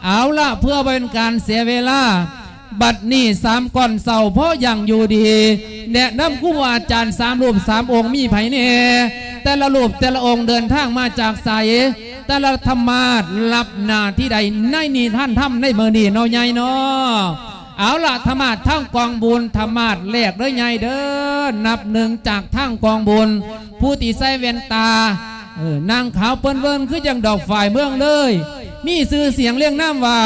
ເອົາລະ ເພື່ອບໍ່ເປັນການເສຍເວລາ ບັດນີ້ສາມກ່ອນເຊົ້າພໍຢ່າງຢູ່ດີ ແນະນຳຄູບາອາຈານສາມຮູບສາມອົງມີໃຜແດ່? ແຕ່ລະຮູບແຕ່ລະອົງເດີນທາງມາຈາກໃສ? ແຕ່ລະທຳມາດຮັບໜ້າທີ່ໃດໃນນິທານທຳໃນມື້ນີ້ເນາະໃຫຍ່ເນາະ? ເອົາລະ ທຳມາດທາງກອງບຸນ ທຳມາດແລກເດີໃຫຍ່ເດີ ນັບໜຶ່ງຈາກທາງກອງບຸນ ຜູ້ທີ່ໃສ່ແວ່ນຕາ ເອີ ນາງຂາວເປີ້ນເວີນຄືຈັ່ງດອກຝ້າຍເມືອງເລີຍ ມີຊື່ສຽງລຽງນາມວ່າ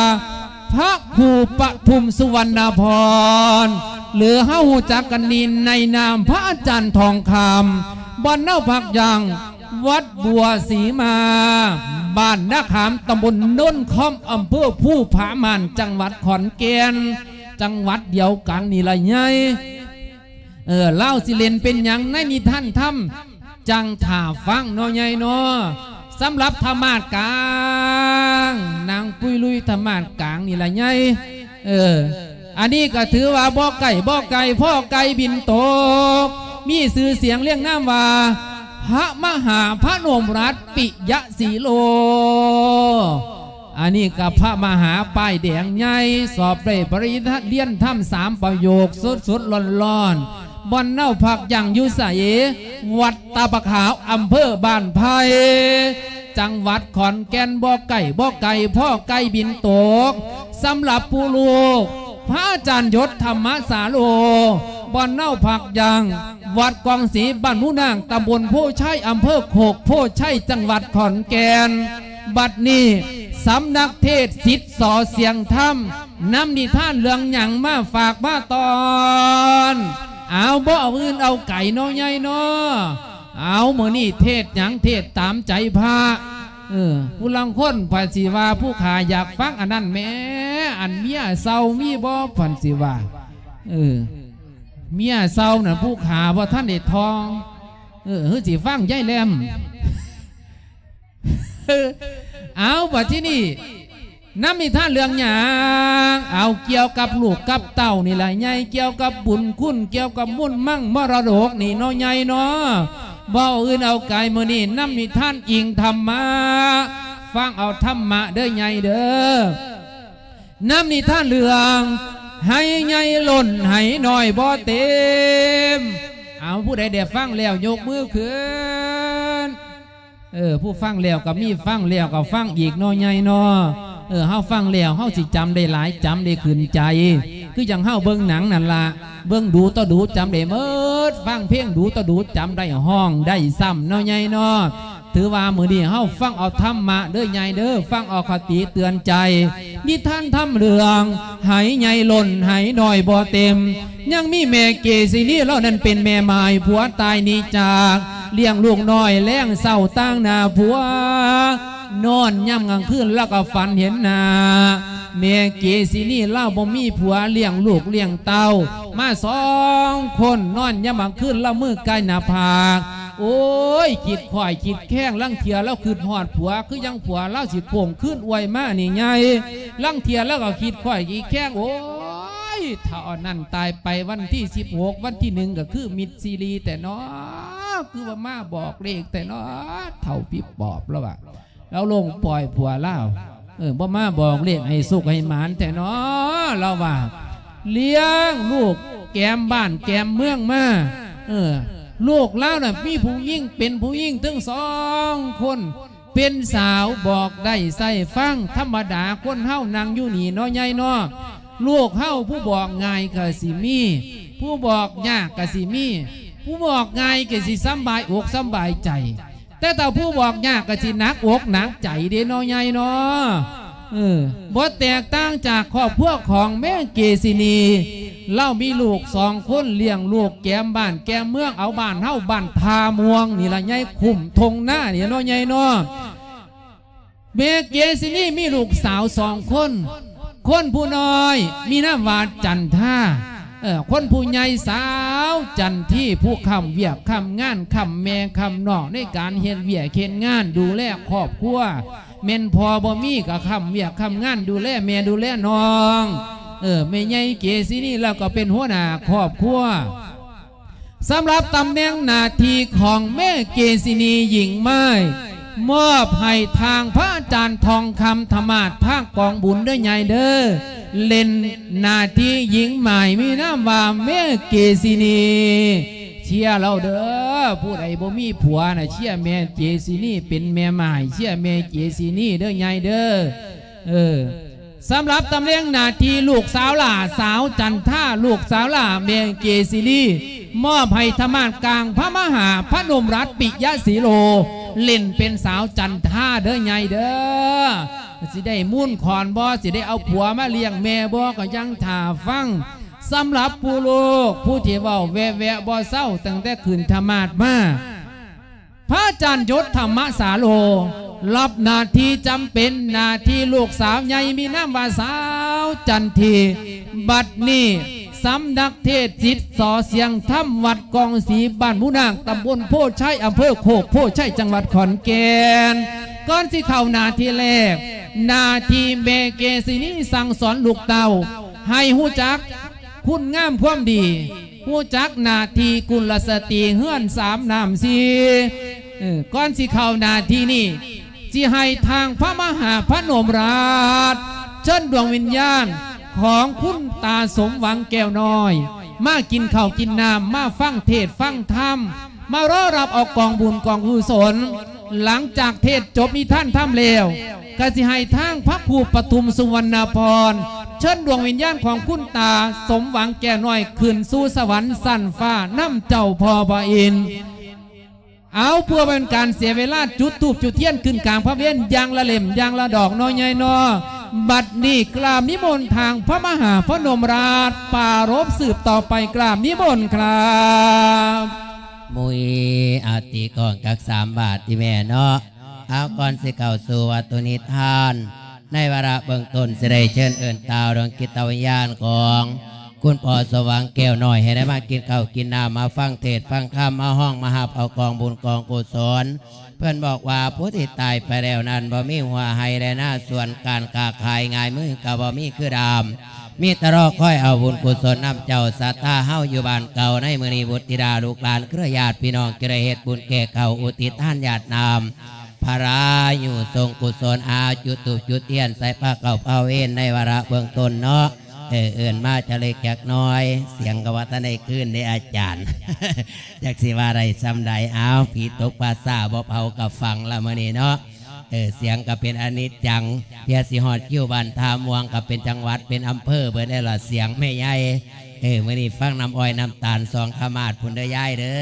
ພະຄູປະທຸມສຸວັນນະພອນ ຫຼືເຮົາຮູ້ຈັກກັນດີໃນນາມພະອາຈານທອງຄຳ ບ່ອນເຮົາພັກຢ່າງ ວັດບົວສີມາ ບ້ານນາຂາມ ຕຳບົນໂນນຄອມ ອຳເພີພູຜາມ່ານ ຈັງຫວັດຂອນແກ່ນ ຈັງຫວັດດຽວກັນນີ້ລະໃຫຍ່ ເອີ ລາວຊິເລ່ນເປັນຫຍັງໃນນິທານທຳ ຈັ່ງຖ້າຟັງເນາະໃຫຍ່ເນາະ. ສຳລັບທຳມາດກາງ ນາງປຸ້ຍລຸຍທຳມາດກາງນີ້ລະໃຫຍ່ ເອີ ອັນນີ້ກໍຖືວ່າບໍ່ໃກ້ບໍ່ໄກ ພໍ້ໄກ່ບິນຕົກ ມີຊື່ສຽງລຽງນາມວ່າ ພະມະຫາພະນົມລັດປິຍະສີໂລ ອັນນີ້ກໍພະມະຫາປ້າຍແດງໃຫຍ່ ສອບໄດ້ປະລິນຍາຕ ຮຽນທຳສາມປະໂຫຍກ ສົດໆ ຮ້ອນໆ ບ່ອນເຮົາພັກຢ່າງຢູ່ໃສ? ວັດຕາປາຂາວ ອຳເພີບ້ານໄຜ່ ຈັງຫວັດຂອນແກ່ນ ບໍ່ໃກ້ບໍ່ໄກ ພໍ້ໄກ່ບິນຕົກ. ສຳລັບຜູ້ລູກ ພະອາຈານຍົດ ທຳມະສາໂລ ບ່ອນເຮົາພັກຢ່າງ ວັດກອງສີ ບ້ານໝູນາງ ຕຳບົນໂພໄຊ ອຳເພີໂຄກໂພໄຊ ຈັງຫວັດຂອນແກ່ນ. ບັດນີ້ ສຳນັກເທດສິດ ສອ ສຽງທຳ ນຳນິທານເລື່ອງຫຍັງມາຝາກມາຕ້ອນ? ເອົາ ບໍ່ເອົາອື່ນເອົາໄກເນາະໃຫຍ່ເນາະ. ເອົາ ມື້ນີ້ເທດຫຍັງ? ເທດຕາມໃຈພະ. ເອີ ຜູ້ລາງຄົນເພິ່ນຊິວ່າ ຜູ້ຂ້າຢາກຟັງອັນນັ້ນແໝ່ ອັນເມຍເຊົາມີບໍ່? ເພິ່ນຊິວ່າ ເອີ ເມຍເຊົານັ້ນ ຜູ້ຂ້າບໍ່ທັນໄດ້ທ່ອງ. ເອີ ຄືຊິຟັງຍາຍແຫຼມ. ເອົາ ບັດທີນີ້ ນຳນິທານເລື່ອງຫຍັງ? ເອົາ ກ່ຽວກັບລູກກັບເຕົ້ານີ້ລະໃຫຍ່ ກ່ຽວກັບບຸນຄຸນ ກ່ຽວກັບມູນມັງມໍລະດົກນີ້ເນາະໃຫຍ່ເນາະ. ບໍ່ເອົາອື່ນເອົາໄກ ມື້ນີ້ນຳນິທານອີງທຳມະ ຟັງເອົາທຳມະເດີໃຫຍ່ເດີ. ນຳນິທານເລື່ອງ ໄຫໃຫຍ່ລົ້ນໄຫນ້ອຍບໍ່ເຕັມ. ເອົາ ຜູ້ໃດໄດ້ຟັງແລ້ວຍົກມືຂຶ້ນ. ເອີ ຜູ້ຟັງແລ້ວກໍມີ ຟັງແລ້ວກໍຟັງອີກເນາະໃຫຍ່ເນາະ. ເອີ ເຮົາຟັງແລ້ວເຮົາຊິຈຳໄດ້ຫຼາຍ ຈຳໄດ້ຂຶ້ນໃຈ ຄືຈັ່ງເຮົາເບິ່ງໜັງນັ້ນລະ ເບິ່ງດູຕໍ່ດູຈຳໄດ້ໝົດ ຟັງເພງດູຕໍ່ດູຈຳໄດ້ ຮ້ອງໄດ້ຊ້ຳເນາະໃຫຍ່ເນາະ. ຖືວ່າມື້ນີ້ເຮົາຟັງເອົາທຳມະເດີໃຫຍ່ເດີ ຟັງເອົາຄະຕິເຕືອນໃຈ ນິທານທຳເລື່ອງ ໄຫໃຫຍ່ລົ້ນໄຫນ້ອຍບໍ່ເຕັມ. ຍັງມີແມ່ເກສິນີ ລາວນັ້ນເປັນແມ່ໝ້າຍ ຜົວຕາຍໜີຈາກ ລ້ຽງລູກນ້ອຍແລງເຊົ້າຕາງໜ້າຜົວ ນອນຍາມກາງຄືນລາວກໍຝັນເຫັນໜ້າ ແມ່ເກສິນີ ລາວບໍ່ມີຜົວ ລ້ຽງລູກລ້ຽງເຕົ້າມາສອງຄົນ ນອນຍາມກາງຄືນລາວມືກາຍໜ້າຜາກ ໂອ້ຍ ຄິດຄ້ອຍຄິດແຄງ ລາງເທື່ອລາວຄຶດຮອດຜົວ ຄືຍັງຜົວລາວຊິໂຄ້ງຄືນອວຍມານີ້ໃຫຍ່ ລາງເທື່ອລາວກໍຄິດຄ້ອຍຄິດແຄງ ໂອ້ຍ ເຖົ້າອັນນັ້ນຕາຍໄປວັນທີສິບຫົກ ວັນທີໜຶ່ງກໍຄືມິດຊີຣີແທ້ເນາະ ຄືວ່າມາບອກເລກແທ້ເນາະ ເຖົ້າປິບປອບລາວວ່າ ລາວລົງປ່ອຍຜົວລາວ ເອີ ບໍ່ມາບອກເລກໃຫ້ສຸກໃຫ້ໝານແທ້ເນາະ ລາວວ່າ ລ້ຽງລູກແກມບ້ານແກມເມືອງມາ ເອີ ລູກລາວນະ ມີຜູ້ຍິງ ເປັນຜູ້ຍິງເຖິງສອງຄົນ ເປັນສາວບອກໄດ້ໃຊ້ຟັງ ທຳມະດາຄົນເຮົານັ່ງຢູ່ນີ້ເນາະ ໃຫຍ່ເນາະ ລູກເຮົາຜູ້ບອກງ່າຍກໍຊິມີ ຜູ້ບອກຍາກກໍຊິມີ ຜູ້ບອກງ່າຍກໍຊິສຳບາຍອົກສຳບາຍໃຈ ແຕ່ຖ້າຜູ້ບອກຍາກກໍຊິໜັກອົກໜັກໃຈເດ້ເນາະ ໃຫຍ່ເນາະ. ເອີ ບໍ່ແຕກຕ່າງຈາກຄອບຄົວຂອງແມ່ເກສິນີ ລາວມີລູກສອງຄົນ ລ້ຽງລູກແກມບ້ານແກມເມືອງ ເອົາບ້ານເຮົາ ບ້ານທ່າມ່ວງນີ້ລະໃຫຍ່ ຄຸ້ມທົ່ງນານີ້ເນາະ ໃຫຍ່ເນາະ. ແມ່ເກສິນີມີລູກສາວສອງຄົນ ຄົນຜູ້ນ້ອຍມີນາມວ່າຈັນທາ ເອີ ຄົນຜູ້ໃຫຍ່ສາວຈັນທີ ຜູ້ຄ້ຳວຽກຄ້ຳງານ ຄ້ຳແມ່ຄ້ຳນ້ອງ ໃນການເຮັດວຽກເຮັດງານ ດູແລຄອບຄົວ ແມ່ນພໍ່ບໍ່ມີກໍຄ້ຳວຽກຄ້ຳງານ ດູແລແມ່ດູແລນ້ອງ ເອີ ແມ່ໃຫຍ່ເກສິນີລາວກໍເປັນຫົວໜ້າຄອບຄົວ. ສຳລັບຕຳແໜ່ງໜ້າທີ່ຂອງແມ່ເກສິນີ ຍິງໄມ້ ມອບໃຫ້ທາງພະອາຈານທອງຄຳທະມາດພາກກອງບຸນເດີໃຫຍ່ເດີ ເຫຼັ້ນໜ້າທີ່ຍິງໝາຍມີນາມວ່າແມ່ເກຊິນີ ເຊຍລາວເດີ. ຜູ້ໃດບໍ່ມີຜົວນະ ເຊຍແມ່ເກຊິນີເປັນແມ່ໝ້າຍ ເຊຍແມ່ເກຊິນີເດີໃຫຍ່ເດີ. ເອີ ສຳລັບຕຳແໜ່ງໜ້າທີ່ລູກສາວຫຼ້າ ສາວຈັນທາ ລູກສາວຫຼ້າແມ່ເກຊິນີ ມອບໃຫ້ທະມາດກາງພະມະຫາພະນົມລັດປິຍະສີໂລ ເຫຼັ້ນເປັນສາວຈັນທາເດີໃຫຍ່ເດີ. ຊິໄດ້ມູນຂອນບໍ່ ຊິໄດ້ເອົາຜົວມາລ້ຽງແມ່ບໍ່ ກໍຍັງຖ້າຟັງ. ສຳລັບຜູ້ລູກ ຜູ້ທີ່ເວົ້າແວະໆບໍ່ເຊົາ ຕັ້ງແຕ່ຂຶ້ນທະມາດມາ ພະອາຈານຍົດທຳມະສາໂລ ຮັບໜ້າທີ່ຈຳເປັນ ໜ້າທີ່ລູກສາວໃຫຍ່ມີນາມວ່າສາວຈັນທີ. ບັດນີ້ສຳນັກເທດສິດ ສ.ສຽງທຳ ວັດກອງສີ ບ້ານໝູນາງ ຕຳບົນໂພໄຊ ອຳເພີໂຄກໂພໄຊ ຈັງຫວັດຂອນແກ່ນ. ກ່ອນຊິເຂົ້າໜ້າທີ່ແລກ ໜ້າທີ່ແມ່ເກຊິນີສັ່ງສອນລູກເຕົ້າ ໃຫ້ຮູ້ຈັກຄຸນງາມຄວາມດີ ຮູ້ຈັກໜ້າທີ່ກຸນລະສະຕີເຮືອນສາມນ້ຳສີ່. ເອີ ກ່ອນຊິເຂົ້າໜ້າທີ່ນີ້ ຊິໃຫ້ທາງພະມະຫາພະນົມລາດ ເຊີນດວງວິນຍານຂອງຄຸນຕາສົມຫວັງແກ້ວນ້ອຍ ມາກິນເຂົ້າກິນນ້ຳ ມາຟັງເທດຟັງທຳ ມາລໍຮັບເອົາກອງບຸນກອງກຸສົນ. ຫຼັງຈາກເທດຈົບນິທານທຳແລ້ວ ກໍຊິໃຫ້ທາງພະຄູປະທຸມ ສຸວັນນະພອນ ເຊີນດວງວິນຍານຂອງຄຸນຕາສົມຫວັງແກ້ວນ້ອຍ ຂຶ້ນສູ່ສະຫວັນຊັ້ນຟ້ານຳເຈົ້າພໍ່ພະອິນ. ເອົາ ເພື່ອບໍ່ເປັນການເສຍເວລາ ຈຸດທູບຈຸດທຽນຂຶ້ນກາງພະເວນຢ່າງລະເຫຼັ້ມຢ່າງລະດອກເນາະໃຫຍ່ເນາະ. ບັດນີ້ກາບນິມົນທາງພະມະຫາພະນົມລາດ ປາລົບສືບຕໍ່ໄປ ກາບນິມົນຄັບ. ມຸຍ ອາ ຕີກອງຈັກສາມບາດຕິແມ່ເນາະ. ເອົາ ກ່ອນຊິເຂົ້າສູ່ວັດຖຸນິທານ ໃນວາລະເບື້ອງຕົ້ນ ຊິໄດ້ເຊີນເອີ້ນຕ່າວດວງຈິດຕະວິນຍານຂອງຄຸນພໍ່ສົມຫວັງແກ້ວນ້ອຍ ໃຫ້ໄດ້ມາກິນເຂົ້າກິນນ້ຳ ມາຟັງເທດຟັງທຳ ມາຮ້ອງມາຮັບເອົາກອງບຸນກອງກຸສົນ. ເພິ່ນບອກວ່າ ຜູ້ທີ່ຕາຍໄປແລ້ວນັ້ນ ບໍ່ມີຫົວໄຮ່ແລະນາສວນ ການຄ້າຂາຍງາຍມືກໍບໍ່ມີຄືດຳ ມີແຕ່ລໍຄອຍເອົາບຸນກຸສົນນຳເຈົ້າສັດທາເຮົາຢູ່ບ້ານເກົ່າ. ໃນມື້ນີ້ບຸດທິດາລູກຫຼານເຄືອຍາດພີ່ນ້ອງ ຈະໄດ້ເຮັດບຸນແກ່ເຂົາ ອຸທິດທານຢາດນ້ຳ ພະລາຍຸສົງກຸສົນ. ອາ ຈຸດທູບຈຸດທຽນໃສ່ພະເຂົ້າພະເວນໃນວາລະເບື້ອງຕົ້ນເນາະ. ເອີ ເອີ້ນມາຈັກເລັກຈັກນ້ອຍ ສຽງກໍວ່າທັນໄດ້ຄືນເດ້ອາຈານ ຈັກຊິວ່າໄດ້ສ່ຳໃດ. ເອົາ ຜີຕົກປ່າຊ້າບໍ່ເຜົາກໍຝັງລະມື້ນີ້ເນາະ. ເອີ ສຽງກໍເປັນອະນິດຈັງ ເພື່ອຊິຮອດຄິວບ້ານທ່າມ່ວງກໍເປັນຈັງຫວັດເປັນອຳເພີເບິດແລ້ວລະ ສຽງແມ່ໃຫຍ່. ເອີ ມື້ນີ້ຟັງນ້ຳອ້ອຍນ້ຳຕານສອງຂະມາດພຸ້ນເດີຍາຍເດີ.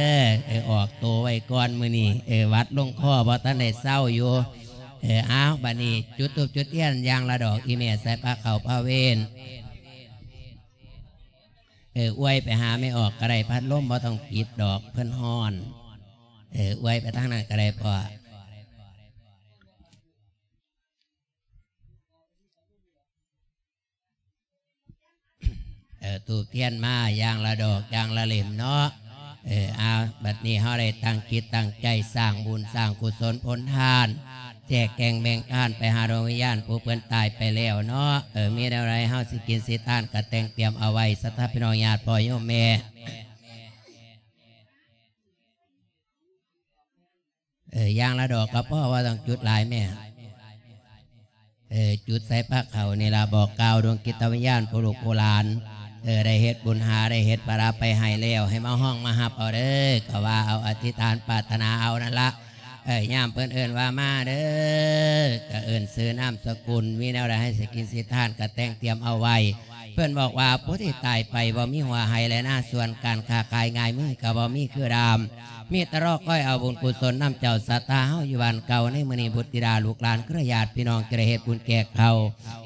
ເອີ ອອກໂຕໄວ້ກ່ອນມື້ນີ້. ເອີ ຫວັດລົງຄໍບໍ່ທັນໄດ້ເຊົາຢູ່. ເອີ ເອົາ ບັດນີ້ຈຸດທູບຈຸດທຽນຢ່າງລະດອກ ອີ່ແມ່ໃສ່ພະເຂົ້າພະເວນ. ເອີ ອວຍໄປຫາແມ່ອອກກໍໄດ້ ພັດລົມບໍ່ຕ້ອງປິດດອກ ເພິ່ນຮ້ອນ. ເອີ ອວຍໄປທາງນັ້ນກໍໄດ້ພໍ່. ເອີ ທູບທຽນມາຢ່າງລະດອກຢ່າງລະເຫຼັ້ມເນາະ. ເອີ ເອົາ ບັດນີ້ເຮົາໄດ້ຕັ້ງຈິດຕັ້ງໃຈສ້າງບຸນສ້າງກຸສົນຜົນທານ ແຈກແຈງແບ່ງທານໄປຫາດວງວິນຍານຜູ້ເພິ່ນຕາຍໄປແລ້ວເນາະ. ເອີ ມີແນວໃດເຮົາຊິກິນຊິທານກໍແຕ່ງຕຽມເອົາໄວ້ ສັດທາພີ່ນ້ອງຍາດພໍ່ໂຍມແມ່. ເອີ ຢ່າງລະດອກກໍພໍ ບໍ່ຕ້ອງຈຸດຫຼາຍແມ່. ເອີ ຈຸດໃສ່ພະເຂົ້ານີ້ລະ ບອກກ່າວດວງຈິດຕະວິນຍານຜູ້ລູກຜູ້ຫຼານ. ເອີ ໄດ້ເຮັດບຸນຫາໄດ້ເຮັດພາລະໄປໃຫ້ແລ້ວ ໃຫ້ມາຮ້ອງມາຮັບເອົາເດີ ກໍວ່າເອົາ ອະທິຖານປາດຖະໜາເອົານັ້ນລະ. ເອີ ຍາມເພິ່ນເອີ້ນວ່າມາເດີ ກໍເອີ້ນຊື່ນາມສະກຸນ ມີແນວໃດໃຫ້ຊິກິນຊິທານກໍແຕ່ງຕຽມເອົາໄວ້. ເພິ່ນບອກວ່າ ຜູ້ທີ່ຕາຍໄປບໍ່ມີຫົວໄຮ່ແລະນາສວນ ການຄ້າຂາຍງາຍມືກໍບໍ່ມີຄືດຳ ມີແຕ່ລໍຄອຍເອົາບຸນກຸສົນນຳເຈົ້າສັດທາເຮົາຢູ່ບ້ານເກົ່າ. ໃນມື້ນີ້ບຸດທິດາລູກຫຼານເຄືອຍາດພີ່ນ້ອງຈະໄດ້ເຮັດບຸນແຈກເຂົ້າ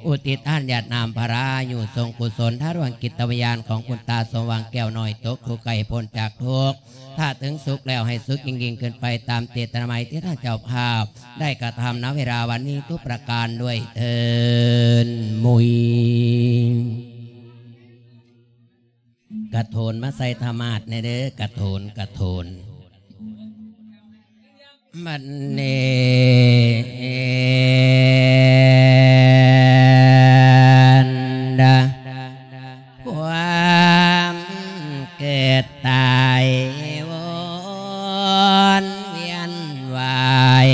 ອຸທິດທານຢາດນ້ຳພະລາຍຸສົງກຸສົນ ທາດວງຈິດຕະວິນຍານຂອງຄຸນຕາສົມຫວັງແກ້ວນ້ອຍ ຕົກທຸກໃຫ້ພົ້ນຈາກທຸກ ຖ້າເຖິງສຸກແລ້ວໃຫ້ສຸກຍິ່ງໆຂຶ້ນໄປ ຕາມເຈດຕະນາໃໝທີ່ທ່ານເຈົ້າພາບໄດ້ກະທຳ ນະເວລາວັນນີ້ທຸກປະການດ້ວຍເທີ້ນ. ມຸຍ ກະໂຖນມາໃສ່ທະມາດແດ່ເດີ ກະໂຖນ ກະໂຖນ. ບັດນີ້ຄວາມເກີດຕາຍວົນວຽນວາຍ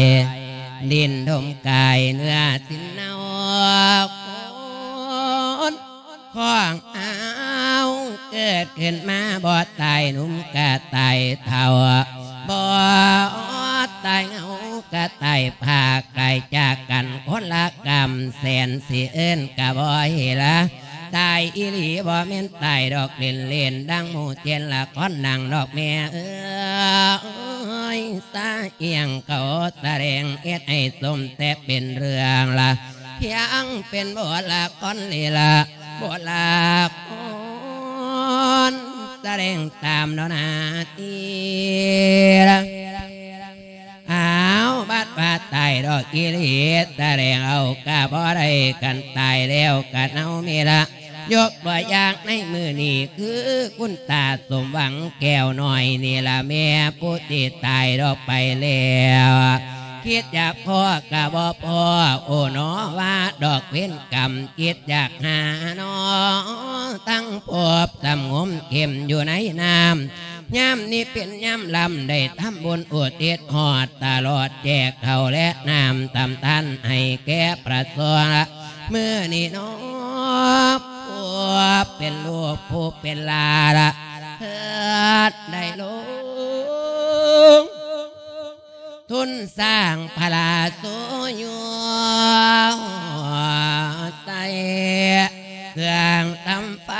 ຂຶ້ນມາບໍ່ຕາຍໜຸ່ມກະຕາຍເຖົ້າ ບໍ່ຕາຍເຫງົາກະຕາຍພາກ ໄກຈາກກັນຄົນລະກຳແສນ ຊິເອີ້ນກະບໍ່ເຫັນລະ ຕາຍອີ່ຫຼີບໍ່ແມ່ນຕາຍດອກເລ່ນໆ ດັ່ງໝູ່ເຈນລະຄອນໜັງດອກແມ່ເອີຍ ສາອີ່ຫຍັງເຂົາສະແດງເຮັດໃຫ້ສົມແຕ່ເປັນເລື່ອງລະ ພຽງເປັນບົດລະຄອນລີລະ ບົດລະຄອນສະແດງຕາມເນາະໜ້າທີ່ລະ ອ້າວ ບັດວ່າຕາຍດອກອີ່ຫຼີ ສະແດງເອົາກະບໍ່ໄດ້ ຄັນຕາຍແລ້ວກະເນົ່າມີລະ ຍົກຕົວຢ່າງໃນມື້ນີ້ ຄືຄຸນຕາສົມຫວັງແກ້ວນ້ອຍນີ້ລະແມ່ ຜູ້ທີ່ຕາຍດອກໄປແລ້ວ ຄິດຢາກພໍ້ກະບໍ່ພໍ້ ໂອ້ໜໍວ່າດອກເວນກຳ ຄິດຢາກຫາໜໍ ທັງພົບສຳງົມເຂັ້ມຢູ່ໃນນ້ຳ ຍາມນີ້ເປັນຍາມລຳ ໄດ້ທຳບຸນອຸທິດຮອດຕະຫຼອດ ແຈກເຂົ້າແລະນ້ຳທຳທານໃຫ້ແກ່ພະສົງລະ ມື້ນີ້ເນາະ ຜູ້ເປັນລູກຜູ້ເປັນຫຼານລະ ເພິ່ນໄດ້ລົງ ທຶນສ້າງພະລາໂສຢູ່ໃສ່ ເຄື່ອງທຳໄຟ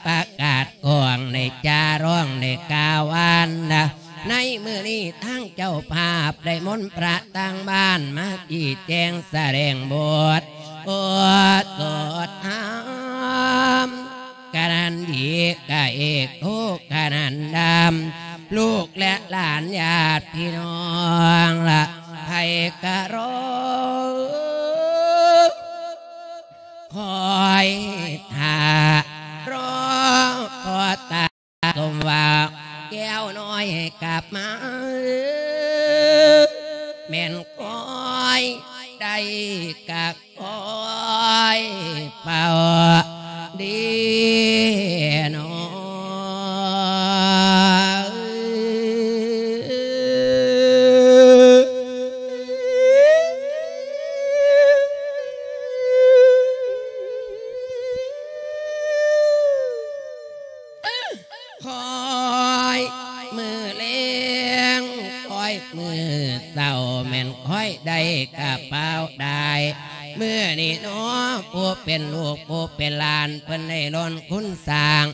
ປະກາດກ້ອງ ໄດ້ຈາຮ້ອງໄດ້ກ່າວຫວານນະ ໃນມື້ນີ້ທາງເຈົ້າພາບໄດ້ມົນພະທາງບ້ານມາຊີ້ແຈງສະແດງບົດ ໂອສົດທຳ ຂະໜານດີກະເອກໂທຂະໜານດຳ ລູກແລະຫຼານຍາດພີ່ນ້ອງລະ ໃຜກະລໍ ຄອຍຖ້າ ລໍພໍຕາ ສົມຫວັງແກ້ວນ້ອຍກັບມາ ແມ່ນຄອຍໄດ້ກະຄອຍເຝົ້າດີເນາະ ຄອຍມື້ແລງ ຄອຍມື້ເຊົ້າ ແມ່ນຄອຍໄດ້ກະເປົາໄດ້ ມື້ນີ້ເນາະ ຜູ້ເປັນລູກຜູ້ເປັນຫຼານ ເພິ່ນໄດ້ລ້ອນຄຸນສ້າງ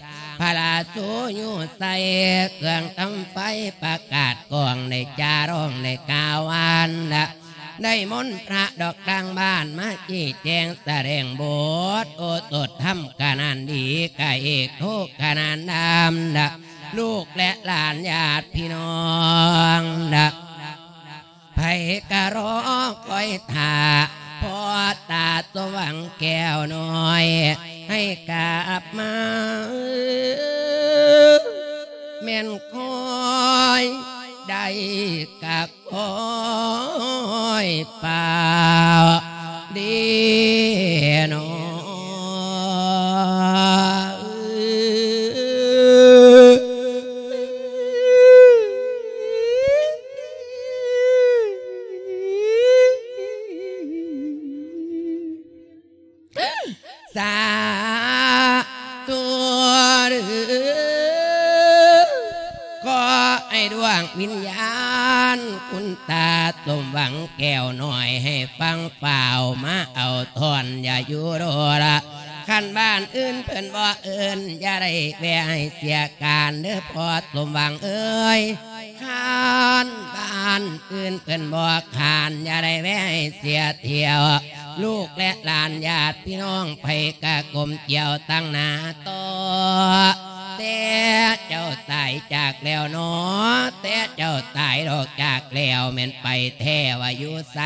ພະລາໂສຢູ່ໃສ່ ເຄື່ອງທຳໄຟປະກາດກ້ອງ ໄດ້ຈາຮ້ອງໄດ້ກ່າວຫວານນະ ໄດ້ມົນພະດອກທາງບ້ານມາຊີ້ແຈງສະແດງບົດ ໂອສົດທຳຂະໜານດີ ກະເອກໂທຂະໜານດຳນະ ລູກແລະຫຼານຍາດພີ່ນ້ອງນະ ໃຜກະລໍຄອຍຖ້າ ພໍ່ຕາສົມຫວັງແກ້ວນ້ອຍ ໃຫ້ກັບມາ ແມ່ນຄອຍໄດ້ກັບ ໂອ້ຍ ປາວດີເນາະ ສາທຸເດີ ຂໍໃຫ້ດວງວິນຍານ ຄຸນຕາສົມຫວັງແກ້ວນ້ອຍ ໃຫ້ຟັງຟ້າວມາເອົາທ່ອນ ຢ່າຢູ່ໂດລະ ຄັນບ້ານອື່ນເພິ່ນບໍ່ເອີ້ນ ຢ່າໄດ້ແວ່ໃຫ້ເສຍການເດີພໍ່ສົມຫວັງເອີຍ ຄັນບ້ານອື່ນເພິ່ນບໍ່ຄ້ານ ຢ່າໄດ້ແວ່ໃຫ້ເສຍຖ້ຽວ ລູກແລະຫຼານຍາດພີ່ນ້ອງ ໃຜກະກົ້ມກ່ຽວຕັ້ງໜ້າຕໍ່ ແຕ່ເຈົ້າຕາຍຈາກແລ້ວເນາະ ແຕ່ເຈົ້າຕາຍດອກຈາກແລ້ວ ແມ່ນໄປແທ້ວ່າຢູ່ໃສ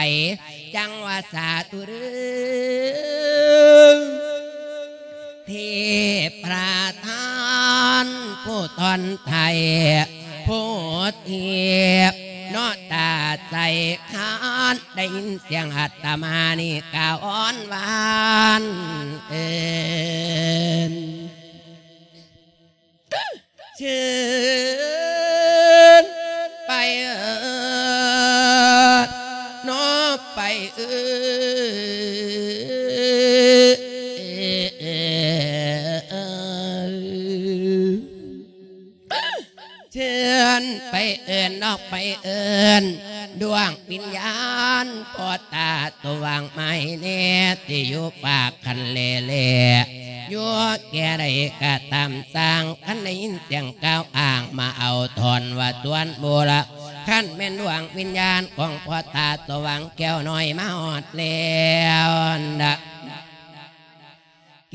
ຈັ່ງວ່າສາທຸເດີ ເທບພະທານຜູ້ຕ້ອນໄທ ຜູ້ເທບເນາະຕາໃສຄານ ໄດ້ຍິນສຽງອາດຕະມານີ້ກ່າວອ້ອນຫວານເອີ້ນ ເຊີນໄປເອີເນາະ ໄປເອີ. ໄປເອີ້ນ ອອກໄປເອີ້ນ ດວງວິນຍານພໍ່ຕາສວ່າງ ມາໃຫ້ແນ່ ທີ່ຢູ່ຟາກຄັນແລແລ ຢູ່ແກ່ໃດກໍຕາມຊ່າງ ຄັນໄດ້ຍິນສຽງກ່າວອ້າງ ມາເອົາທ່ອນວ່າສວນບູລະ ຄັນແມ່ນດວງວິນຍານຂອງພໍ່ຕາສວ່າງແກ້ວນ້ອຍມາຮອດແລ້ວນະ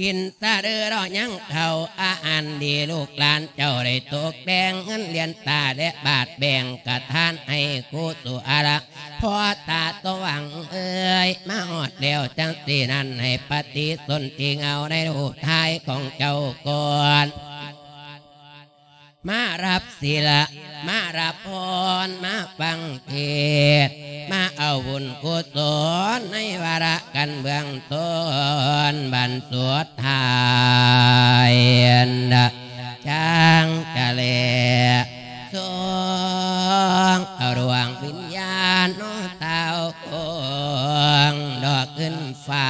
ກິນສະເດີດອກຍັງເຂົ້າອາຫານດີ ລູກຫຼານເຈົ້າໄດ້ຕົກແຕ່ງ ເງິນຫຼຽນຕາແລະບາດແບ່ງກະທານໃຫ້ກຸສົລະ ພໍ່ຕາສວ່າງເອີຍ ມາຮອດແລ້ວຈັ່ງຊີ້ນັ້ນ ໃຫ້ປະຕິສົນທິເງົາໃນຮູບຖ່າຍຂອງເຈົ້າກ່ອນ ມາຮັບສິລະ ມາຮັບພອນ ມາຟັງເທດ ມາເອົາບຸນກຸສົນ ໃນວາລະກັນເບື້ອງຕົ້ນ ບັນສຸດທ້າຍ ຈັ່ງຈະແລສົ່ງເອົາດວງວິນຍານນ້ອງເຕົ້າໂກງ ດອກຂຶ້ນຟ້າ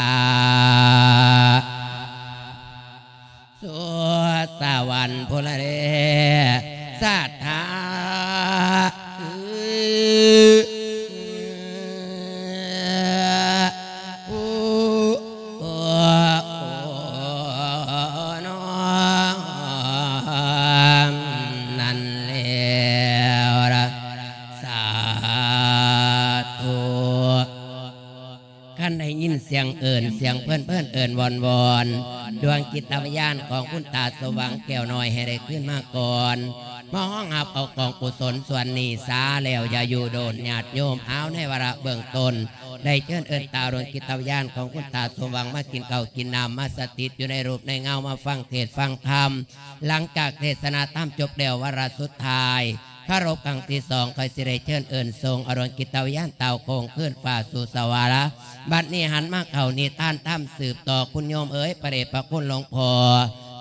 ສູ່ສະຫວັນພຸ້ນລະເດ ສັດທາ ຜູ້ນອມນັ້ນແລ້ວລະ ສາທຸ. ຄັນໄດ້ຍິນສຽງເອີ້ນ ສຽງເພິ່ນເອີ້ນວອນໆ ດວງຈິດຕະວິນຍານຂອງຄຸນຕາສວ່າງແກ້ວນ້ອຍໃຫ້ໄດ້ຄືນມາກ່ອນ ມາຮອງຮັບເອົາກອງກຸສົນສ່ວນນີ້ສາແລ້ວ ຢ່າຢູ່ໂດນ ຍາດໂຍມ. ເອົາ ໃນວາລະເບື້ອງຕົ້ນ ໄດ້ເຊີນເອີ້ນຕາດວງຈິດຕະວິນຍານຂອງຄຸນຕາສົມຫວັງ ມາກິນເຂົ້າກິນນ້ຳ ມາສະຖິດຢູ່ໃນຮູບໃນເງົາ ມາຟັງເທດຟັງທຳ. ຫຼັງຈາກເທດສະນາທຳຈົບແລ້ວ ວາລະສຸດທ້າຍ ຄາລົບຄັ້ງທີສອງ ຂ້ອຍຊິໄດ້ເຊີນເອີ້ນສົ່ງເອົາດວງຈິດຕະວິນຍານເຕົ້າໂກງຄືນຟ້າສູ່ສະຫວັນລະ. ບັດນີ້ຫັນມາເຂົ້ານິທານທຳສືບຕໍ່ ຄຸນໂຍມເອີຍ ພະເດດພະຄຸນຫຼວງພໍ່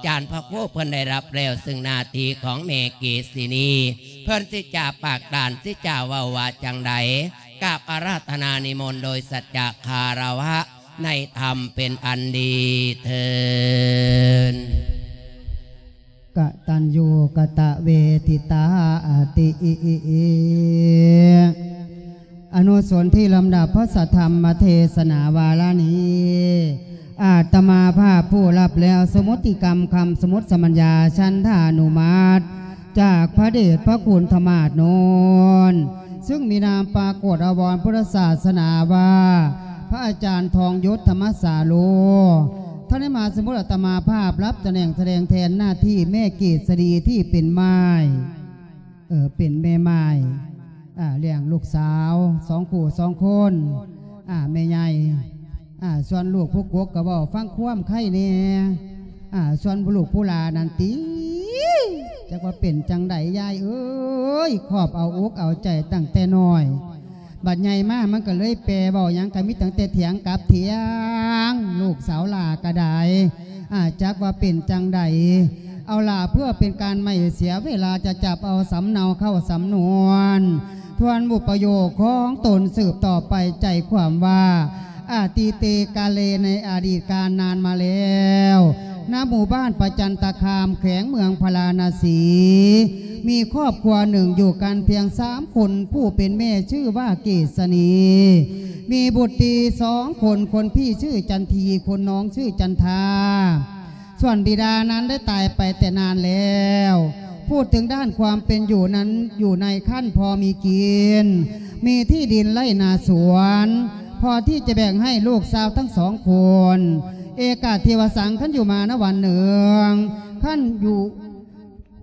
ຈານພະຄູເພິ່ນໄດ້ຮັບແລ້ວ ຊຶ່ງໜ້າທີ່ຂອງແມ່ເກສິນີ ເພິ່ນຊິຈາປາກດ້ານ ຊິຈາເວົ້າວ່າຈັ່ງໃດ ກາບອາລາທະນານິມົນໂດຍສັດຈະຄາລະວະໃນທຳເປັນອັນດີເທີ້ນ. ກະຕັນຍູກະຕະເວທິຕາຕິ. ອະນຸສົນທີ່ລຳດັບພະສະທຳມະເທສະນາວາລະນີ້ ອາດຕະມາພາບຜູ້ຮັບແລ້ວ ສະມຸດຕິກຳຄຳສະມຸດສະມັນຍາ ສັນທານຸມັດ ຈາກພະເດດພະຄຸນທະມາດໂນນ ຊຶ່ງມີນາມປາກົດອາວອນພຸດທະສາສະໜາວ່າ ພະອາຈານທອງຍົດທຳມະສາໂລ ທ່ານໄດ້ມາສະໝຸດອາດຕະມາພາບ ຮັບຕຳແໜ່ງສະແດງແທນໜ້າທີ່ແມ່ເກດສະດີທີ່ເປັນໝ້າຍ ເອີ ເປັນແມ່ໝ້າຍ ອາ ລ້ຽງລູກສາວສອງຄູ່ສອງຄົນ ອາ ແມ່ໃຫຍ່ ອາ ສ່ວນລູກຜູ້ກົກກໍເວົ້າຟັງຄວາມໃຄແດ່ ອາ ສ່ວນລູກຜູ້ຫຼ້ານັ້ນຕິ ຈັກວ່າເປັນຈັ່ງໃດຍາຍເອີຍ ຄອບເອົາອົກເອົາໃຈຕັ້ງແຕ່ນ້ອຍ ບັດໃຫຍ່ມາມັນກໍເລີຍແປເວົ້າຫຍັງກໍມີຕັ້ງແຕ່ຖຽງກັບຖຽງ ລູກສາວຫຼ້າກໍໄດ້ ອາ ຈັກວ່າເປັນຈັ່ງໃດ ເອົາລະ ເພື່ອເປັນການໄມ່ເສຍເວລາ ຈະຈັບເອົາສຳເນົາເຂົ້າສຳນວນ ທວນບົດປະໂຫຍກຂອງຕົນສືບຕໍ່ໄປ ໃຈຄວາມວ່າ ອະຕິເຕກາເລ ໃນອະດີດການນານມາແລ້ວ ນະໝູ່ບ້ານປະຈັນຕະຄາມ ແຂວງເມືອງພາລານະສີ ມີຄອບຄົວໜຶ່ງຢູ່ກັນພຽງສາມຄົນ ຜູ້ເປັນແມ່ຊື່ວ່າເກດສະນີ ມີບຸດຕີສອງຄົນ ຄົນພີ່ຊື່ຈັນທີ ຄົນນ້ອງຊື່ຈັນທາ ສ່ວນບິດານັ້ນໄດ້ຕາຍໄປແຕ່ນານແລ້ວ. ພູດເຖິງດ້ານຄວາມເປັນຢູ່ນັ້ນ ຢູ່ໃນຂັ້ນພໍມີກິນ ມີທີ່ດິນໄຮ່ນາສວນ ພໍທີ່ຈະແບ່ງໃຫ້ລູກສາວທັງສອງຄົນ. ເອກາເທວະສັງ ຄັນຢູ່ມານະວັນໜຶ່ງ ຄັນຢູ່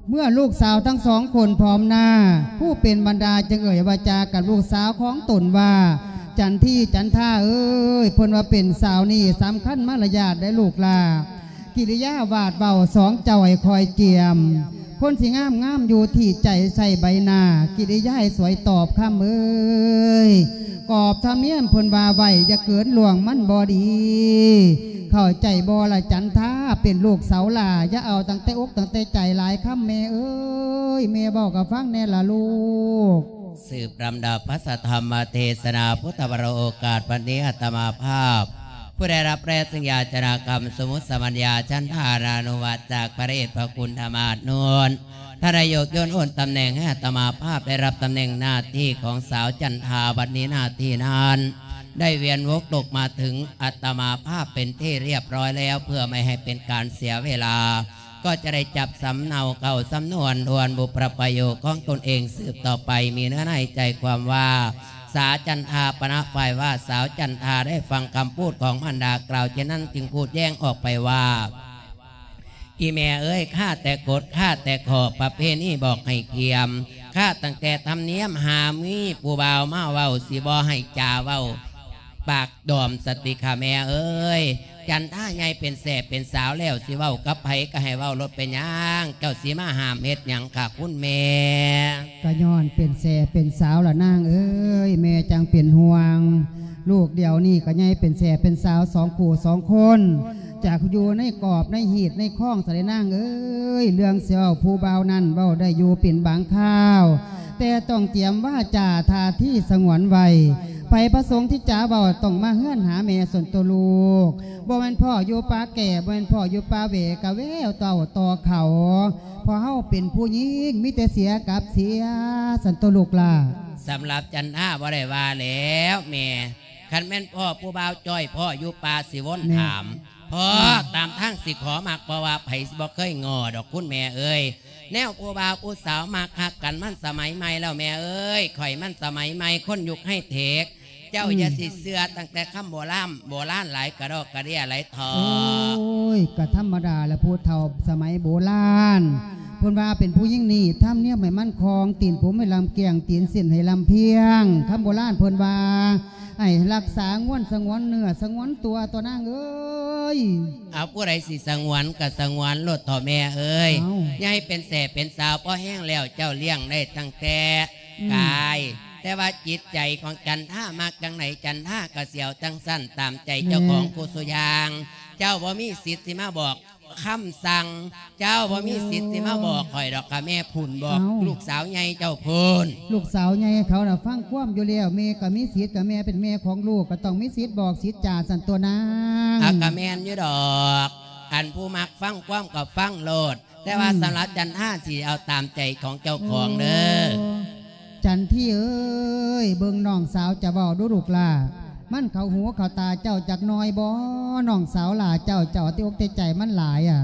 ເມື່ອລູກສາວທັງສອງຄົນພ້ອມໜ້າ ຜູ້ເປັນບັນດາຈຶ່ງເອີ່ຍວາຈາກັບລູກສາວຂອງຕົນວ່າ ຈັນທີ ຈັນທາເອີຍ ເພິ່ນວ່າເປັນສາວນີ້ສຳຄັນມາລະຍາດໄດ໋ລູກຫຼ້າ ກິລິຍາວາດເວົ້າສອງເຈົ້າໃຫ້ຄອຍກຽມ ຄົນຊິງາມງາມຢູ່ທີ່ໃຈໃສ່ໃບໜ້າ ກິລິຍາໃຫ້ສວຍຕອບຄຳເອີຍ ກອບທຳນຽມເພິ່ນວ່າໄວ້ ຢ່າເກີນລ່ວງມັນບໍ່ດີ ເຂົ້າໃຈບໍ່ລະຈັນທາ ເປັນລູກສາວຫຼ້າ ຢ່າເອົາຕັ້ງແຕ່ອົກຕັ້ງແຕ່ໃຈຫຼາຍຄຳແມ່ເອີຍ ແມ່ເວົ້າກໍຟັງແດ່ລະລູກ. ສືບລຳດັບພະສະທຳມະເທສະນາພຸດທະວະໂລກາດ ວັນນີ້ອາດຕະມາພາບ ຜູ້ໄດ້ຮັບແລະຊຶ່ງຍາຈະນາຄຳສະມຸດສະມັນຍາ ສັນທານານຸມັດ ຈາກພະເດດພະຄຸນທະມາດໂນນ ທ່ານນາຍົກ ໂຍນໂອນຕຳແໜ່ງໃຫ້ອາດຕະມາພາບໄດ້ຮັບຕຳແໜ່ງໜ້າທີ່ຂອງສາວຈັນທາ. ບັດນີ້ໜ້າທີ່ນັ້ນໄດ້ວຽນວົກຕົກມາເຖິງອາດຕະມາພາບເປັນທີ່ຮຽບຮ້ອຍແລ້ວ. ເພື່ອບໍ່ໃຫ້ເປັນການເສຍເວລາ ກໍຈະໄດ້ຈັບສຳເນົາເຂົ້າສຳນວນທວນບຸບພະປະໂຫຍດຂອງຕົນເອງສືບຕໍ່ໄປ. ມີເນື້ອໃນໃຈຄວາມວ່າ ສາວຈັນທາປະນະຝ່າຍວ່າ ສາວຈັນທາໄດ້ຟັງຄຳພູດຂອງມານດາກ່າວເຊັ່ນນັ້ນ ຈຶ່ງພູດແຍ້ງອອກໄປວ່າ ອີ່ແມ່ເອີຍ ຂ້າແຕ່ກົດ ຂ້າແຕ່ຂໍ ປະເພນີບອກໃຫ້ກຽມ ຂ້າຕັ້ງແຕ່ທຳນຽມ ຫາມີຜູ້ບ່າວມາເວົ້າ ຊິບໍ່ໃຫ້ຈາເວົ້າ ປາກດອມສະຕິຂ້າແມ່ເອີຍ. ຈັນທາໃຫຍ່ເປັນແສ້ເປັນສາວແລ້ວ ຊິເວົ້າກັບໃຜກໍໃຫ້ເວົ້າໂລດ ເປັນຫຍັງ ເຈົ້າຊິມາຫ້າມເຮັດຫຍັງຄະຄຸນແມ່? ກໍຍ້ອນເປັນແສ້ເປັນສາວລະນາງເອີຍ ແມ່ຈັ່ງເປັນຫ່ວງ. ລູກດຽວນີ້ກໍໃຫຍ່ເປັນແສ້ເປັນສາວສອງຄູ່ສອງຄົນ ຈາກຢູ່ໃນກອບໃນຮີດໃນຄອງຊະເດນາງເອີຍ. ເລື່ອງຊິເວົ້າຜູ້ບ່າວນັ້ນເວົ້າໄດ້ຢູ່ເປັນບາງຄາວ ແຕ່ຕ້ອງຕຽມວາຈາທ່າທີສະຫງວນໄວ້. ໃຜປະສົງທີ່ຈະເວົ້າຕ້ອງມາເຮືອນຫາແມ່ສ່ວນຕົວລູກ ບໍ່ແມ່ນພໍ່ຢູ່ປ່າແກ້ ບໍ່ແມ່ນພໍ່ຢູ່ປ່າເຫວ ກະແວວເຕົ້າຕໍ່ເຂົາ ເພາະເຮົາເປັນຜູ້ຍິງ ມີແຕ່ເສຍກັບເສຍ ຊັ້ນຕົວລູກຫຼ້າ. ສຳລັບຈັນທາບໍ່ໄດ້ວ່າແລ້ວແມ່ ຄັນແມ່ນພໍ່ຜູ້ບ່າວຈ້ອຍ ພໍ່ຢູ່ປ່າຊິວົນຖາມ ພໍ່ຕາມທາງຊິຂໍມັກ ເພາະວ່າໃຜຊິບໍ່ເຄີຍງໍ້ດອກຄຸນແມ່ເອີຍ. ແນວຜູ້ບ່າວຜູ້ສາວມັກຮັກກັນ ມັນສະໄໝໃໝ່ແລ້ວແມ່ເອີຍ ຂ້ອຍມັນສະໄໝໃໝ່ ຄົນຍຸກໄຮເທັກ ເຈົ້າຢ່າຊິເຊື່ອຕັ້ງແຕ່ຄຳໂບລານ ໂບລານຫຼາຍກະດອກກະເດຍຫຼາຍເຖາະ. ໂອ້ຍ ກະທຳມະດາລະ ຜູ້ເຖົ້າສະໄໝໂບລານ ເພິ່ນວ່າເປັນຜູ້ຍິງນີ້ ທຳນຽມໃຫ້ໝັ້ນຄົງ ຕີນຜົມໃຫ້ລຳກ້ຽງ ຕີນເສັ້ນໃຫ້ລຳພຽງ. ຄຳໂບລານເພິ່ນວ່າ ໃຫ້ຮັກສາງວນສະຫງວນເນື້ອສະຫງວນຕົວ ຕົວນາງເອີຍ. ເອົາ ຜູ້ໃດຊິສະຫງວນກໍສະຫງວນໂລດເຖາະແມ່ເອີຍ. ເອົ້າ ໃຫຍ່ເປັນແສ້ເປັນສາວພໍແຮງແລ້ວ ເຈົ້າລ້ຽງໄດ້ຕັ້ງແຕ່ ອືມ ກາຍ ແຕ່ວ່າຈິດໃຈຂອງຈັນທາມັກຈັ່ງໃດ ຈັນທາກໍຊິເອົາຈັ່ງຊັ້ນ ຕາມໃຈເຈົ້າຂອງ ແມ່ ຄູ່ສູ່ຢ່າງ. ເຈົ້າບໍ່ມີສິດຊິມາບອກຄຳສັ່ງ ເຈົ້າບໍ່ມີສິດຊິມາບອກຂ້ອຍດອກ ຂ້າແມ່ພຸ້ນບອກ ເອົ້າ ລູກສາວໃຫຍ່ເຈົ້າພຸ້ນ. ລູກສາວໃຫຍ່ເຂົານະຟັງຄວາມຢູ່ແລ້ວ ແມ່ກໍມີສິດ ກໍແມ່ເປັນແມ່ຂອງລູກ ກໍຕ້ອງມີສິດບອກສິດຈາຊັ້ນຕົວນາງ. ອາ ກໍແມ່ນຢູ່ດອກ ອັນຜູ້ມັກຟັງຄວາມກໍຟັງໂລດ ແຕ່ວ່າ ອືມ ສຳລັບຈັນທາຊິເອົາຕາມໃຈຂອງເຈົ້າຂອງເດີ. ໂອ້ ຈັນທີເອີຍ ເບິ່ງນ້ອງສາວຈະເວົ້າດູລູກຫຼ້າ ມັນເຂົ້າຫູເຂົ້າຕາເຈົ້າຈັກໜ່ອຍບໍ່ ນ້ອງສາວຫຼ້າເຈົ້າ ເຈົ້າເອົາແຕ່ອົກແຕ່ໃຈມັນຫຼາຍອະ.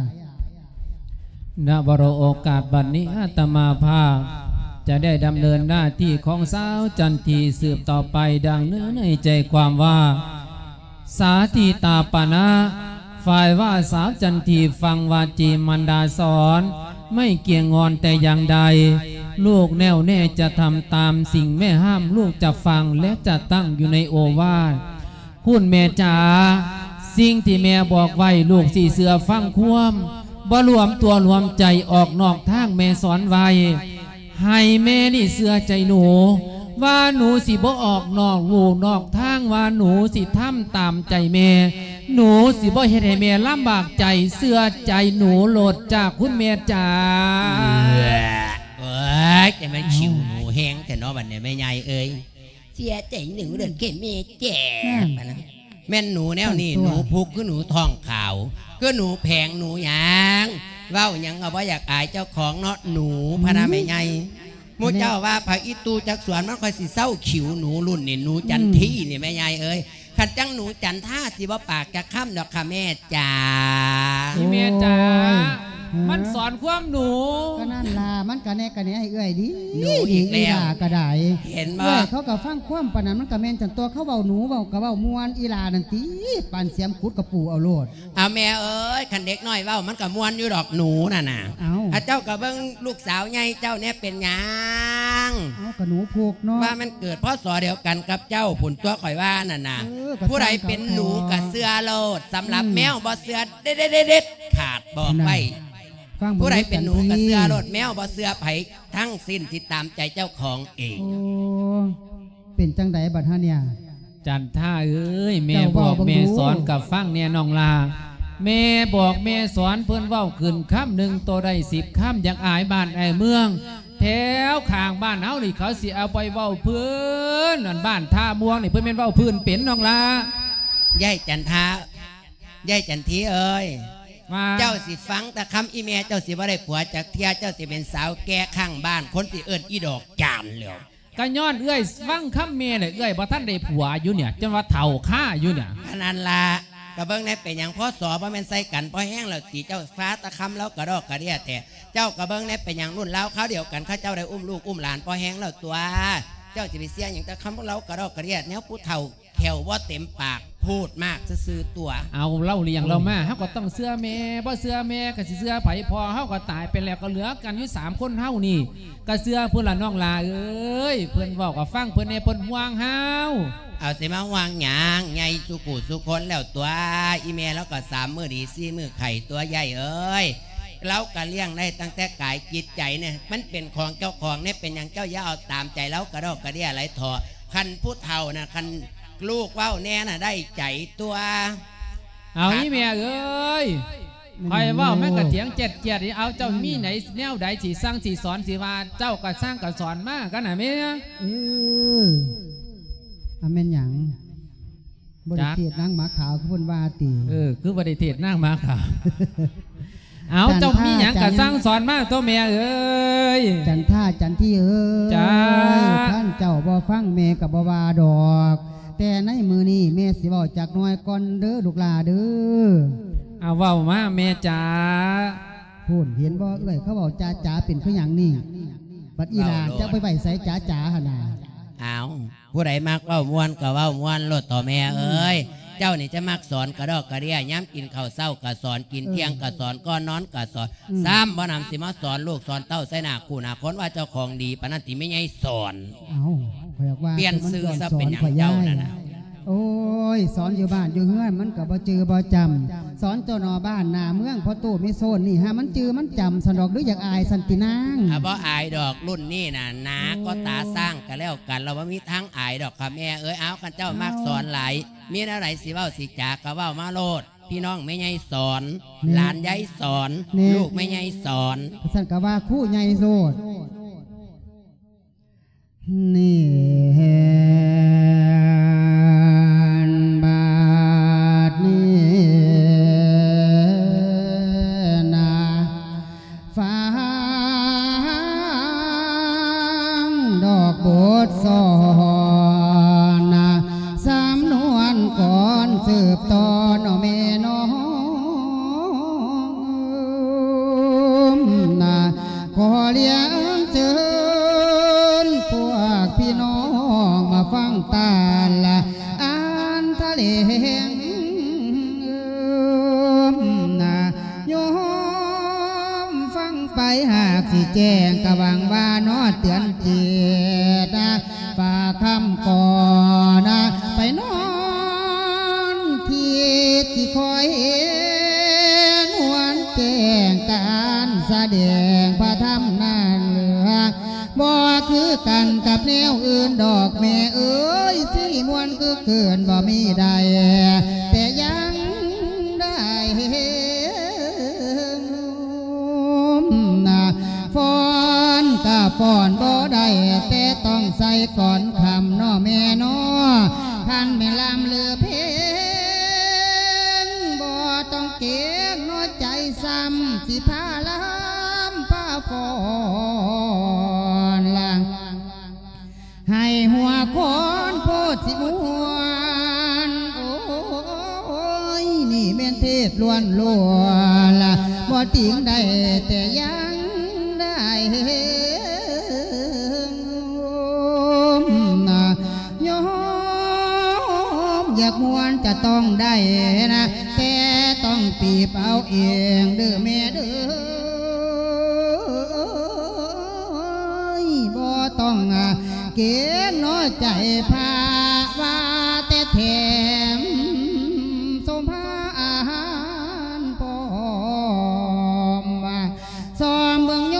ນະວະໂລ ໂອກາດບັດນີ້ ອາດຕະມາພາບຈະໄດ້ດຳເນີນໜ້າທີ່ຂອງສາວຈັນທີສືບຕໍ່ໄປ ດັ່ງເນື້ອໃນໃຈຄວາມວ່າ ສາທິຕາປະນະ ຝ່າຍວ່າສາວຈັນທີຟັງວາຈີມານດາສອນ ໄມ່ກ່ຽງງອນແຕ່ຢ່າງໃດ. ລູກແນ່ວແນ່ຈະທຳຕາມສິ່ງແມ່ຫ້າມ ລູກຈະຟັງ ແລະ ຈະຕັ້ງຢູ່ໃນໂອວາດ. ຄຸນແມ່ຈ໋າ ສິ່ງທີ່ແມ່ບອກໄວ້ ລູກຊິເຊື່ອຟັງຄວາມ ບໍ່ລວມຕົວລວມໃຈອອກນອກທາງ ແມ່ສອນໄວ້. ໃຫ້ແມ່ນີ້ເຊື່ອໃຈໜູ ວ່າໜູຊິບໍ່ອອກນອກลู่ນອກທາງ ວ່າໜູຊິທຳຕາມໃຈແມ່ ໜູຊິບໍ່ເຮັດໃຫ້ແມ່ລຳບາກໃຈ ເຊື່ອໃຈໜູໂລດຈ້າ ຄຸນແມ່ຈ໋າ. ເອີຍ ຈັ່ງແມ່ນ ເອົ້າ ຂິວໜູແຮງແທ້ເນາະ ບັດນີ້ແມ່ໃຫຍ່ເອີຍ. ເສຍໃຈໜູເດີແມ່ແຈກ ນັ້ນ ປານນັ້ນ ແມ່ນໜູແນວນີ້ ໜູພຸກຄືໜູທ້ອງຂາວ ຄືໜູແພງ ໜູຫຍັງ ເວົ້າຫຍັງກໍບໍ່ຢາກອາຍເຈົ້າຂອງເນາະ ໜູ ອືມ ພະນະແມ່ໃຫຍ່. ໝູ່ເຈົ້າວ່າຜັກອີ່ຕູ່ຈັກສວນ ມັນຄ່ອຍຊິເຊົາຂິວໜູ ລຸ້ນນີ້ໜູຈັນທີນີ້ ອືມ ແມ່ໃຫຍ່ເອີຍ. ຄັນຈັ່ງໜູຈັນທາຊິບໍ່ປາກຈັກຄຳດອກຄ່າແມ່ຈ໋າ. ອີ່ແມ່ຈ໋າ ໂອ້ຍ ຮະ ມັນສອນຄວາມໜູ. ກໍນັ້ນລະ ມັນກະແນກະແນໃຫ້ເອື້ອຍດີ ໜູອີກແລ້ວ ອີ່ຫຼ້າກະໄດ້ ເຫັນບໍ່? ເອື້ອຍເຂົາກະຟັງຄວາມປານນັ້ນ ມັນກະແມ່ນຈັ່ງຕົວະ ເຂົາເວົ້າໜູເວົ້າກະເວົ້າມ່ວນ ອີ່ຫຼ້ານັ້ນຕິ ປານສຽມຂຸດກະປູເອົາໂລດ. ເອົາແມ່ເອີຍ ຄັນເດັກນ້ອຍເວົ້າມັນກະມ່ວນຢູ່ດອກ ໜູນັ້ນນະ. ເອົ້າ ອາ ເຈົ້າກະເບິ່ງລູກສາວໃຫຍ່ເຈົ້າແດ່ ເປັນຫຍັງ? ເອົາ ກະໜູພຸກເນາະ ວ່າມັນເກີດ ພ.ສ. ດຽວກັນກັບເຈົ້າພຸ້ນຕົວະ ຂ້ອຍວ່ານັ້ນນະ. ເອີ ກະ ຜູ້ໃດເປັນໜູກະເຊື່ອໂລດ ສຳລັບ ອືມ ແມວບໍ່ເຊື່ອເດັດໆໆ ຂາດ ບອກໄວ້. ນັ້ນ ຟັງເບິ່ງ ຜູ້ໃດເປັນໜູກະເຊື່ອໂລດ ແມວບໍ່ເຊື່ອໃຜທັງສິ້ນ ຊິຕາມໃຈເຈົ້າຂອງເອງ. ໂອ້ ເປັນຈັ່ງໃດບັດຫາເນຍ? ຈັນທາເອີຍ ແມ່ບອກແມ່ສອນກະຟັງແດ່ນ້ອງຫຼ້າ ແມ່ບອກແມ່ສອນເພິ່ນເວົ້າຂຶ້ນຄຳໜຶ່ງໂຕໄດ້ສິບຄຳ ຢາກອາຍບ້ານອາຍເມືອງ ແຖວຂ້າງບ້ານເຮົານີ້ເຂົາຊິເອົາໄປເວົ້າພື້ນ ອັນບ້ານທ່າມ່ວງນີ້ ເພິ່ນແມ່ນເວົ້າພື້ນເປັນນ້ອງຫຼ້າ. ຍາຍຈັນທາ ຍາຍຈັນທີເອີຍ ວ່າ ເຈົ້າຊິຟັງແຕ່ຄຳອີ່ແມ່ ເຈົ້າຊິບໍ່ໄດ້ຜົວຈັກເທື່ອ ເຈົ້າຊິເປັນສາວແກ່ຂ້າງບ້ານ ຄົນຊິເອີ້ນອີ່ດອກຈານແລ້ວ. ກໍຍ້ອນເອື້ອຍຟັງຄຳແມ່ແຫຼະ ເອື້ອຍບໍ່ທັນໄດ້ຜົວຢູ່ເນຍ ຈົນວ່າເຖົ້າຄາຢູ່ເນຍ. ອັນນັ້ນລະ ກໍເບິ່ງແດ່ ເປັນຫຍັງ ພ.ສ. ບໍ່ແມ່ນໃສ່ກັນພໍແຮງແລ້ວຕິ ເຈົ້າຟາຕະຄຳລາວກະດອກກະເດຍແທ້. ເຈົ້າກໍເບິ່ງແດ່ ເປັນຫຍັງ ລຸ້ນລາວຄາວດຽວກັນ ເຂົາເຈົ້າໄດ້ອຸ້ມລູກອຸ້ມຫຼານພໍແຮງແລ້ວຕົວະ. ເຈົ້າຊິໄປເຊື່ອຫຍັງແຕ່ຄຳລາວກະດອກກະເດຍ ແນວຜູ້ເຖົ້າແຂ້ວບໍ່ເຕັມປາກ ໂພດມາກຊື່ໆຕົວະ. ເອົາ ລາວລ້ຽງລາວມາ ເຮົາກໍຕ້ອງເຊື່ອແມ່ ບໍ່ເຊື່ອແມ່ກໍຊິເຊື່ອໃຜ ພໍ່ເຮົາກໍຕາຍໄປແລ້ວ ກໍເຫຼືອກັນຢູ່ສາມຄົນເຮົານີ້ ກໍເຊື່ອເພິ່ນລະນ້ອງຫຼ້າເອີຍ ເພິ່ນເວົ້າກໍຟັງເພິ່ນແດ່ ເພິ່ນຫ່ວງເຮົາ. ເອົາ ຊິມາຫ່ວງຫຍັງ ໃຫຍ່ສູ່ຜູ້ສູ່ຄົນແລ້ວຕົວະ. ອີ່ແມ່ລາວກໍສາມມື້ດີສີ່ມື້ໄຂ້ຕົວະ ຍາຍເອີຍ. ລາວກໍລ້ຽງໄດ້ຕັ້ງແຕ່ກາຍຈິດໃຈນີ້ ມັນເປັນຂອງເຈົ້າຂອງນີ້ ເປັນຫຍັງເຈົ້າຢ່າເອົາຕາມໃຈລາວກະດອກກະເດຍຫຼາຍເຖາະ. ຄັນຜູ້ເຖົ້ານະ ຄັນລູກເວົ້າແດ່ນະ ໄດ້ໃຈຕົວະ. ເອົາ ອີ່ແມ່ເອີຍ ຂ້ອຍເວົ້າມັນກະຖຽງແຈດໆ ເອົາ ເຈົ້າມີໃນແນວໃດຊິສັ່ງຊິສອນ ຊິວ່າເຈົ້າກະສັ່ງກະສອນມາກັນນະແມ່. ເອີ ອາ ແມ່ນຫຍັງ? ບໍ່ໄດ້ເທດນາງໝາຂາວຄືເພິ່ນວ່າຕິ? ເອີ ຄືບໍ່ໄດ້ເທດນາງໝາຂາວ. ເອົາ ເຈົ້າມີຫຍັງກະສັ່ງສອນມາໂຕແມ່ເອີຍ. ຈັນທາ ຈັນທີເອີຍ ຈ້າ ຄັນເຈົ້າບໍ່ຟັງແມ່ກໍບໍ່ວ່າດອກ ແຕ່ໃນມື້ນີ້ແມ່ຊິເວົ້າຈັກໜ້ອຍກ່ອນເດີລູກຫຼ້າເດີ. ເອົາ ເວົ້າມາແມ່ຈ໋າ. ພຸ້ນ ເຫັນບໍ່ເອື້ອຍ ເຂົາເວົ້າຈ໋າໆ ເປັນຄືຫຍັງນີ້? ບັດອີ່ຫຼ້າ ເວົ້າໂລດ ຈະໄປໄວ້ໃສຈ໋າໆຫັ້ນນະ? ເອົາ ຜູ້ໃດມັກເວົ້າມ່ວນກໍເວົ້າມ່ວນໂລດເຖາະແມ່ເອີຍ. ເຈົ້ານີ້ຈະມັກສອນກະດອກກະເດຍ ຍາມກິນເຂົ້າເຊົ້າກໍສອນ ກິນທ່ຽງກໍສອນ ກ່ອນນອນກໍສອນ ຊ້ຳບໍ່ນຳຊິມາສອນລູກສອນເຕົ້າໃສ່ໜ້າຄູ່ໜ້າຄົນວ່າເຈົ້າຂອງດີປານນັ້ນຕິແມ່ໃຫຍ່ສອນ. ເອົ້າ ຂ້ອຍວ່າ ປ່ຽນຊື່ຊະ ເປັນຫຍັງເຈົ້ານັ້ນນະ? ໂອ້ຍ ສອນຢູ່ບ້ານຢູ່ເຮືອນມັນກໍບໍ່ຈື່ບໍ່ຈຳ ສອນເຈົ້າໜໍ້ບ້ານໜ້າເມືອງ ພໍ່ຕູ້ແມ່ໂຊນນີ້ຫາມັນຈື່ມັນຈຳຊັ້ນດອກ ຫຼືຢາກອາຍຊັ້ນຕິນາງ? ອາ ບໍ່ອາຍດອກ ລຸ້ນນີ້ນະ ໜາກໍຕາຊ້າງກໍແລ້ວກັນ ລາວບໍ່ມີທາງອາຍດອກຄ່ະແມ່ເອີຍ. ເອົາ ຄັນເຈົ້າມັກສອນຫຼາຍ ມີແນວໃດຊິເວົ້າຊິຈາກໍເວົ້າມາໂລດ ພີ່ນ້ອງແມ່ໃຫຍ່ສອນ ຫຼານຍາຍສອນ ລູກແມ່ໃຫຍ່ສອນ ຊັ້ນກໍວ່າຄູໃຫຍ່ໂລດ. ນີ້ແມ່ນບາດນີ້ນະ ຟັງດອກບົດສອນນະ ສຳນວນກ່ອນສືບຕໍ່ເນາະແມ່ນ້ອງນະ. ຂໍລຽນເຊີນພວກພີ່ນ້ອງມາຟັງຕານລະອານທະແຫຼງນະ ໂຍມຟັງໄປຫາກຊິແຈ້ງ ກະຫວັງວ່າເນາະເຕືອນຈິດນະ ຝາກຄຳກ່ອນນະ ໄປນອນຄິດຊິຄອຍເຫັນ ຫວນແຈ້ງການສະແດງພະທຳນັ້ນເຫຼືອ ບໍ່ຄືກັນກັບແນວອື່ນດອກແມ່ເອີຍ ຊິມ່ວນຄືຄືນບໍ່ມີໃດ ແຕ່ຍັງໄດ້ເຫັນ ຟ້ອນກະຟ້ອນບໍ່ໄດ້ ແຕ່ຕ້ອງໃສ່ກ່ອນຄ່ຳເນາະແມ່ເນາະ ຄັນແມ່ນລຳຫຼືເພງ ບໍ່ຕ້ອງເກງນ້ອຍໃຈ ຊ້ຳຊິພາລຳພາຟ້ອນລະ ໃຫ້ຫົວຄອນໂພດຊິມ່ວນ ໂອ້ຍ ນີ້ແມ່ນເທດລ້ວນໆ ບໍ່ຕິງໄດ້ ແຕ່ຍັງໄດ້ ໂຍມຢາກມ່ວນຈະຕ້ອງໄດ້ນະ ແຕ່ຕ້ອງປີບເອົາເອງເດີ້ແມ່ເດີ້ ບໍ່ຕ້ອງເກງນ້ອຍໃຈພະວ່າແຕ່ແຖມ ສົມພາອາຫານພ້ອມ ຊອມເບິ່ງໂຍ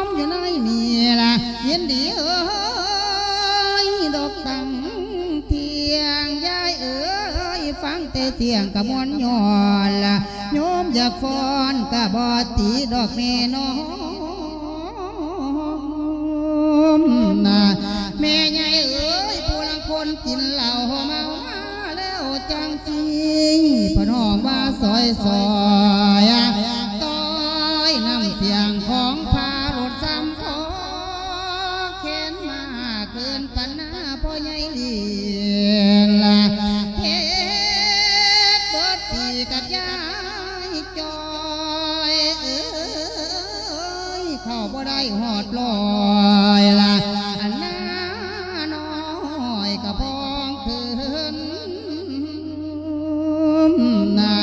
ມຢູ່ໃນນີ້ລະ ຍິນດີເອີຍ ດອກຕັ້ງທ່ຽງ ຍາຍເອີຍ ຟັງແຕ່ສຽງກະມ່ວນຍ້ອນລະ ໂຍມຢາກຟ້ອນກະບໍ່ຕິດອກແມ່ນ້ອງນະ ແມ່ໃຫຍ່ເອີຍ ຜູ້ລາງຄົນກິນເຫຼົ້າເມົາມາແລ້ວຈັ່ງຊີ້ ພະນ້ອງວ່າຊອຍສອ ໄດ້ຮອດຮ້ອຍລະ ອັນນ້ານ້ອຍກະພອງຄືນນະ.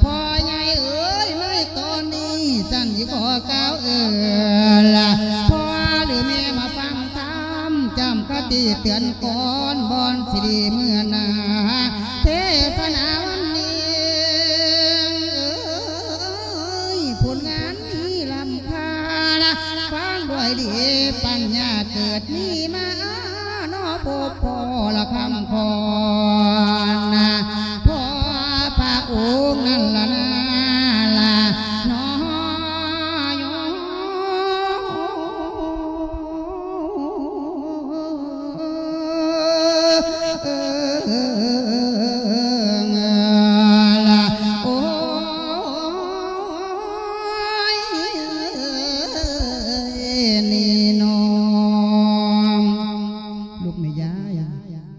ພໍ່ໃຫຍ່ເອີຍ ໃນຕອນນີ້ ສັນຊິຂໍກ່າວເອີນລະ ພໍ່ຫຼືແມ່ມາຟັງທຳ ຈຳຄະຕິເຕືອນກ່ອນ ບ່ອນຊິດີເມືອໜ້າ ເທສະໜາວັນນີ້ ເອີຍ ຜົນງານ ມີລ້ຳຄ່ານະ ຟັງດ້ວຍດີປັນຍາເກີດມີມາເນາະ ພົບພໍ້ລະຄຳຂອນນະ ພໍພະອົງນັ້ນລະນາລະເນາະ. ລຸກແມ່ຍາຍ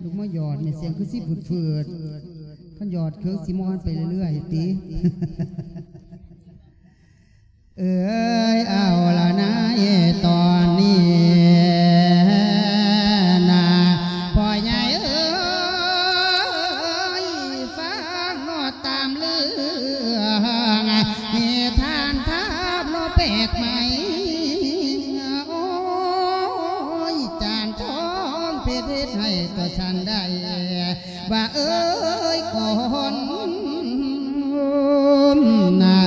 ລຸກມາຢອດແມ່ ສຽງຄືຊິຝືດໆ ຄັນຢອດຄືຊິມ່ວນໄປເລື້ອຍໆຕິ. ເອີຍ ເອົາລະນາຍຕອນນີ້ນະ ພໍ່ໃຫຍ່ເອີຍ ຟັງເນາະຕາມເລື່ອງ ນິທານທາບເນາະແປກໃໝ່ ໂອ້ຍ ຈານທອງເພັດເຮັດໃຫ້ຕົວສັນໄດ້ ວ່າເອີຍກ່ອນນະ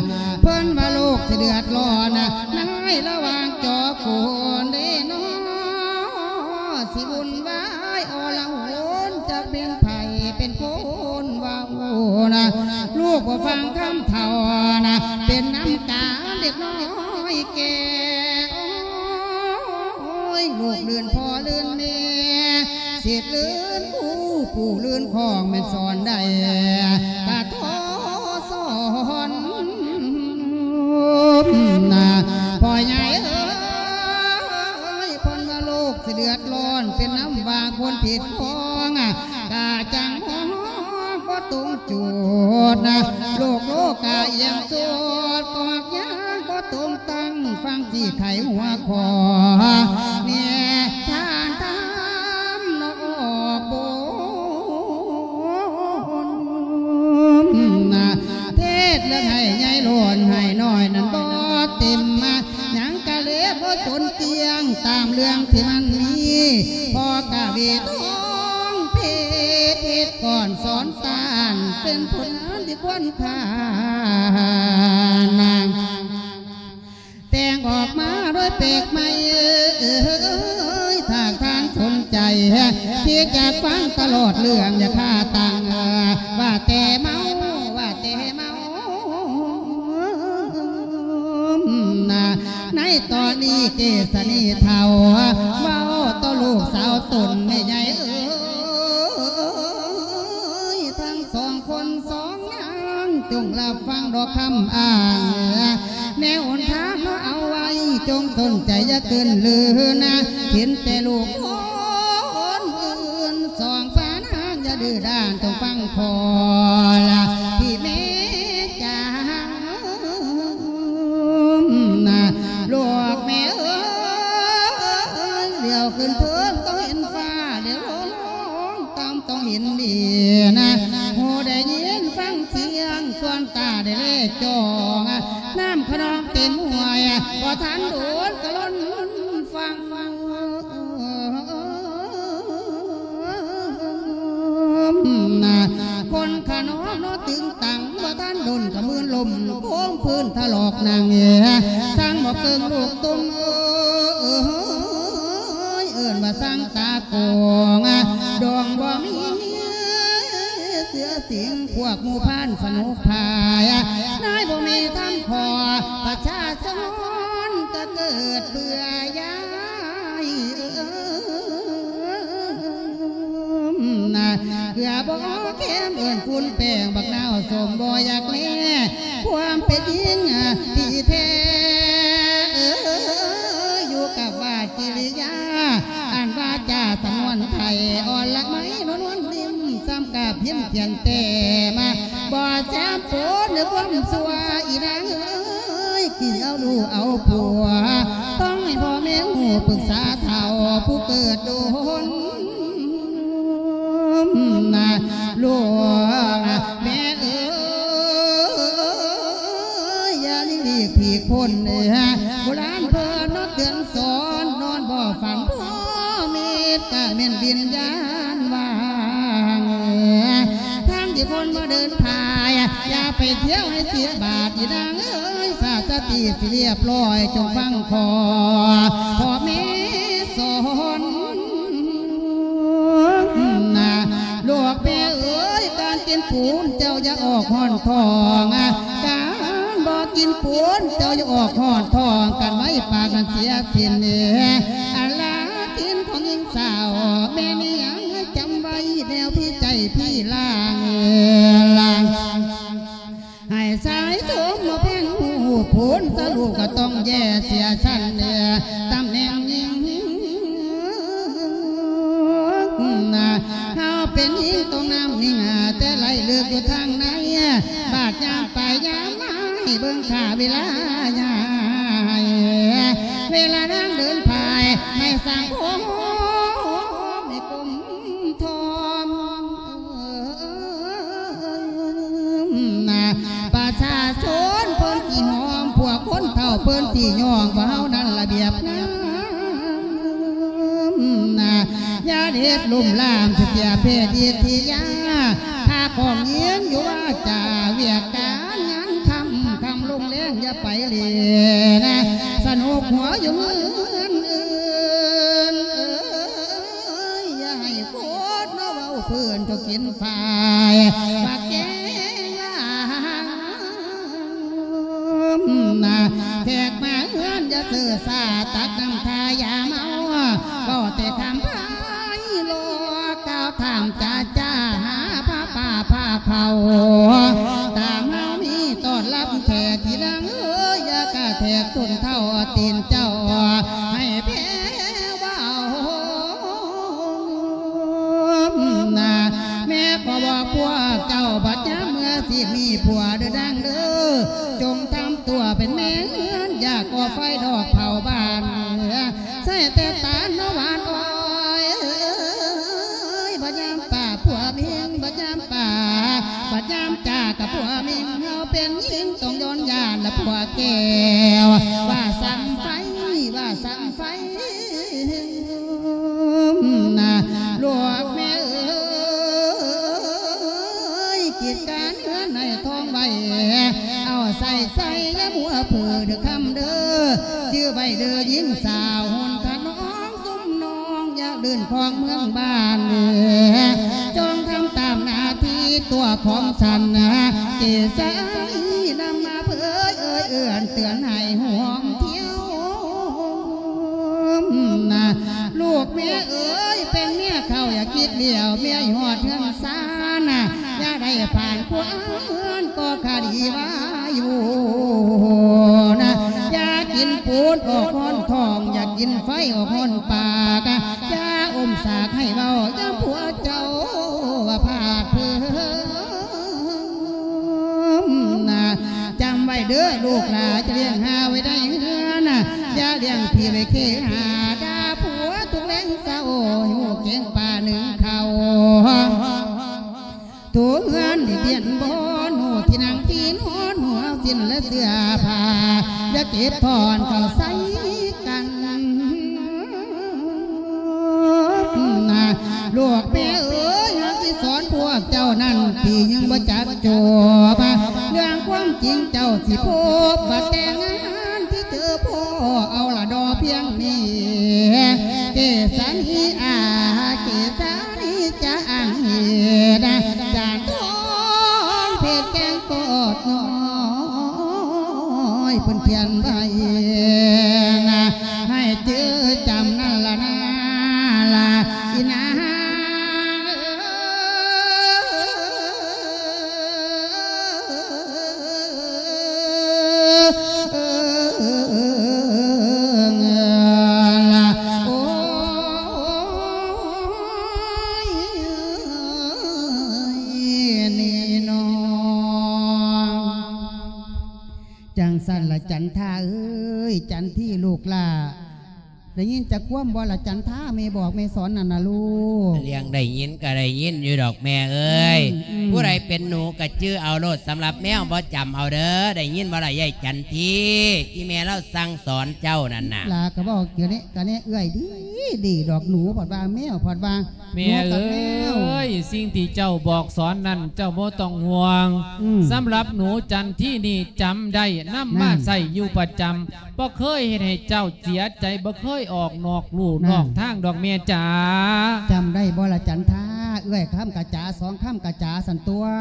ເພິ່ນວ່າໂລກຊິເດືອດຮ້ອນນະ ໃນລະຫວ່າງຈໍໂກນເດເນາະ ຊິວຸ່ນວາຍອໍລະຫົນ ຈັກເປັນໃຜເປັນຄົນເວົ້ານະ ລູກບໍ່ຟັງຄຳເຖົ້ານະ ເປັນນຳການເດັກນ້ອຍແກ່ ໂອ້ຍ ລູກລື່ນພໍ່ລື່ນແມ່ ສິດລື່ນຄູ ປູ່ລື່ນຂອງແມ່ນສອນໄດ້ກະທໍສອນນະ ພໍ່ໃຫຍ່ເອີຍ ເພິ່ນວ່າໂລກຊິເດືອດຮ້ອນ ເປັນນຳວ່າຄົນຜິດຂອງ ກະຈັ່ງມອງບໍ່ຕົງຈຸດນະ ໂລກໂລກາອຽງສຸດ ກອກຍາງບໍ່ຕົງຕັ້ງ ຟັງຊິໄຂຫົວຂໍ້ ແນທານທຳນອກບົນນະ ເທດເລື່ອງໃຫ້ໃຫຍ່ໂລນໃຫ້ນ້ອຍນັ້ນບໍ່ເຕັມມາ ຫຍັງກະເລບໍ່ຈົນກ້ຽງ ຕາມເລື່ອງທີ່ມັນມີ ພໍ່ກະເວທອງເພດ ເພດກ່ອນສອນຕ້ານ ເປັນຜົນງານທີ່ຄວນຄ່ານາງ ແຕ່ງອອກມາໂດຍແປກໃໝ່ ເອີຍ ຖ້າທ່ານສົນໃຈ ທີ່ຈະຟັງຕະຫຼອດເລື່ອງ ຢ່າຄາຕັ້ງ ວ່າແຕ່ເມົາ ວ່າແຕ່ເມົາ ໃນຕອນນີ້ເກສະນີເຖົ້າ ເວົ້າຕໍ່ລູກສາວຕົນແມ່ໃຫຍ່ເອີຍ ທັງສອງຄົນສອງນາງ ຈົ່ງຮັບຟັງດອກຄຳອ້າງ ແນວຫົນທາງເຮົາເອົາໄວ້ ຈົ່ງສົນໃຈຢ່າເກີນລືນະ ເຫັນແຕ່ລູກຄົນອື່ນ ສອງພະນາງຢ່າດື້ດ້ານ ຈົ່ງຟັງພໍ່ລະ ທີ່ແມ່ຈາ ລູກແມ່ເອີຍ ຫຼຽວຂຶ້ນເທິງຕ້ອງເຫັນຟ້າ ຫຼຽວລົງຕ່ຳຕ້ອງເຫັນດິນ ຫູໄດ້ຍິນຟັງສຽງ ສ່ວນຕາໄດ້ແລຈອງ ນ້ຳຂະນອງເຕັມຫ້ວຍ ບໍ່ທັນໂດນກະລົ້ນຟັງ ຄົນຂະໜອມເນາະຕຶງຕັງ ບໍ່ທັນດົນກະມືນລົ້ມ ໂຄ້ງພື້ນຖະຫຼອກໜັງ ສັງບໍ່ເກິ່ງລູກຕົມເອີຍ ເອີ້ນວ່າສັງຕາໂກງ ດອງບໍ່ມີເສືອສິງ ພວກໝູ່ພານສະໜຸກພາຍ ນາຍບໍ່ມີທຳພໍ ປະຊາຊົນກະເກີດເບື່ອຢາຍ ເກືອບໍ່ແຄມເອີ້ນຝຸ່ນແປ້ງ ບັກນາວສົ້ມບໍ່ຢາກແລ ຄວາມເປັນຈິງທີ່ແທ້ ຢູ່ກັບວາດກິລິຍາ ອັນວາຈາສະຫງວນໄພ ອ່ອນລະໄມນວນໆ ນິ້ມ ສ່ຳກັບພິມຂຽນແຕ້ມ ບໍ່ແຊມປົນໃນຄວາມຊົ່ວ ອີນາງເອີຍ ກິນເອົາລູກເອົາຜົວ ຕ້ອງ ພໍ່ແມ່ຮູ້ປຶກສາເຖົ້າຜູ້ເກີດດົນ ນະ ລູກແມ່ເອີຍ ຢ່າຫຼີກຜີກພົ້ນ ໂບລານເພິ່ນເນາະເຕືອນສອນ ນອນບໍ່ຝັນພໍ່ເມດ ກະແມ່ນວິນຍານວ່າ ທາງທີ່ຄົນບໍ່ເດີນພາຍ ຢ່າໄປທ່ຽວໃຫ້ເສຍບາດ ອີນາງເອີຍ ສາດສະຕິຊິລຽບລ້ອຍ ຈົ່ງຟັງຂໍພໍ່ແມ່ສອນນະ ລູກແມ່ເອີຍ ການກິນປູນເຈົ້າຢ່າອອກຮ້ອນທ້ອງ ການບໍ່ກິນປູນເຈົ້າຢ່າອອກຮ້ອນທ້ອງ ກັນໄວ້ປາກນັ້ນເສຍສິ້ນ ອາລາກິນຂອງຍິງສາວ ແມ່ນຫຍັງຈຳໄວ້ແນວທີ່ໃຈພີ່ລາງ ໃຫ້ສາຍສົມມາແພງຮູບໂຜນ ສະລູກກໍຕ້ອງແຢ່ເສຍຊັ້ນ ຕຳແໜ່ງຍິງ ເຮົາເປັນຍິງຕ້ອງນຳຍິງ ແຕ່ໄລ່ເລິກຢູ່ທາງໃນ ບາດຍາມໄປຍາມມາ ໃຫ້ເບິ່ງຄ່າເວລາຍາຍ ເວລານາງເດີນພາຍ ໃຫ້ສັງຄົມໃຫ້ກົມ ທອມ ນະ ປະຊາຊົນເພິ່ນຊິຫອມ ພວກຄົນເຖົ້າເພິ່ນຊິຍ້ອງ ວ່າເຮົານັ້ນລະບຽບງາມ ນະ ຢ່າເຮັດລຸ່ມລາມ ຊິເສຍເພດວິທະຍາ ຖ້າຂອງຍິງຢູ່ວາຈາ ວຽກການງານຄ່ຳ ຄ່ຳລົງແລງຢ່າໄປຫຼິ້ນ ສະໜຸກຫົວຢູ່ເຮືອນອື່ນ ເອີຍ ຢ່າໃຫ້ໂຄດມາເວົ້າເພິ່ນ ເຈົ້າກິນຝ້າຍ ວ່າແກງລາງນະ ແຂກມາເຮືອນຢ່າເຊີຊາ ຕັກນ້ຳທາຢາເມົາ ເວົ້າແຕ່ຄຳພາຍໂລ ກ່າວຖາມຈາຈາ ຫາພາປ່າພາເຂົາ ຕາມເຮົາມີຕ້ອນຮັບແຂກ ທີ່ນາງເອີຍ ຢ່າກະແທກສົ້ນເທົ້າຕີນເຈົ້າ ໃຫ້ແພ ເວົ້ານະ ແມ່ກໍບອກພວກເຈົ້າ ບັດຍາມເມື່ອຊິມີຜົວເດີນາງເດີ ຈົ່ງທຳຕົວເປັນແມ່ເຮືອນ ຢ່າກໍ່ໄຟດອກເຜົາບ້ານ ໃສ່ແຕ່ຕານເນາະຫວານອ້ອຍ ບັດຍາມປາຜົວມິງ ບັດຍາມປາ ບັດຍາມຈາກັບຜົວມິງ ເຮົາເປັນຍິງຕ້ອງຢ້ອນຢ້ານລະຜົວແກ້ວ ວ່າສ່ຳໄຟ ວ່າສ່ຳໄຟ ນະ ລູກແມ່ເອີຍ ກິດການເຮືອນໃຫ້ທ່ອງໄວ້ ເອົາໃສ່ໃສ່ຢ່າມົວເຜີເດີຄຳເດີ ຈື່ໄວ້ເດີຍິງສາວ ຮຸ່ນຂະນອງຊຸມນ້ອງ ຢາກລື່ນຄອງເມືອງບ້ານ ຈົ່ງທຳຕາມໜ້າທີ່ຕົວຂອງສັນ ເກສານຳມາເຜີຍເອີຍເອື້ອນເຕືອນໃຫ້ຮ່ວມທ່ຽວ ນະ ລູກແມ່ເອີຍ ເປັນເມຍເຖົ້າຢ່າຄິດຫຼຽວ ເມຍຮອດເຮືອນຊານ ນະ ຢ່າໄດ້ຜ່ານຄວາມເຮືອນກໍຄະດີວາຢູ່ ນະ ຢ່າກິນປູນອອກຮ້ອນທ້ອງ ຢ່າກິນໄຟອອກຮ້ອນປາກ ຢ່າອົມສາກໃຫ້ເວົ້າ ຢ່າຜົວເຈົ້າວ່າພາດເພີງ ນະ ຈຳໄວ້ເດີລູກຫຼານ ຈະລ້ຽງຫາໄວ້ໃນເຮືອນ ຢ່າລ້ຽງຜີໄວ້ເຄຫາ ດ່າຜົວທຸກແລງເຊົ້າ ໃຫ້ຮູ້ເກງປາໜຶ້ງເຂົ້າ ໂຖເຮືອນນີ້ປ່ຽນບ່ອນ ຮູ້ທີ່ນັ່ງທີ່ນອນ ຫົວສິ້ນ ແລະ ເສື້ອຜ້າ ຢ່າເກັບຖອນເຂົ້າໃສ່ກັນ ນະ ລູກແມ່ເອີຍ ຫາກຊິສອນພວກເຈົ້ານັ້ນ ທີ່ຍັງບໍ່ຈັກຈົບ ເລື່ອງຄວາມຈິງເຈົ້າຊິພົບ ບັດແຕ່ງງານທີ່ເຈີພໍ່ ເອົາລະດໍພຽງນີ້ ເກສານີອາ ເກສານີຈະອ້າງເຫດ ຈານທອງເພັດແກງກອດນ້ອຍ ເພິ່ນຂຽນໄວ້ນະ ໃຫ້ຈື່ຈຳນັ້ນລະນາ ລະອີນາງເອີຍ ລະ ໂອ້ຍ ນີ້ນ້ອງ ຈັ່ງຊັ້ນລະຈັນທາເອີຍ ຈັນທີລູກຫຼ້າ ໄດ້ຍິນຈັກຄວາມບໍ່ລະຈັນທາ ແມ່ບອກແມ່ສອນນັ້ນນະລູກ? ເລື່ອງໄດ້ຍິນກໍໄດ້ຍິນຢູ່ດອກແມ່ເອີຍ. ອືມ ອືມ ຜູ້ໃດເປັນໜູກໍຈື່ເອົາໂລດ, ສຳລັບແມວບໍ່ຈຳເອົາເດີ. ໄດ້ຍິນບໍ່ລະຍາຍຈັນທີ? ອີແມ່ລາວສັ່ງສອນເຈົ້ານັ້ນນະ. ຫຼ້າກໍເວົ້າກະແນະກະແນະເອື້ອຍດີ ດີດອກ. ໜູພັດວ່າແມວພັດວ່າ ແມ່ເອີຍ ໜູກັບແມວ ສິ່ງທີ່ເຈົ້າບອກສອນນັ້ນເຈົ້າບໍ່ຕ້ອງຫ່ວງ. ອືມ ສຳລັບໜູຈັນທີນີ້ຈຳໄດ້ ນຳມາ ນັ້ນ ໃຊ້ຢູ່ປະຈຳ. ບໍ່ເຄີຍເຮັດໃຫ້ເຈົ້າເສຍໃຈ ບໍ່ເຄີຍອອກນອກลู่ ນັ້ນ ນອກທາງດອກແມ່ຈ໋າ. ຈຳໄດ້ບໍ່ລະຈັນທາ? ເອື້ອຍຄຳກະຈາ ສອງຄຳກະຈາຊັ້ນຕົວະ.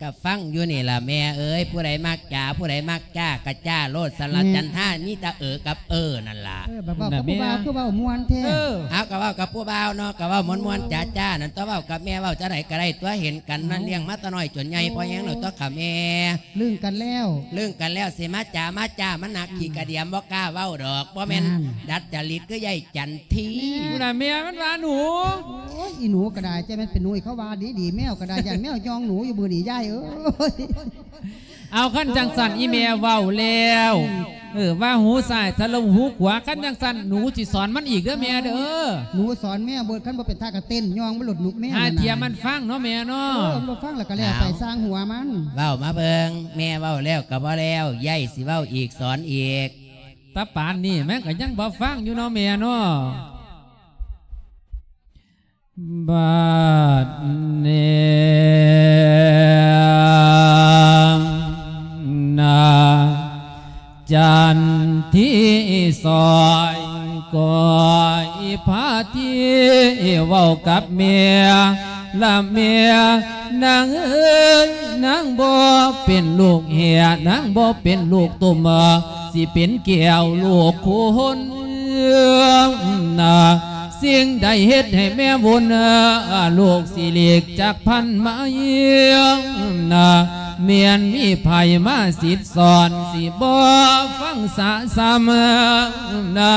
ກະຟັງຢູ່ນີ້ລະແມ່ເອີຍ, ຜູ້ໃດມັກຈ໋າ ຜູ້ໃດມັກຈ້າກະຈ້າໂລດ. ສະລະ ແມ່ນ ຈັນທາມີແຕ່ເອີກັບເອີນັ້ນລະ. ເອີ ບັດເວົ້າກັບຜູ້ບ່າວຄືເວົ້າມ່ວນແທ້. ເອີ ເອົາ ກະເວົ້າກັບຜູ້ບ່າວເນາະ ກະເວົ້າມ່ວນໆ ຈ້າໆ ນັ້ນຕົວະ. ເວົ້າກັບແມ່ເວົ້າຈັ່ງໃດກະໄດ້ຕົວະ, ເຫັນກັນນັ້ນ ເອົ້າ ລ້ຽງມາແຕ່ນ້ອຍຈົນໃຫຍ່ ພໍແຮງແລ້ວຕົວະ ກະແມ່ ລຶ້ງກັນແລ້ວ ລຶ້ງກັນແລ້ວ ຊິມາຈ້າມາຈ້າ ມັນໜັກຂີ້ກະດຽມ ບໍ່ກ້າເວົ້າດອກ. ບໍ່ແມ່ນ ນັ້ນ ດັດຈະລິດຄືຍາຍຈັນທີ. ພຸ້ນນະ ແມ່ມັນວ່າໜູ. ໂອ້ຍ ອີໜູກໍໄດ້ ຈັ່ງແມ່ນເປັນໜູ ເຂົາວ່າດີໆ. ແມວກໍໄດ້ ຢ້ານແມວຍ່ອງໜູຢູ່ມື້ນີ້ ຍາຍເອີຍ. ເອົາ ຄັນຈັ່ງຊັ້ນ ອີແມ່ເວົ້າແລ້ວ ອືມ ເອີ ວ່າຫູຊ້າຍທະລຸຫູຂວາ, ຄັນຈັ່ງຊັ້ນ ໜູຊິສອນມັນອີກເດີແມ່ເດີ. ໜູສອນແມວເບິດ, ຄັນບໍ່ເປັນທ່າກໍເຕັ້ນຍ່ອງມັນໂລດໜູແມວ. ຫາເທື່ອມັນຟັງເນາະແມ່ເນາະ. ເອີ ມັນບໍ່ຟັງແລ້ວກໍແລ້ວໄປ ເອົ້າ ຊ່າງຫົວມັນ. ເວົ້າມາເບິ່ງ ແມ່ເວົ້າແລ້ວກໍບໍ່ແລ້ວ, ຍາຍຊິເວົ້າອີກສອນອີກ. ຕາປານນີ້ແມ່ກໍຍັງບໍ່ຟັງຢູ່ເນາະແມ່ເນາະ. ບັດນີ້ນາງຈັນທີສອຍກໍອີພາທີເວົ້າກັບແມ່ ລະແມ່ນາງເອີຍ ນາງບໍ່ເປັນລູກແຫ ນາງບໍ່ເປັນລູກຕຸ່ມ ຊິເປັນແກ້ວລູກຄຸນນະ. ສິ່ງໃດເຮັດໃຫ້ແມ່ວຸ່ນ ລູກຊິຫຼີກຈັກພັນໄມນະ. ແມ່ນມີໃຜມາສິດສອນ ຊິບໍ່ຟັງສະສ່ຳນະ.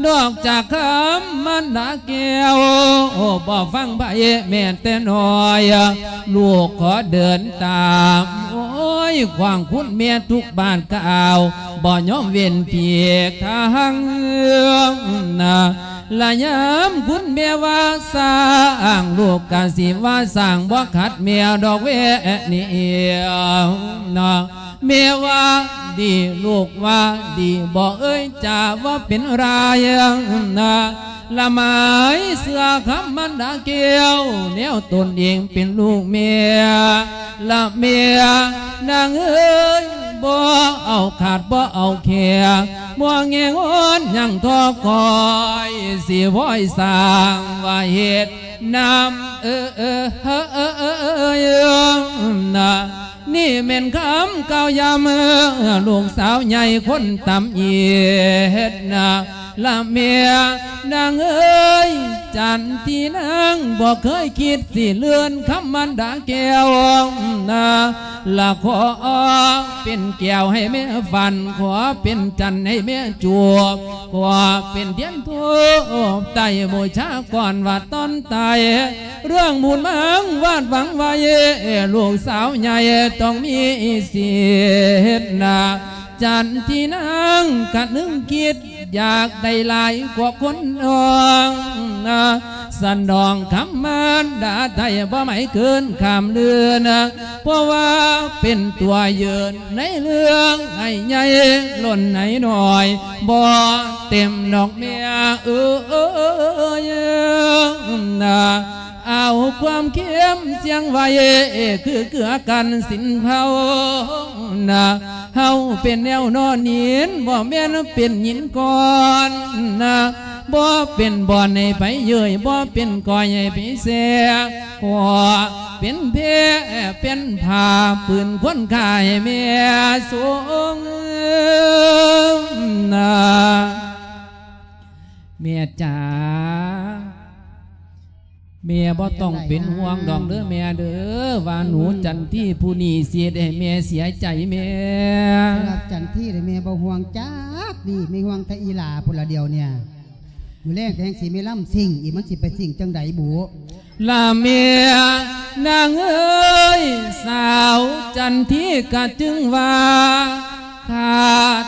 ນອກຈາກຄຳມັນດາແກ້ວ ບໍ່ຟັງໃຜແມ່ນແຕ່ນ້ອຍ. ລູກຂໍເດີນຕາມ ໂອ້ຍ ຂວາງຄຸນແມ່ທຸກບາດກ້າວ ບໍ່ຍອມເວັ້ນປີກທາງນະ. ລະຍາມຄຸນແມ່ວ່າສ້າງ ລູກກະຊິວ່າສ້າງ ບໍ່ຂັດແມ່ດອກແວະນີ້ນະ. ແມ່ວ່າດີ ລູກວ່າດີ ບໍ່ເອີຍຈາວ່າເປັນລາຍນະ. ລະໝາຍເຊື່ອຄຳມັນດາແກ້ວ ແນວຕົນເອງເປັນລູກແມ່. ລະແມ່ນາງເອີຍ ບໍ່ເອົາຂາດບໍ່ເອົາແຄ ບໍ່ແງງອນຍັງທໍຄອຍ ຊິວອຍສ້າງວ່າເຮັດນຳ ເອີ ເອີ ເອີ ເອີ ເອີ ນະ. ນີ້ແມ່ນຄຳກ່າວຢາມ ເອີ ລູກສາວໃຫຍ່ຄົນຕຳອິດນະ. ລະແມ່ນາງເອີຍ ຈັນທີນາງບໍ່ເຄີຍຄິດຊິເລື່ອນຄຳມັນດາແກ້ວນະ. ລະຂໍເປັນແກ້ວໃຫ້ແມ່ຝັນ ຂໍເປັນຈັນໃຫ້ແມ່ຈູບ ຂໍເປັນທຽນທູບໄຕ້ບູຊາກ່ອນວ່າຕອນຕາຍ ເລື່ອງບຸນມາງວາດຫວັງໄວ້ ລູກສາວໃຫຍ່ຕ້ອງມີສິດນະ. ຈັນທີນາງກະນຶງຄິດ ຢາກໄດ້ຫຼາຍກວ່າຄົນນ້ອງນະ. ສະໜອງຄຳມານດາໄດ້ບໍ່ໄໝເກີນຂ້າມເດືອນນະ. ເພາະວ່າເປັນຕົວຢືນໃນເລື່ອງໃຫ້ໃຫຍ່ລົ້ນໃຫ້ນ້ອຍ ບໍ່ເຕັມດອກແມ່ເອີຍນະ. ເອົາຄວາມເຄັມສຽງໄວ້ ຄືເກືອກັນສິນເພົານະ. ເຮົາເປັນແນວນອນຫີນ ບໍ່ແມ່ນເປັນຫີນກ້ອນນະ. ບໍ່ເປັນບ່ອນໃຫ້ໃຜເຍີ້ຍ ບໍ່ເປັນກ້ອຍໃຫ້ໃຜແຊ ຂໍເປັນແພເປັນຜ້າ ປືນຄວນຂ້າໃຫ້ແມ່ຊົງນະ. ແມ່ຈ໋າ ແມ່ບໍ່ຕ້ອງເປັນຫ່ວງດອກເດີແມ່ເດີ ວ່າໜູຈັນທີຜູ້ນີ້ຊິເຮັດໃຫ້ແມ່ເສຍໃຈແມ່. ສຳລັບຈັນທີນີ້ແມ່ບໍ່ຫ່ວງຈັກນິດ ແມ່ຫ່ວງແຕ່ອີຫຼ້າພຸ້ນລະດຽວນີ້. ມື້ແລງກໍແຮ່ງຊິມີລຳຊິງອີກ ມັນຊິໄປຊິງຈັ່ງໃດບຸ? ລະແມ່ນາງເອີຍ ສາວຈັນທີກະຈຶ່ງວ່າ ຂ້າ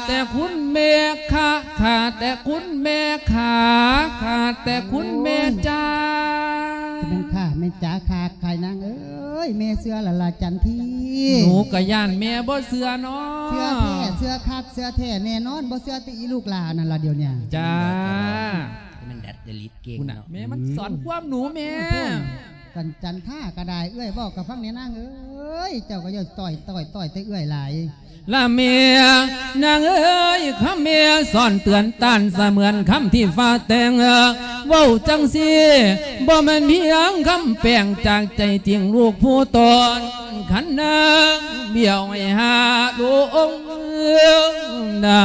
ແຕ່ຄຸນແມ່ ຂ້າ ຂ້າແຕ່ຄຸນແມ່ ຂ້າ ຂ້າແຕ່ຄຸນແມ່ ໂອ້ຍ ຈ້າ ຈະແມ່ນຂ້າແມ່ນຈ້າ ຂ້າ ຂ້ານາງເອີຍ ແມ່ເຊື່ອລະລະຈັນທີ ໜູກະຢ້ານແມ່ບໍ່ເຊື່ອເນາະ ເຊື່ອແທ້ ເຊື່ອຄັກ ເຊື່ອແທ້ແນ່ນອນ ບໍ່ເຊື່ອແຕ່ອີລູກຫຼ້ານັ້ນລະດຽວນີ້ ຈ້າ ມັນດັດຈະລິດເກັ່ງເນາະ ແມ່ມັນສອນຄວາມໜູແມ່ ໂອ້ຍ ຈັນ ຈັນທາກະໄດ້ ເອື້ອຍເວົ້າກະຟັງແນ່ນາງເອີຍ ເຈົ້າກະຢ່າຕ່ອຍ ຕ່ອຍ ຕ່ອຍແຕ່ເອື້ອຍຫຼາຍ ລະແມ່ນາງເອີຍ ຄຳແມ່ສອນເຕືອນຕ້ານ ສະເໝືອນຄຳທີ່ຟ້າແຕ່ງ ເວົ້າຈັ່ງຊີ້ ບໍ່ແມ່ນພຽງຄຳແປງ ຈາກໃຈຈິງລູກຜູ້ຕົນ ຄັນນາງບ້ຽວໃຫ້ຫາລົງນາ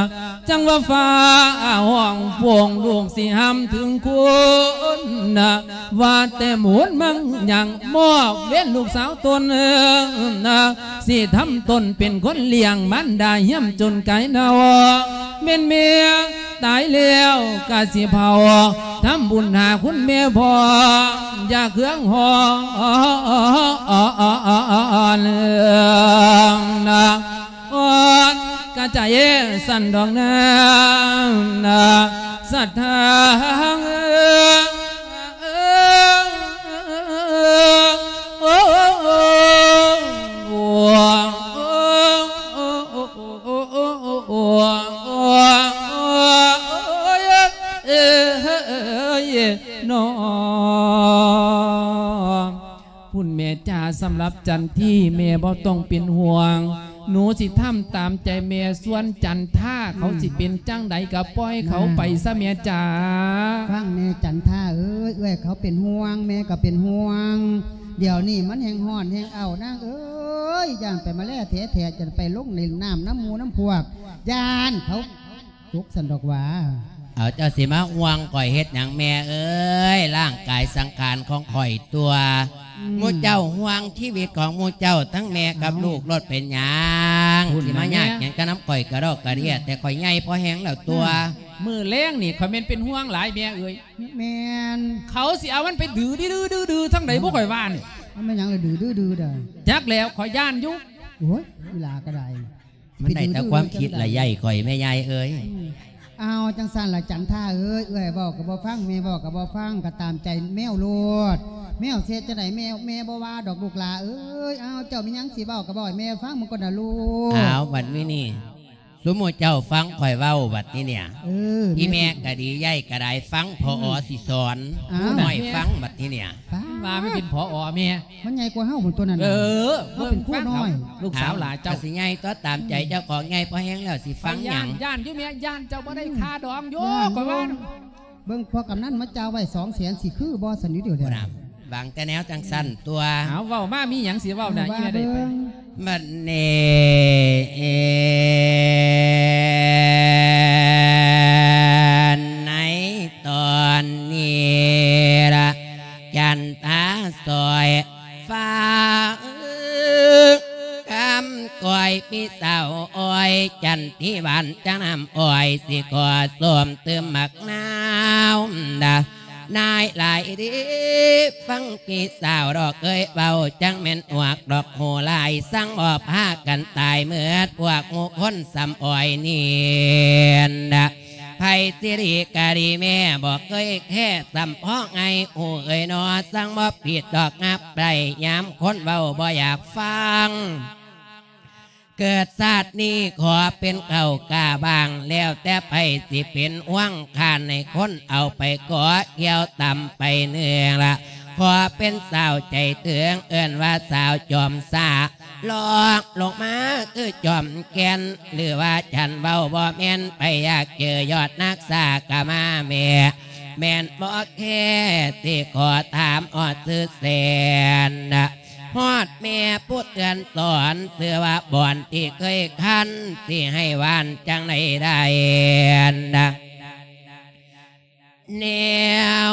ຈັ່ງວ່າຟ້າຮ້ອງໂປ່ງ ລູກຊິຫ້າມເຖິງຄຸນນາ ວ່າແຕ່ໝູນມັງຍັງມອບເວນລູກສາວຕົນນາ ຊິທຳຕົນເປັນຄົນລ້ຽງ ມານດາຫ້ຽມຈົນກາຍເນົ່າ ແມ່ນແມ່ຕາຍແລ້ວກະຊິເຜົາ ທຳບຸນຫາຄຸນແມ່ພ້ອມ ຢ່າເຄືອງຮ້ອນນາ ອ່ອນກະໃຈສັ່ນດອກນາ ນາ ສັດທາ ເນາະ ພຸ້ນແມ່ຈ້າ ສຳລັບຈັນທີ ແມ່ບໍ່ຕ້ອງເປັນຫ່ວງ ໜູຊິທຳຕາມໃຈແມ່ ສ່ວນຈັນທາ ເຂົາ ອືມ ຊິເປັນຈັ່ງໃດກະປ່ອຍເຂົາໄປຊະແມ່ຈ້າ ຟັງແນ່ຈັນທາເອີຍ ເອື້ອຍເຂົາເປັນຫ່ວງ ແມ່ກະເປັນຫ່ວງ ດຽວນີ້ມັນແຮ່ງຮ້ອນແຮ່ງເອົ້ານາງເອີຍ ຢ້ານໄປມາແລແທ້ໆ ຈັ່ງໄປລົງໃນນ້ຳນຳໝູ່ນຳພວກ ຢ້ານເຂົາ ຕົກຊັ້ນດອກຫວາ ເອົາ ເຈົ້າຊິມາຫ່ວງຂ້ອຍເຮັດຫຍັງແມ່ເອີຍ ຮ່າງກາຍສັງຂານຂອງຂ້ອຍຕົວະ ອືມ ໝູ່ເຈົ້າຫ່ວງຊີວິດຂອງໝູ່ເຈົ້າ ທັງແມ່ກັບ ເອົ້າ ລູກໂລດເປັນຫຍັງ ພຸ້ນ ຊິມາຍາກຫຍັງ ແມ່ ກະນຳຂ້ອຍກະດອກກະເດຍ ອືມ ແຕ່ຂ້ອຍໃຫຍ່ພໍແຮງແລ້ວຕົວະ ອືມ ມື້ແລງນີ້ຂ້ອຍແມ່ນເປັນຫ່ວງຫຼາຍແມ່ເອີຍ ແມ່ນ ເຂົາຊິເອົາມັນໄປດື້ໆໆໆ ທາງໃດ ເອົ້າ ບໍ່ຂ້ອຍວ່ານີ້ ມັນແມ່ນຫຍັງລະດື້ໆໆດາ ຈັກແລ້ວ ຂ້ອຍຢ້ານຢູ່ ໂອ້ຍ ອີຫຼ້າກະໄດ້ ມັນໄດ້ແຕ່ຄວາມຄິດລະໃຫຍ່ຂ້ອຍແມ່ໃຫຍ່ເອີຍ ອືມ ອ້າວ ຈັ່ງຊັ້ນລະຈັນທາເອີຍ ເອື້ອຍເວົ້າກະບໍ່ຟັງ ແມ່ເວົ້າກະບໍ່ຟັງ ກະຕາມໃຈແມວໂລດ ແມວຊິເຮັດຈັ່ງໃດ ແມ່ ແມ່ບໍ່ວ່າດອກລູກຫຼ້າເອີຍ ອ້າວ ເຈົ້າມີຫຍັງຊິເວົ້າກະເວົ້າໃຫ້ແມ່ຟັງເບິ່ງກ່ອນນະລູກ ອ້າວ ບັດນີ້ນີ້ ຊຸມໝູ່ເຈົ້າຟັງຂ້ອຍເວົ້າບັດນີ້ນີ້ ເອີ ອີແມ່ກະດີ ຍາຍກະໄດ້ ຟັງ ອືມ ພໍ່ອໍຊິສອນ ອ້າວ ຜູ້ນ້ອຍຟັງບັດນີ້ນີ້ ປ້າ ວ່າມັນເປັນ ຜອ ແມ່ ມັນໃຫຍ່ກວ່າເຮົາພຸ້ນຕົວນັ້ນ ເອີ ເຮົາເປັນຄູນ້ອຍ ເບິ່ງຟັງເອົາ ລູກສາວຫຼ້າເຈົ້າ ກະຊິໃຫຍ່ຕົວະ ຕາມໃຈເຈົ້າຂອງ ອືມ ໃຫຍ່ພໍແຮງແລ້ວຊິຟັງຫຍັງ ຢ້ານ ຢ້ານຢູ່ແມ່ ຢ້ານເຈົ້າບໍ່ໄດ້ ອືມ ຄ່າດອງຢູ່ ຢ້ານຢູ່ ຂ້ອຍວ່າ ເບິ່ງພໍ່ກຳນັນມາຈ່າຍໄວ້ສອງແສນ ຊິຄືບໍ່ຊັ້ນຢູ່ດຽວນີ້ ບາງແຕ່ແນວຈັ່ງຊັ້ນຕົວະ ເອົາ ເວົ້າມາ ມີຫຍັງຊິເວົ້ານະ ເອີ ວ່າເບິ່ງ ອີແມ່ໄດ້ໄປ ບັດນີ້ ໃນຕອນນີ້ລະ ຈັນທາສອຍຟ້າ ຄຳກ້ອຍພີ່ສາວອ້ອຍ ຈັນທີຫວານຈັ່ງນ້ຳອ້ອຍ ຊິຂໍຊົມຕື່ມໝາກນາວ ນາຍຫຼາຍດີ ຟັງພີ່ສາວດອກເອີຍເວົ້າ ຈັ່ງແມ່ນອວກດອກໂຫລາຍ ສັງບໍ່ພາກັນຕາຍເໝິດ ພວກໝູ່ຄົນສ່ຳອ້ອຍນີ້ນະ ໃຜຊິດີກະດີ ແມ່ບໍ່ເຄີຍແຄ້ ສ່ຳພໍໄງ ໂອເອີຍນໍ ສັງບໍ່ຜິດດອກ ຮັບໄດ້ຍາມຄົນເວົ້າບໍ່ຢາກຟັງ ເກີດຊາດນີ້ຂໍເປັນເຂົ້າກ້າບ້າງ ແລ້ວແຕ່ໃຜຊິເປັນຫ່ວງ ຂ້າໃຫ້ຄົນເອົາໄປກໍ ກ່ຽວຕຳໄປເໜືອລະ ຂໍເປັນສາວໃຈເຖິງ ເອີ້ນວ່າສາວຈອມສາ ລອງລົງມາຄືຈອມແກ່ນ ຫຼືວ່າຈັນເວົ້າບໍ່ແມ່ນ ໃຜຢາກເຈີຍອດນັກສາກະມາແມ່ ແມ່ນບໍ່ແຄ່ ຊິຂໍຖາມຮອດຊື່ແສນ ຮອດແມ່ຜູ້ເຕືອນສອນ ຊື່ວ່າບ່ອນທີ່ເຄີຍຄັນ ຊິໃຫ້ຫວານຈັ່ງໃດໄດ້ ແນວ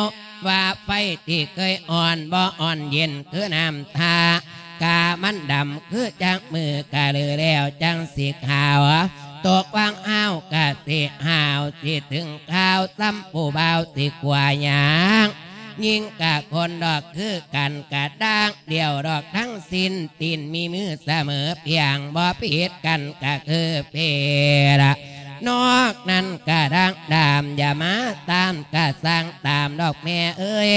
ວ່າໄຟທີ່ເຄີຍອ່ອນ ບໍ່ອ່ອນເຢັນຄືນ້ຳທາ ກາມັນດຳຄືຈາກມື້ກະລືແລ້ວຈັ່ງຊິຂາວ ຕົກວັງອ້າວກະຊິຫາວ ຊິເຖິງຄາວສ່ຳຜູ້ບ່າວຊິກວ່າຫຍັງ ຍິງກະຄົນດອກຄືກັນ ກະດາງດຽວດອກທັງສິ້ນ ຕີນມີມືສະເໝີພຽງ ບໍ່ຜິດກັນກະຄືເພລະ ນອກນັ້ນກະດາງດາມ ຢ່າມາຕາມກະສ້າງຕາມດອກແມ່ເອີຍ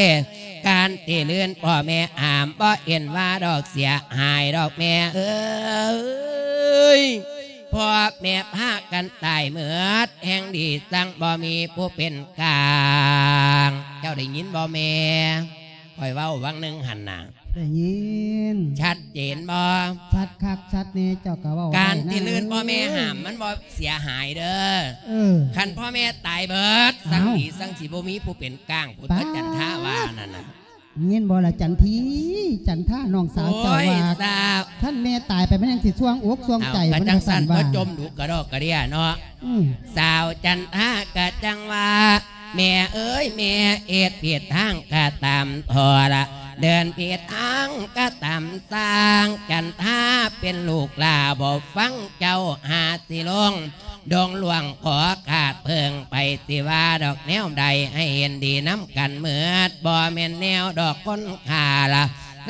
ການທີ່ລື່ນພໍ່ແມ່ຫ້າມ ບໍ່ເຫັນວ່າດອກເສຍຫາຍດອກແມ່ເອີຍ ພໍ່ແມ່ພາກັນຕາຍເໝິດ ແຮ່ງດີຈັ່ງບໍ່ມີຜູ້ເປັນກາງ ເຈົ້າໄດ້ຍິນບໍ່ແມ່? ຂ້ອຍເວົ້າຫວ່າງໜຶ່ງຫັ້ນນະ ໄດ້ຍິນ ຊັດເຈນບໍ່? ຊັດຄັກຊັດແນ່ ເຈົ້າກໍເວົ້າ ການທີ່ລື່ນພໍ່ແມ່ຫ້າມ ມັນບໍ່ເສຍຫາຍເດີ້ ເອີ ຄັນພໍ່ແມ່ຕາຍເບີດ ເອົ້າ ຈັ່ງດີຈັ່ງຊິບໍ່ມີຜູ້ເປັນກາງ ພຸດທະຈັນທາວ່ານັ້ນນະ ຍິນບໍ່ລະຈັນທີ ຈັນທາ ນ້ອງສາວເຈົ້າວ່າ ໂອ້ຍ ສາວ ຄັນແມ່ຕາຍໄປມັນຍັງຊິຊ່ວງອົກຊ່ວງໃຈ ເອົ້າ ມັນວ່າຊັ້ນ ກໍຈັ່ງຊັ້ນ ບໍ່ຈົ່ມດຸກະດອກກະເດຍເນາະ ອືມ ສາວຈັນທາກະຈັ່ງວ່າ ແມ່ເອີຍແມ່ ເຮັດຜິດທາງກະຕາມທໍລະ ເດີນຜິດທາງກະຕາມຊ່າງ ຈັນທາເປັນລູກຫຼ້າບໍ່ຟັງເຈົ້າ ຫາຊິລົງ ດົງຫຼວງຂໍຂາດເພິ່ງໄປ ຊິວ່າດອກແນວໃດ ໃຫ້ເຫັນດີນຳກັນເໝິດ ບໍ່ແມ່ນແນວດອກຄົນຂ້າລະ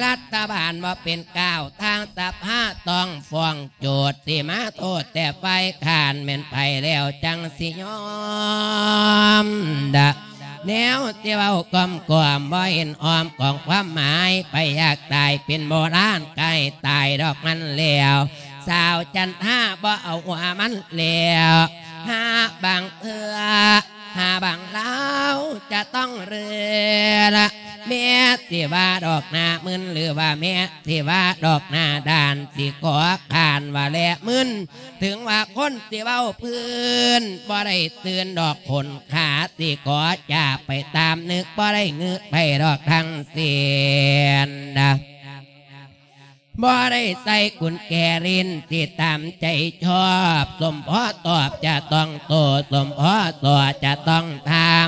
ລັດຖະບານບໍ່ເປັນກ້າວ ທາງສະພາຕ້ອງຟ້ອງໂຈດ ຊິມາໂທດແຕ່ຝ່າຍຄ້ານ ແມ່ນໃຜແລ້ວຈັ່ງຊິຍອມດະ ແນວຊິເວົ້າກ້ອມກວມ ບໍ່ເຫັນອ້ອມຂອງຄວາມໝາຍ ໃຜຢາກຕາຍເປັນໂບລານ ໃກ້ຕາຍດອກມັນແລ້ວ ສາວຈັນທາບໍ່ເອົາຫົວມັນແລ້ວ ຫາບາງເທື່ອ ຫາບາງລາວຈະຕ້ອງເລືອລະ ແມ່ຊິວ່າດອກໜ້າມຶນ ຫຼືວ່າແມ່ຊິວ່າດອກໜ້າດ້ານ ຊິຂໍຄ້ານວ່າແລະມຶນ ເຖິງວ່າຄົນຊິເວົ້າພື້ນ ບໍ່ໄດ້ຕື່ນດອກຄົນຂາ ຊິຂໍຈາກໄປຕາມນຶກ ບໍ່ໄດ້ງຶກໄປດອກທັງສິ້ນນະ ບໍ່ໄດ້ໃສ່ກຸນແຈຫຼິ້ນ ຊິຕາມໃຈຊອບ ສົມພໍຕອບຈະຕ້ອງໂຕ້ ສົມພໍສໍ້ຈະຕ້ອງຖາມ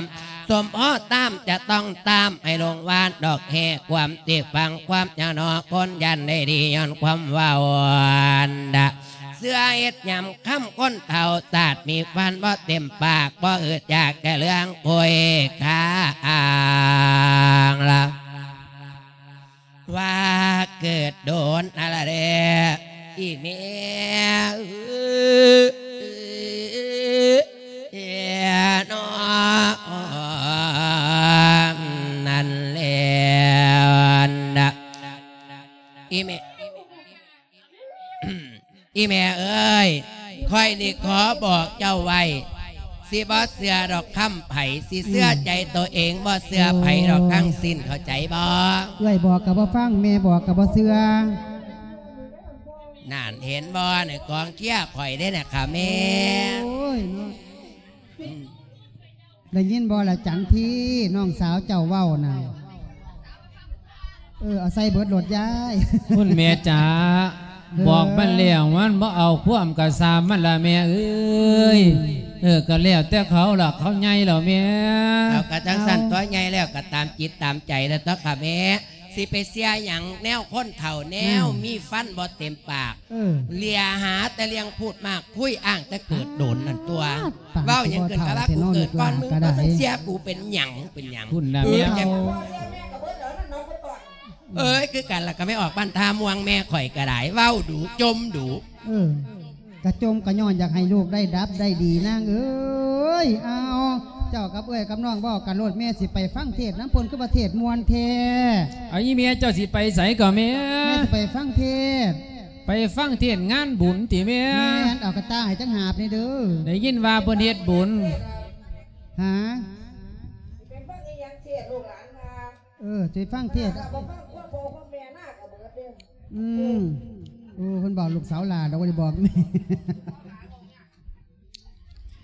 ສົມພໍຕາມຈະຕ້ອງຕາມ ໃຫ້ລົງວານດອກແຮ່ ຄວາມຊິຟັງຄວາມຍາວໜໍ ຄົນຢ້ານໄດ້ດີຍ້ອນຄວາມເວົ້າອັນດະ ເຊື່ອເຮັດຍາມຄ່ຳຄົນເຖົ້າ ສາດມີຟັນບໍ່ເຕັມປາກ ບໍ່ອຶດຢາກແຕ່ເລື່ອງຄຸຍຄາອ່າງລະ ວ່າເກີດໂດນນະລະເດ ອີແມ່ເອີຍ ເອີຍເນາະ ນັ້ນແຫຼະນະ ອີແມ່ ອີແມ່ເອີຍ ຂ້ອຍນີ້ຂໍບອກເຈົ້າໄວ້ ຊິບໍ່ເຊື່ອດອກຄຳໃຜ ຊິເຊື່ອໃຈໂຕເອງ ບໍ່ເຊື່ອໃຜດອກທັງສິ້ນ ເຂົ້າໃຈບໍ່? ເອື້ອຍບອກກໍບໍ່ຟັງ ແມ່ບອກກໍບໍ່ເຊື່ອ ນັ້ນເຫັນບໍ່ ໃນກອງເຊຍຂ້ອຍເດ້ນະຄະແມ່ ໂອ້ຍເນາະ ອືມ ໄດ້ຍິນບໍ່ລະຈັນທີ ນ້ອງສາວເຈົ້າເວົ້ານະ ເອີ ເອົາໃສ່ເບິດໂລດຍາຍ ຄຸນແມ່ຈ໋າ ເອີ ບອກມັນແລ້ວ ມັນບໍ່ເອົາຄວາມກະຊ່າງມັນລະແມ່ເອີຍ ເອີ ກະແລ້ວແຕ່ເຂົາລະ ເຂົາໃຫຍ່ແລ້ວແມ່ ເອົາ ກະຈັ່ງຊັ້ນ ເອົາ ຕົວະ ໃຫຍ່ແລ້ວກະຕາມຈິດຕາມໃຈລະຕົວະຄະແມ່ ຊິໄປເຊື່ອຫຍັງແນວຄົນເຖົ້າ ແນວ ອືມ ມີຟັນບໍ່ເຕັມປາກ ເອີ ເລຍຫາແຕ່ເລື່ອງພູດມາກຄຸຍ ອ້າງແຕ່ເກີດໂດນນັ້ນຕົວະ ປາດ ເວົ້າຫຍັງເກີດກະວ່າກູເກີດກ່ອນມຶງ ເຈົ້າຊິເຊື່ອກູເປັນຫຍັງ ເປັນຫຍັງ ພຸ້ນນະແມ່ ເອີຍ ຄືກັນລະ ກະແມ່ອອກບ້ານທ່າມ່ວງ ແມ່ຂ້ອຍກະໄດ້ ເວົ້າດຸ ຈົ່ມດຸ ເອີ ກະຈົ່ມກະຍ້ອນຢາກໃຫ້ລູກໄດ້ດັບໄດ້ດີນາງເອີຍ ເອົາ ເຈົ້າກັບເອື້ອຍກັບນ້ອງເວົ້າກັນໂລດ ແມ່ຊິໄປຟັງເທດນຳເພິ່ນ ຄືວ່າເທດມ່ວນແທ້ ເອົາ ອີແມ່ເຈົ້າຊິໄປໃສກໍແມ່? ແມ່ຊິໄປຟັງເທດ ໄປຟັງເທດງານບຸນຕິແມ່? ແມ່ນ ເອົາກະຕ່າໃຫ້ຈັກຫາບແດ່ເດີ ໄດ້ຍິນວ່າເພິ່ນເຮັດບຸນ ຫາ ເອີ ຊິໄປຟັງເທດ ອືມ ໂອ້ ເພິ່ນບອກລູກສາວຫຼ້າດອກ ບໍ່ໄດ້ບອກແມ່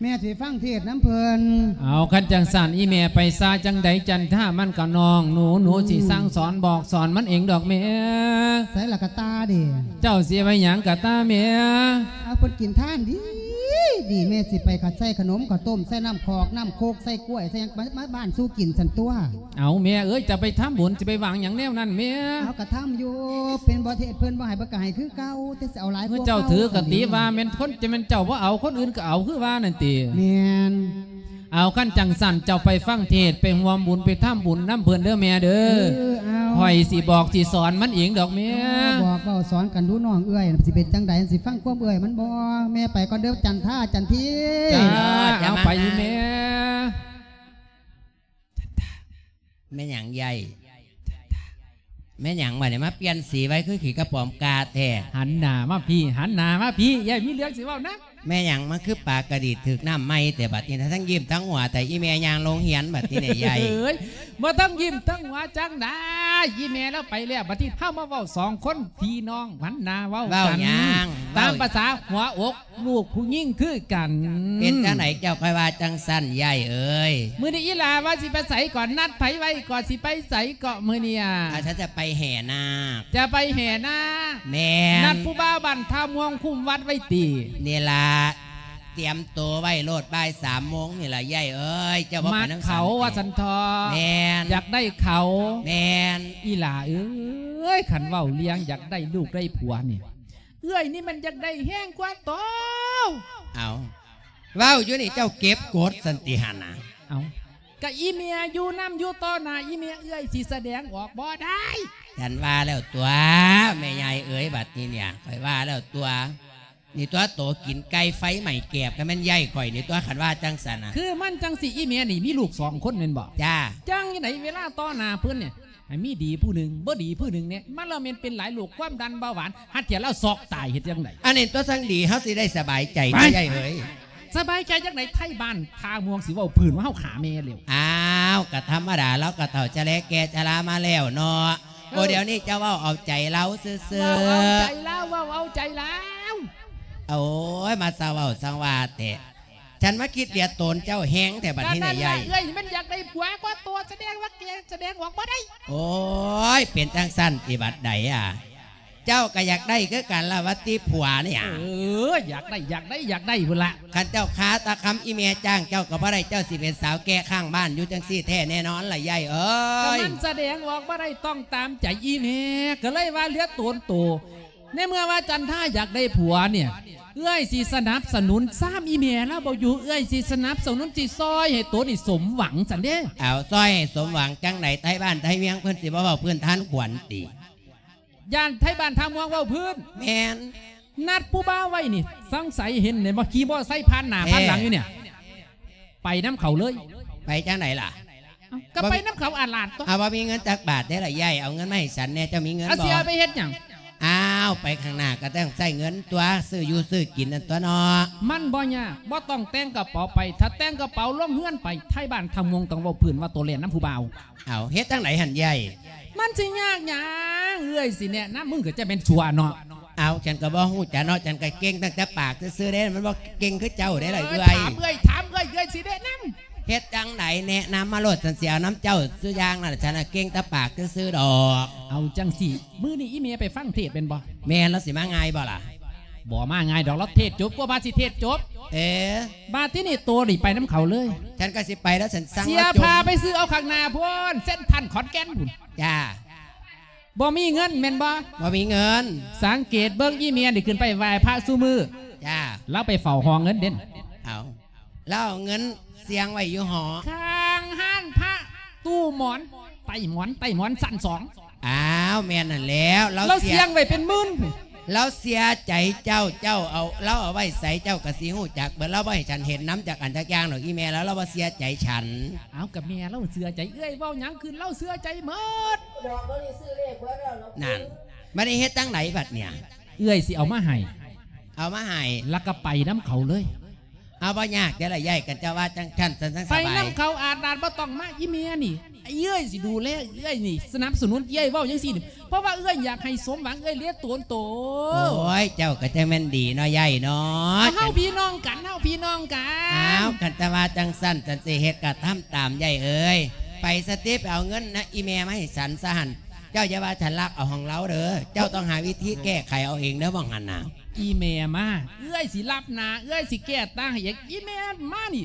ແມ່ຊິໄປຟັງເທດນຳເພິ່ນ ເອົາ ຄັນຈັ່ງຊັ້ນ ອີແມ່ໄປຊາຈັ່ງໃດ ຈັນທາມັນກະນ້ອງໜູ ໜູຊິ ອືມ ສັ່ງສອນບອກສອນມັນເອງດອກແມ່ ໃສລະກະຕ່າເດ ເຈົ້າຊິໄປຫຍັງກະຕ່າແມ່ ເອົາ ເພິ່ນກິນທານດີ ດີ ແມ່ຊິໄປຂະ ໃສ່ຂະໜົມ ເຂົ້າຕົ້ມ ໃສ່ນ້ຳຂອກ ນ້ຳໂຄກ ໃສ່ກ້ວຍ ໃສ່ຫຍັງ ມາ ມາບ້ານສູ່ກິນຊັ້ນຕົວະ ເອົາແມ່ເອີຍ ຈະໄປທຳບຸນ ຈະໄປຫວາງຫຍັງແນວນັ້ນແມ່ ເອົາກະທຳຢູ່ ເພິ່ນບໍ່ເທດ ເພິ່ນບໍ່ໃຫ້ ເພິ່ນກະໃຫ້ຄືເກົ່າ ແຕ່ຊິເອົາຫຼາຍກວ່າເກົ່າ ເຈົ້າຖືກະຕິວ່າແມ່ນຄົນ ຈະແມ່ນເຈົ້າບໍ່ເອົາ ຄົນອື່ນກະເອົາຄືວ່ານັ້ນຕິ ແມ່ນ ເອົາ ຄັນຈັ່ງຊັ້ນເຈົ້າໄປຟັງເທດ ໄປຮ່ວມບຸນ ໄປທຳບຸນນຳເພິ່ນເດີແມ່ເດີ. ເອີ ເອົາ ຂ້ອຍຊິບອກຊິສອນມັນເອງດອກແມ່. ບອກເວົ້າສອນກັນດູນ້ອງເອື້ອຍ ຊິເປັນຈັ່ງໃດ ຊິຟັງຄວາມເອື້ອຍມັນບໍ່? ແມ່ໄປກ່ອນເດີ ຈັນທາ ຈັນທີ. ຈ້າ ເອົາ ໄປອີ່ແມ່. ແມ່ນຫຍັງໃຫຍ່? ແມ່ນຫຍັງບັດນີ້ ມາປ່ຽນສີໄວຄືຂີ້ກະປອມກາແທ້? ຫັນໜ້າມາພີ້ ຫັນໜ້າມາພີ້ ໃຫຍ່ມີເລື່ອງຊິເວົ້ານຳ. ແມ່ນຫຍັງ ມັນຄືປາກະດີດຖືກນ້ຳໃໝ່ແທ້ບັດນີ້ນະ ທັງຍິ້ມທັງຫົວແທ້ ອີ່ແມ່ຍ່າງໂຮງຮຽນບັດນີ້ນະໃຫຍ່. ເອີຍ ບໍ່ທັງຍິ້ມທັງຫົວຈັ່ງໃດ ອີ່ແມ່ລາວໄປແລ້ວ ບັດນີ້ເຮົາມາເວົ້າສອງຄົນພີ່ນ້ອງ ຫັນໜ້າເວົ້າກັນ. ເວົ້າຫຍັງ? ຕາມພາສາຫົວອົກ ລູກຜູ້ຍິງຄືກັນ. ເປັນຈັ່ງໃດເຈົ້າຄ່ອຍວ່າຈັ່ງຊັ້ນ ຍາຍເອີຍ? ມື້ນີ້ອີ່ຫຼ້າວ່າຊິໄປໃສເກາະ? ນັດໃຜໄວ້ເກາະ? ຊິໄປໃສເກາະມື້ນີ້ອະ? ອາ ຈະໄປແຫ່ນາກ. ຈະໄປແຫ່ນາກ? ແມ່ນ. ນັດຜູ້ບ່າວບ້ານທ່າມ່ວງຄຸ້ມວັດໄວ້ຕິ? ນີ້ລະ ຕຽມໂຕໄວ້ໂລດ ບ່າຍສາມໂມງນີ້ລະ ຍາຍເອີຍ. ເຈົ້າບໍ່ໄປນຳ ມັກເຂົາວ່າຊັ້ນເຖາະ. ແມ່ນ. ຢາກໄດ້ເຂົາ. ແມ່ນ. ອີ່ຫຼ້າເອີຍ ຄັນເວົ້າເລື່ອງຢາກໄດ້ລູກໄດ້ຜົວນີ້ ເອື້ອຍນີ້ມັນຢາກໄດ້ແຮງກວ່າໂຕ. ເອົາ ເວົ້າຢູ່ນີ້ເຈົ້າເກັບກົດຊັ້ນຕິຫັ້ນນະ? ເອົາ ກະອີ່ແມ່ຢູ່ນຳ ຢູ່ຕໍ່ໜ້າອີ່ແມ່ ເອື້ອຍຊິສະແດງອອກບໍ່ໄດ້. ຈັ່ງວ່າແລ້ວຕົວະ ແມ່ຍາຍເອີຍ ບັດນີ້ເນຍ ຂ້ອຍວ່າແລ້ວຕົວະ. ນີ້ຕົວະ ໂຕກິນໄກ່ໄຟໄໝ້ແກບ ກະແມ່ນຍາຍຂ້ອຍນີ້ຕົວະ ຄັນວ່າຈັ່ງຊັ້ນນະ. ຄືມັນຈັ່ງຊີ້ ອີ່ແມ່ນີ້ມີລູກສອງຄົນແມ່ນບໍ່? ຈ້າ. ຈັ່ງໃດເວລາຕໍ່ໜ້າເພິ່ນນີ້ ໃຫ້ມີດີຜູ້ໜຶ່ງ ບໍ່ດີຜູ້ໜຶ່ງແນ່ ມັນລະແມ່ນເປັນຫຼາຍໂລກ ຄວາມດັນ ເບົາຫວານ ຫາເທື່ອລາວຊອກຕາຍ ເຮັດຈັ່ງໃດ? ອັນນີ້ຕົວະ ຈັ່ງດີ ເຮົາຊິໄດ້ສະບາຍໃຈ ໄປ ຍາຍເອີຍ. ສະບາຍໃຈຈັ່ງໃດ? ໄທບ້ານທ່າມ່ວງຊິເວົ້າພື້ນວ່າເຮົາຂ້າແມ່ແລ້ວ. ອ້າວ ກະທຳມະດາ ລາວກະເຖົ້າຈະແລແກ່ຊະລາມາແລ້ວເນາະ. ເອີ ໂອ ດຽວນີ້ເຈົ້າເວົ້າເອົາໃຈລາວຊື່ໆ. ເວົ້າເອົາໃຈລາວ ເວົ້າເອົາໃຈລາວ. ໂອ້ຍ ມາຊາເວົ້າສັງວາແທ້. ສັນມາຄິດເດດໂຕນເຈົ້າແຮງແທ້ບັດນີ້ນະຍາຍ. ກະນັ້ນລະ ເອື້ອຍມັນຢາກໄດ້ຜົວກວ່າໂຕ ສະແດງວ່າແກສະແດງອອກບໍ່ໄດ້. ໂອ້ຍ ເປັນຈັ່ງຊັ້ນຕິບັດໃດອະ? ເຈົ້າກະຢາກໄດ້ຄືກັນລະຫວາຕິຜົວນີ້. ເອີ ຢາກໄດ້ ຢາກໄດ້ ຢາກໄດ້ພຸ້ນລະ. ຄັນເຈົ້າຄາຕາຄຳອີ່ແມ່ຈ້າງເຈົ້າກະບໍ່ໄດ້ ເຈົ້າຊິເປັນສາວແກ່ຂ້າງບ້ານຢູ່ຈັ່ງຊີ້ແທ້ແນ່ນອນລະຍາຍເອີຍ. ກະມັນສະແດງອອກບໍ່ໄດ້ຕ້ອງຕາມໃຈອີ່ແມ່ ກະເລີຍວ່າເຫຼືອໂຕນໂຕ. ໃນເມື່ອວ່າຈັນທາຢາກໄດ້ຜົວເນຍ ເອື້ອຍຊິສະໜັບສະໜູນຊາມອີ່ແມ່ລາວບໍ່ຢູ່ ເອື້ອຍຊິສະໜັບສະໜູນ ຊິຊ່ອຍໃຫ້ໂຕນີ້ສົມຫວັງຊັ້ນເດ້. ເອົາ ຊ່ອຍໃຫ້ສົມຫວັງຈັ່ງໃດ? ໄທບ້ານໄທເມືອງເພິ່ນຊິບໍ່ເວົ້າພື້ນທ່ານຂວັນຕິ? ຢ້ານໄທບ້ານທ່າມ່ວງເວົ້າພື້ນ. ແມ່ນ. ນັດຜູ້ບ່າວໄວ້ນີ້ ສັງໄສເຫັນແມ່ນບໍ່ ຂີ່ມໍໄຊຜ່ານໜ້າຜ່ານຫຼັງຢູ່ເນຍ. ໄປນຳເຂົາເລີຍ. ໄປຈັ່ງໃດລະ? ເອົ້າ ກະໄປນຳເຂົາອາດຫຼາດຕົວະ. ເອົາ ບໍ່ມີເງິນຈັກບາດເດ້ລະຍາຍ ເອົາເງິນມາໃຫ້ສັນແດ່ ເຈົ້າມີເງິນບໍ່? ເອົາ ຊິເອົາໄປເຮັດຫຍັງ? ອ້າວ ໄປຂ້າງໜ້າກະຕ້ອງໃຊ້ເງິນຕົວະ ຊື້ຢູ່ຊື້ກິນນັ້ນຕົວະເນາະ. ມັນບໍ່ຍາກ ບໍ່ຕ້ອງແຕ່ງກະເປົາໄປ ຖ້າແຕ່ງກະເປົາລົງເຮືອນໄປ ໄທບ້ານທ່າມ່ວງຕ້ອງເວົ້າພື້ນວ່າໂຕແລ່ນນຳຜູ້ບ່າວ. ເອົາ ເຮັດຈັ່ງໃດຫັ້ນຍາຍ? ມັນຊິຍາກຫຍັງ ເອື້ອຍຊິແນະນຳ ມຶງກະຈະແມ່ນຊົ່ວເນາະ. ເອົາ ສັນກະບໍ່ຮູ້ຈັກເນາະ ສັນກະເກັ່ງຕັ້ງແຕ່ປາກຊື່ໆເດ້ ມັນບໍ່ເກັ່ງຄືເຈົ້າເດ້ລະເອື້ອຍ. ຖາມເອື້ອຍ ຖາມເອື້ອຍ ເອື້ອຍຊິແນະນຳ. ເຮັດຈັ່ງໃດ ແນະນຳມາໂລດ ສັນຊິເອົານຳເຈົ້າສູ່ຢ່າງນັ້ນ ສັນນະເກັ່ງແຕ່ປາກຊື່ໆດອກ. ເອົາຈັ່ງຊີ້ ມື້ນີ້ອີ່ແມ່ໄປຟັງເທດແມ່ນບໍ່? ແມ່ນ. ລາວຊິມາງ່າຍບໍ່ລະ? ບໍ່ມາງ່າຍດອກ ລາວເທດຈົບ ກວ່າບາດຊິເທດຈົບ. ເອີ ບາດທີນີ້ໂຕນີ້ໄປນຳເຂົາເລີຍ. ສັນກະຊິໄປແລ້ວ ສັນສັ່ງ ເສຍພາໄປຊື້ເອົາຂ້າງໜ້າພຸ້ນ ເຊັນທຣານຂອນແກ່ນພຸ້ນ. ຈ້າ. ບໍ່ມີເງິນແມ່ນບໍ່? ບໍ່ມີເງິນ. ສັງເກດເບິ່ງ ອີ່ແມ່ນີ້ຂຶ້ນໄປໄຫວ້ພະຊຸມື້. ຈ້າ. ລາວໄປເຝົ້າຫໍເງິນເດ້. ເອົາ ລາວເອົາເງິນສ່ຽງໄວ້ຢູ່ຫໍ ຂ້າງຮ້ານພະ ຕູ້ໝອນ ໃຕ້ໝອນ ໃຕ້ໝອນຊັ້ນສອງ. ອ້າວ ແມ່ນຫັ້ນແລ້ວ ລາວສ່ຽງໄວ້ເປັນໝື່ນ. ລາວເສຍໃຈເຈົ້າ ເຈົ້າເອົາ ລາວເອົາໄວ້ໃສ ເຈົ້າກະຊິຮູ້ຈັກເບິດ. ລາວບໍ່ໃຫ້ສັນເຫັນນຳຈັກອັນຈັກຢ່າງດອກ ອີ່ແມ່ລາວ ລາວບໍ່ເຊື່ອໃຈສັນ. ເອົາ ກະແມ່ລາວເຊື່ອໃຈ ເອື້ອຍເວົ້າຫຍັງຄືລາວເຊື່ອໃຈໝົດ. ນັ້ນ ບາດນີ້ເຮັດຈັ່ງໃດບາດເນຍ? ເອື້ອຍຊິເອົາມາໃຫ້. ເອົາມາໃຫ້ ລະກະໄປນຳເຂົາເລີຍ. ເອົາ ບໍ່ຍາກເດ້ລະຍາຍ ຄັນເຈົ້າວ່າຈັ່ງຊັ້ນ ສັນຈັ່ງສະບາຍ. ໄປນຳເຂົາອາດນາດ ບໍ່ຕ້ອງມາ ອີ່ແມ່ນີ້ ເອື້ອຍຊິດູແລເອື້ອຍນີ້ ສະໜັບສະໜູນເອື້ອຍ ເວົ້າຈັ່ງຊີ້ນີ້ ເພາະວ່າເອື້ອຍຢາກໃຫ້ສົມຫວັງ ເອື້ອຍເລີຍໂຕນໂຕ. ໂອ້ຍ ເຈົ້າກະຈັ່ງແມ່ນດີເນາະຍາຍເນາະ. ເຮົາພີ່ນ້ອງກັນ ເຮົາພີ່ນ້ອງກັນ. ອ້າວ ຄັນແຕ່ວ່າຈັ່ງຊັ້ນ ສັນຊິເຮັດກະທຳຕາມຍາຍເອີຍ. ໄປສະຕິ ໄປເອົາເງິນນະອີ່ແມ່ມາໃຫ້ສັນຊະຫັ້ນ. ເຈົ້າຢ່າວ່າສັນລັກເອົາຂອງລາວເດີ ເຈົ້າຕ້ອງຫາວິທີແກ້ໄຂເອົາເອງເດີ ໝ່ອງຫັ້ນນະ. ອີ່ແມ່ມາ ເອື້ອຍຊິລັບໜ້າ ເອື້ອຍຊິແກ້ຕ່າງໃຫ້ອີກ. ອີ່ແມ່ມານີ້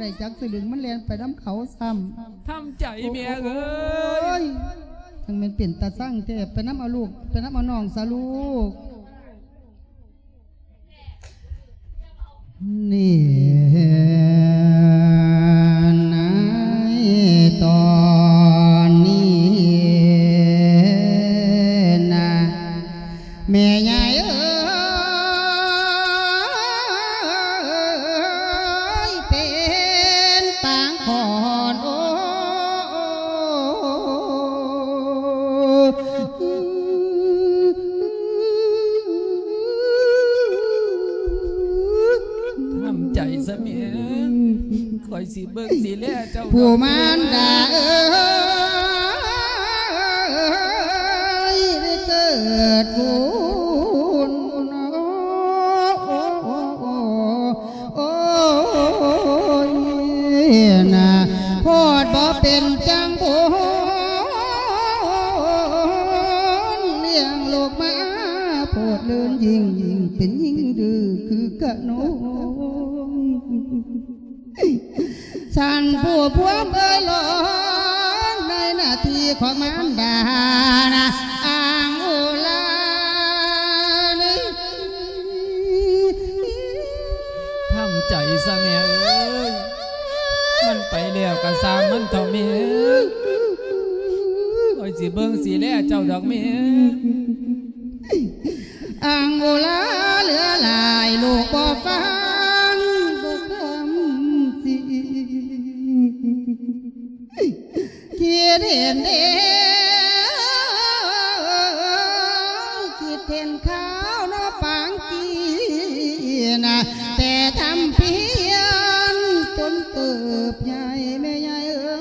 ໄດ້ຈັກສະລຶງ ມັນແລ່ນໄປນຳເຂົາຊ້ຳ. ທຳໃຈແມ່ເອີຍ. ໂອ້ຍ ຈັ່ງແມ່ນເປັນຕາຊັງແທ້. ໄປນຳເອົາລູກ ໄປນຳເອົານ້ອງຊະລູກ. ນີ້ ໃນຕອນນີ້ນະ ແມ່ໃຫຍ່ເອີຍ ເປັນປາງຂອນ ໂອ້ ທຳໃຈຊະແມ່ ຂ້ອຍຊິເບິ່ງຊິແລເຈົ້າດອກ ຜູ້ມານດາເອີຍ ໄດ້ເກີດບຸນ ໂອ້ຍນະ ໂພດບໍ່ເປັນຈັ່ງບຸນ ລ້ຽງລູກມາໂພດເລີນຍິ່ງ ເປັນຍິງດື້ຄືກະນົງ. ທ່ານຜູ້ພວມເອີຍ ລອງໃນໜ້າທີ່ຂອງມານດານະ ອ່າງອຸລານີ້ ທຳໃຈຊະແມ່ເອີຍ ມັນໄປແລ້ວກະຊ່າງມັນເຖາະແມ່ ຂ້ອຍຊິເບິ່ງຊິແລເຈົ້າດອກແມ່. ອ່າງອຸລາເຫຼືອຫຼາຍ ລູກບໍ່ຟັງບໍ່ຄຳສິງ ຄິດເຫັນເດ້ ຄິດເຫັນຂ່າວເນາະປາງກີນະ ແຕ່ທຳພຽນຈົນເຕີບໃຫຍ່ແມ່ໃຫຍ່ເອີ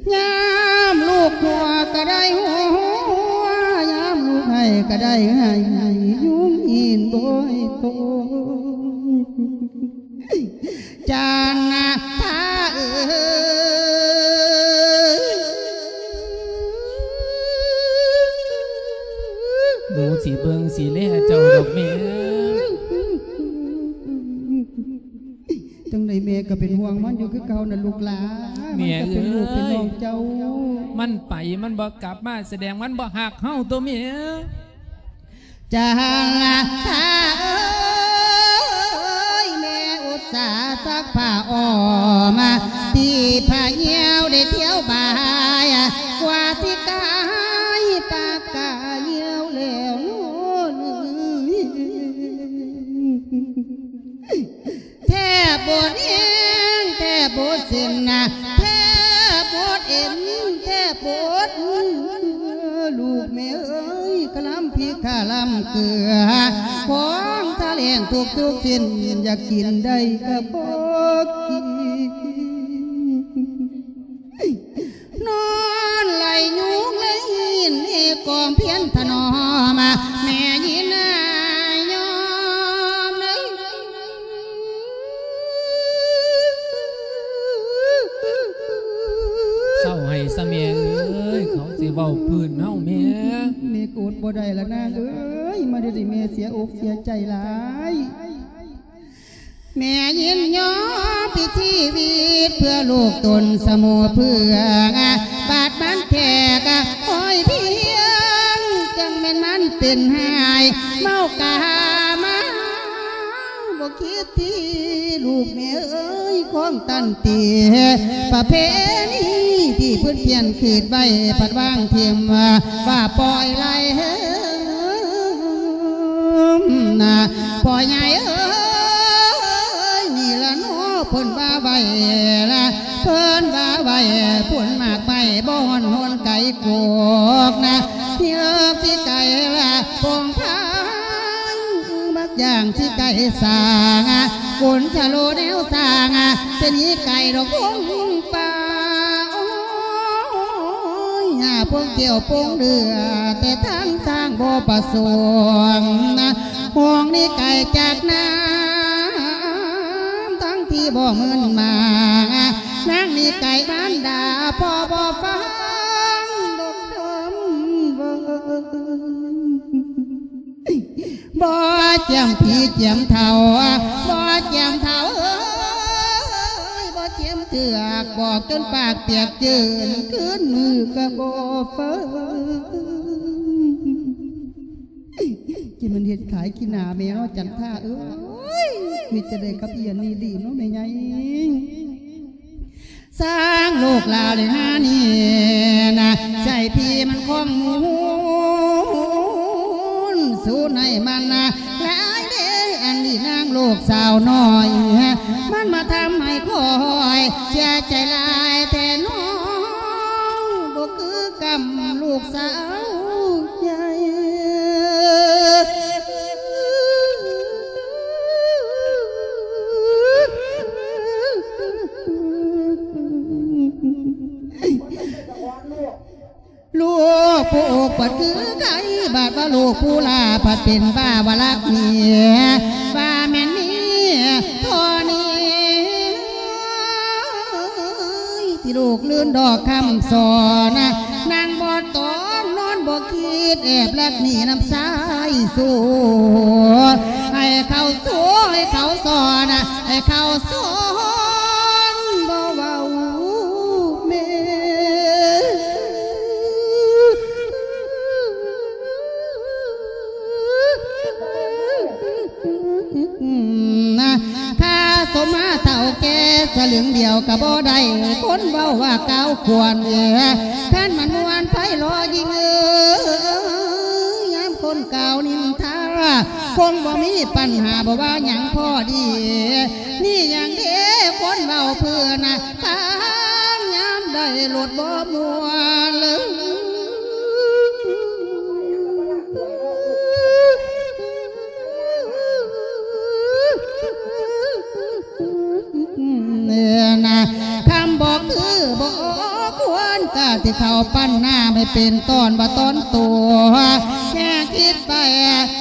ຍ. ຍາມລູກຫົວກະໄດ້ຫົວ ຍາມລູກໄຫ້ກະໄດ້ໄຫ້ ຍຸງອີນບໍ່ໃຫ້ໂຕ ຈັນນະພາເອີຍ ໜູຊິເບິ່ງຊິແລເຈົ້າດອກແມ່. ຈັ່ງໃດແມ່ກະເປັນຫ່ວງມັນຢູ່ຄືເກົ່ານະລູກຫຼານ ແມ່ເອີຍ ມັນກະເປັນລູກເປັນນ້ອງເຈົ້າ ມັນໄປມັນບໍ່ກັບມາ ສະແດງມັນບໍ່ຮັກເຮົາຕົວະແມ່. ຈັນລະທາເອີຍ ແມ່ອຸດສາຊັກຜ້າອ້ອມ ຕີຜ້າຍ່ຽວໄດ້ທ່ຽວບາຍ ກວ່າຊິກາຍປາກກາຍ່ຽວແລ້ວໂນ້ນ ແທບບໍ່ແຮງ ແທບບໍ່ເສັ້ນນະ ແທບບໍ່ເອັນ ແທບບໍ່ອົດ ລູກແມ່ເອີຍ ຄະລຳພິກຄະລຳເກືອ ຂອງທະແລງທຸກໆຊິ້ນ ຢາກກິນໄດ້ກະບໍ່ກິນ. ນອນໄລ່ຍຸງໄລ່ຫີນ ກອມພຽນຖະໜອມ ແມ່ຍິນນາຍອມເດີ. ເຊົາໃຫ້ຊະແມ່ເອີຍ ເຂົາຊິເວົ້າພື້ນເຮົາແມ່. ແມ່ກະອົດບໍ່ໄດ້ລະນາງເອີຍ ມາດຽວນີ້ແມ່ເສຍອົກເສຍໃຈຫຼາຍ. ແມ່ຍິນຍອມປິດຊີວິດ ເພື່ອລູກຕົນສະໝູເພື່ອງ ບາດມັນແທກ ຫ້ອຍພຽງ ຈັ່ງແມ່ນມັນເປັນຫາຍ ເມົາກາມາ ບໍ່ຄິດທີ່ ລູກແມ່ເອີຍ ຂອງຕັນຕິ ປະເພນີທີ່ເພິ່ນພຽນຄິດໄວ້ ພັດວາງຖິ້ມ ວ່າປ່ອຍໄຫຼ ນະ ພໍ່ໃຫຍ່ເອີຍ ນີ້ລະເນາະ ເພິ່ນວ່າໄວ້ລະ ເພິ່ນວ່າໄວ້ ຜົນໝາກໄມ້ ບໍ່ຮ້ອນໂຫນໄກໂກກນະ ເຮືອກຊິໄກລະ ປອງພາຍ ບັກຢ່າງຊິໄກສ້າງ ກົນຊະໂລແນວສ້າງ ເປັນອີໄກ່ດອກພົງປ່າ ໂອ້ຍ ພວກກ່ຽວປົງເດືອ ແຕ່ທາງຊ້າງບໍ່ປະສົງ ຫ້ອງນີ້ໄກຈາກນ້ຳ ທັງທີ່ບໍ່ມື່ນມາ ນາງນີ້ໄກມານດາ ພໍ່ບໍ່ຟັງ ລູກ ຈຽມຜີຈຽມເຖົ້າ ບໍ່ຈຽມເຖົ້າເອີຍ ບໍ່ຈຽມເຖືອກ ບອກຈົນປາກປຽກຈືນ ຄືນມື້ກໍບໍ່ຟັງ. ຈະແມ່ນເຮັດຂາຍຂີ້ໜ້າແມ່ເນາະ ຈັນທາເອີຍ ເຮັດຈັ່ງໃດກັບອີ່ອັນນີ້ດີເນາະແມ່ໃຫຍ່? ຊ່າງລູກລາວເລີຍຫານີ້ນະ ໃສ່ພີມັນຄອງໝູນ ສູນໃຫ້ມັນນະຫຼາຍເດ້ ອັນນີ້ນາງລູກສາວນ້ອຍ ມັນມາທຳໃຫ້ຂ້ອຍເສຍໃຈຫຼາຍແທ້ນ້ອງ ບໍ່ຄືກັບລູກສາວໃຫຍ່. ລູກຜູ້ອົກບັດຄືໄຂ້ ບາດວ່າລູກຜູ້ຫຼ້າພັດເປັນບ້າວ່າລັກເມຍ ວ່າແມ່ນມີເທົ່ານີ້ ທີ່ລູກລື່ນດອກຄຳສອນ ນັ່ງບໍ່ຕອງນອນບໍ່ຄິດ ແອບລັກໜີນຳຊາຍຊູ ໃຫ້ເຂົາຊູ ໃຫ້ເຂົາສອນ ໃຫ້ເຂົາສອນ ບໍ່ເວົ້າແມ່ ຖ້າສົມມາເຖົ້າແກ່ສະຫຼຶງດຽວກໍບໍ່ໄດ້ ຄົນເວົ້າວ່າກ່າວຄວນ ຄັນມັນມ່ວນໄພລໍຍິ່ງເອີຍ ຍາມຄົນກ່າວນິນທາ ຄົງບໍ່ມີປັນຫາ ບໍ່ວ່າຫຍັງພໍດີ ນີ້ຫຍັງເດ້ ຄົນເວົ້າເພື່ອນະ ຟັງຍາມໃດໂລດບໍ່ມ່ວນເລີຍ. ນະ ຄຳບໍ່ຄືບໍ່ຄວນ ກະທີ່ເຂົ້າປັນນາໃຫ້ເປັນຕອນບໍ່ຕອນໂຕ ແຮງຄິດໄປ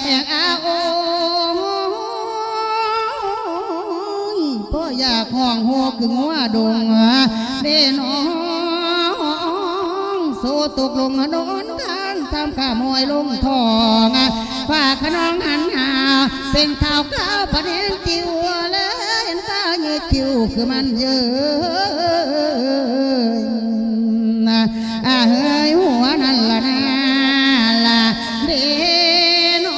ແຮງອາໂອຍ ເພາະຢາກຮ້ອງໂຮຄືງົວດົງເດ້ນ້ອງ ໂສຕົກລົງນອນ ທ່ານຕາມກະມອຍລົງທ້ອງ ຝາກຂະນອງຫັນຫາ ເປັນຂ່າວຄາວປະເດັນຕິວ ແລເຫັນຕາເຍີຄິວຄືມັນເຍີ ອາເຮີຍຫົວນັ້ນລະນາລະເດນອ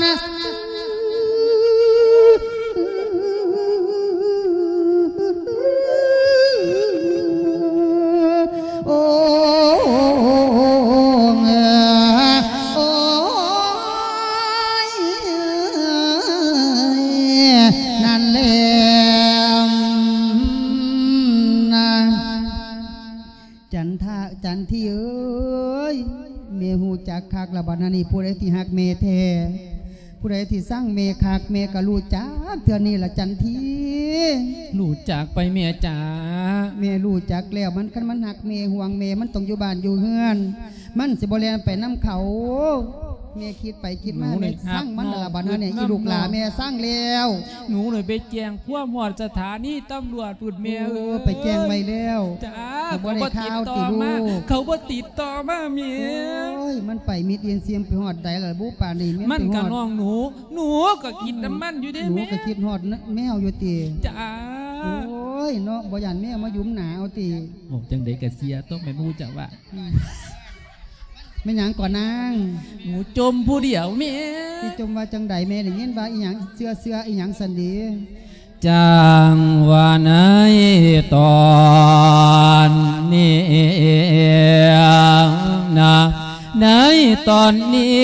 ນ. ໂອ້ ໂອ້ ນັ້ນແຫຼະນະ. ຈັນທາ ຈັນທີເອີຍ ແມ່ຮູ້ຈັກຄັກລະບັດນີ້ ຜູ້ໃດທີ່ຮັກແມ່ແທ້ ຜູ້ໃດທີ່ຊັງແມ່ຄັກ ແມ່ກໍຮູ້ຈັກເທື່ອນີ້ລະຈັນທີ. ຮູ້ຈັກໄປແມ່ຈ໋າ. ແມ່ຮູ້ຈັກແລ້ວ ມັນ ຄັນມັນຮັກແມ່ ຫ່ວງແມ່ ມັນຕ້ອງຢູ່ບ້ານຢູ່ເຮືອນ ມັນຊິບໍ່ແລ່ນໄປນຳເຂົາ. ແມ່ຄິດໄປຄິດມາ ແມ່ຊັງມັນລະບັດນີ້ ອີລູກຫຼ້າແມ່ຊັງແລ້ວ. ໜູນີ້ໄປແຈ້ງຄວາມຮອດສະຖານີຕຳຫຼວດພຸ້ນແມ່ເອີຍ. ໄປແຈ້ງໄວ້ແລ້ວ. ຈ້າ ເຂົາບໍ່ໄດ້ຂ່າວຕິລູກ ເຂົາບໍ່ຕິດຕໍ່ມາແມ່. ໂອ້ຍ ມັນໄປມິດເອນຊຽມໄປຮອດໃດລະບຸ ປານນີ້ແມ່ນ. ມັນກະນ້ອງໜູ ໜູກໍຄິດນຳມັນຢູ່ເດ້ແມ່. ໜູກໍຄິດຮອດແມວຢູ່ຕິ. ຈ້າ. ໂອ້ຍເນາະ ບໍ່ຢ້ານແມວມາຢຸມໜ້າເອົາຕິ. ເວົ້າຈັ່ງໃດກະເຊື່ອຕົວະແມ່ໝູ່ເຈົ້າວ່າ. ແມ່ນຫຍັງກໍນາງ? ໝູຈົມຜູ້ດຽວແມ່. ຊິຈົມວ່າຈັ່ງໃດແມ່? ໄດ້ຍິນວ່າອີຫຍັງ ເຊື່ອ ເຊື່ອອີຫຍັງຊັ້ນເດ? ຈັ່ງວ່າໃນຕອນນີ້ນະ ໃນຕອນນີ້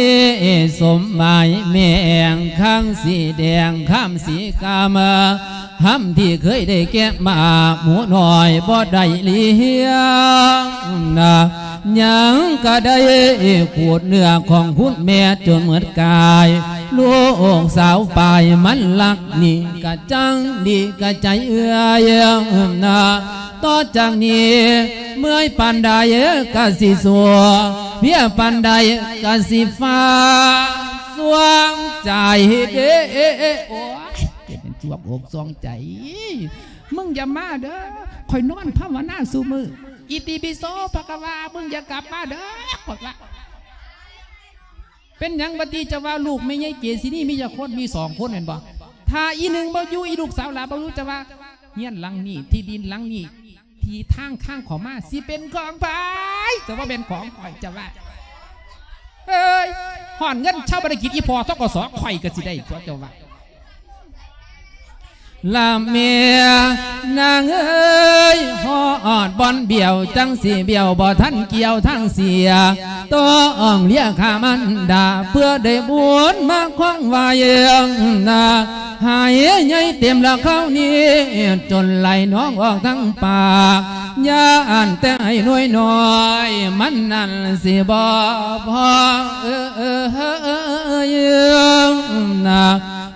ສົມໝາຍແມ່ງ ຄັງສີແດງຄຳສີກາມ ຫຳທີ່ເຄີຍໄດ້ແກະມາ ໝູນ້ອຍບໍ່ໄດ້ລ້ຽງນະ ຍັງກະໄດ້ຂູດເນື້ອຂອງຄຸນແມ່ຈົນໝົດກາຍ ລູກສາວປາຍມັນລັກນີ້ກະຈັ່ງດີກະໃຈເອື້ອຍນະ. ຕໍ່ຈາກນີ້ເມື່ອຍປານໃດກະຊິສູ້ ເພຍປານໃດກະຊິຟ້າວ ສວງໃຈເດ້. ໂອ້ຍ ເປັນສວງອົກສວງໃຈ. ມຶງຢ່າມາເດີ ຂ້ອຍນອນພາວະນາຊຸມື້ ອິຕິປິໂສພະຄະວາ ມຶງຢ່າກັບມາເດີ ຂ້ອຍວ່າ. ເປັນຫຍັງບັດນີ້ ເຈົ້າວ່າລູກແມ່ໃຫຍ່ເກສິນີມີຈັກຄົນ? ມີສອງຄົນແມ່ນບໍ່? ຖ້າອີ່ໜຶ່ງບໍ່ຢູ່ ອີ່ລູກສາວຫຼ້າບໍ່ຢູ່ ເຈົ້າວ່າ ເຮືອນຫຼັງນີ້ ທີ່ດິນຫຼັງນີ້ ທີ່ທາງຂ້າງເຂົ້າມາ ຊິເປັນຂອງໃຜ? ເຈົ້າວ່າແມ່ນຂອງຂ້ອຍ ເຈົ້າວ່າ. ເອີຍ ຮອດເງິນຊາປະນະກິດອີ່ພໍ່ ທກສ ຂ້ອຍກໍຊິໄດ້ຕົວະ ເຈົ້າວ່າ. ລະແມ່ນາງເອີຍ ຮອດບ່ອນບ້ຽວ ຈັ່ງຊິບ້ຽວ ບໍ່ທັນກ່ຽວທາງເສຍ ຕ້ອງເລຍຂ້າມານດາ ເພື່ອໄດ້ບຸນມາຄອງໄວ້ນາ ໃຫ້ໃຫຍ່ເຕັມລະຄາວນີ້ ຈົນໄຫຼນອງອອກທັງປາກ ຢ້ານແຕ່ໄອ້ນ້ອຍນ້ອຍ ມັນນັ້ນຊິບໍ່ພໍ ເອີຍ ນາ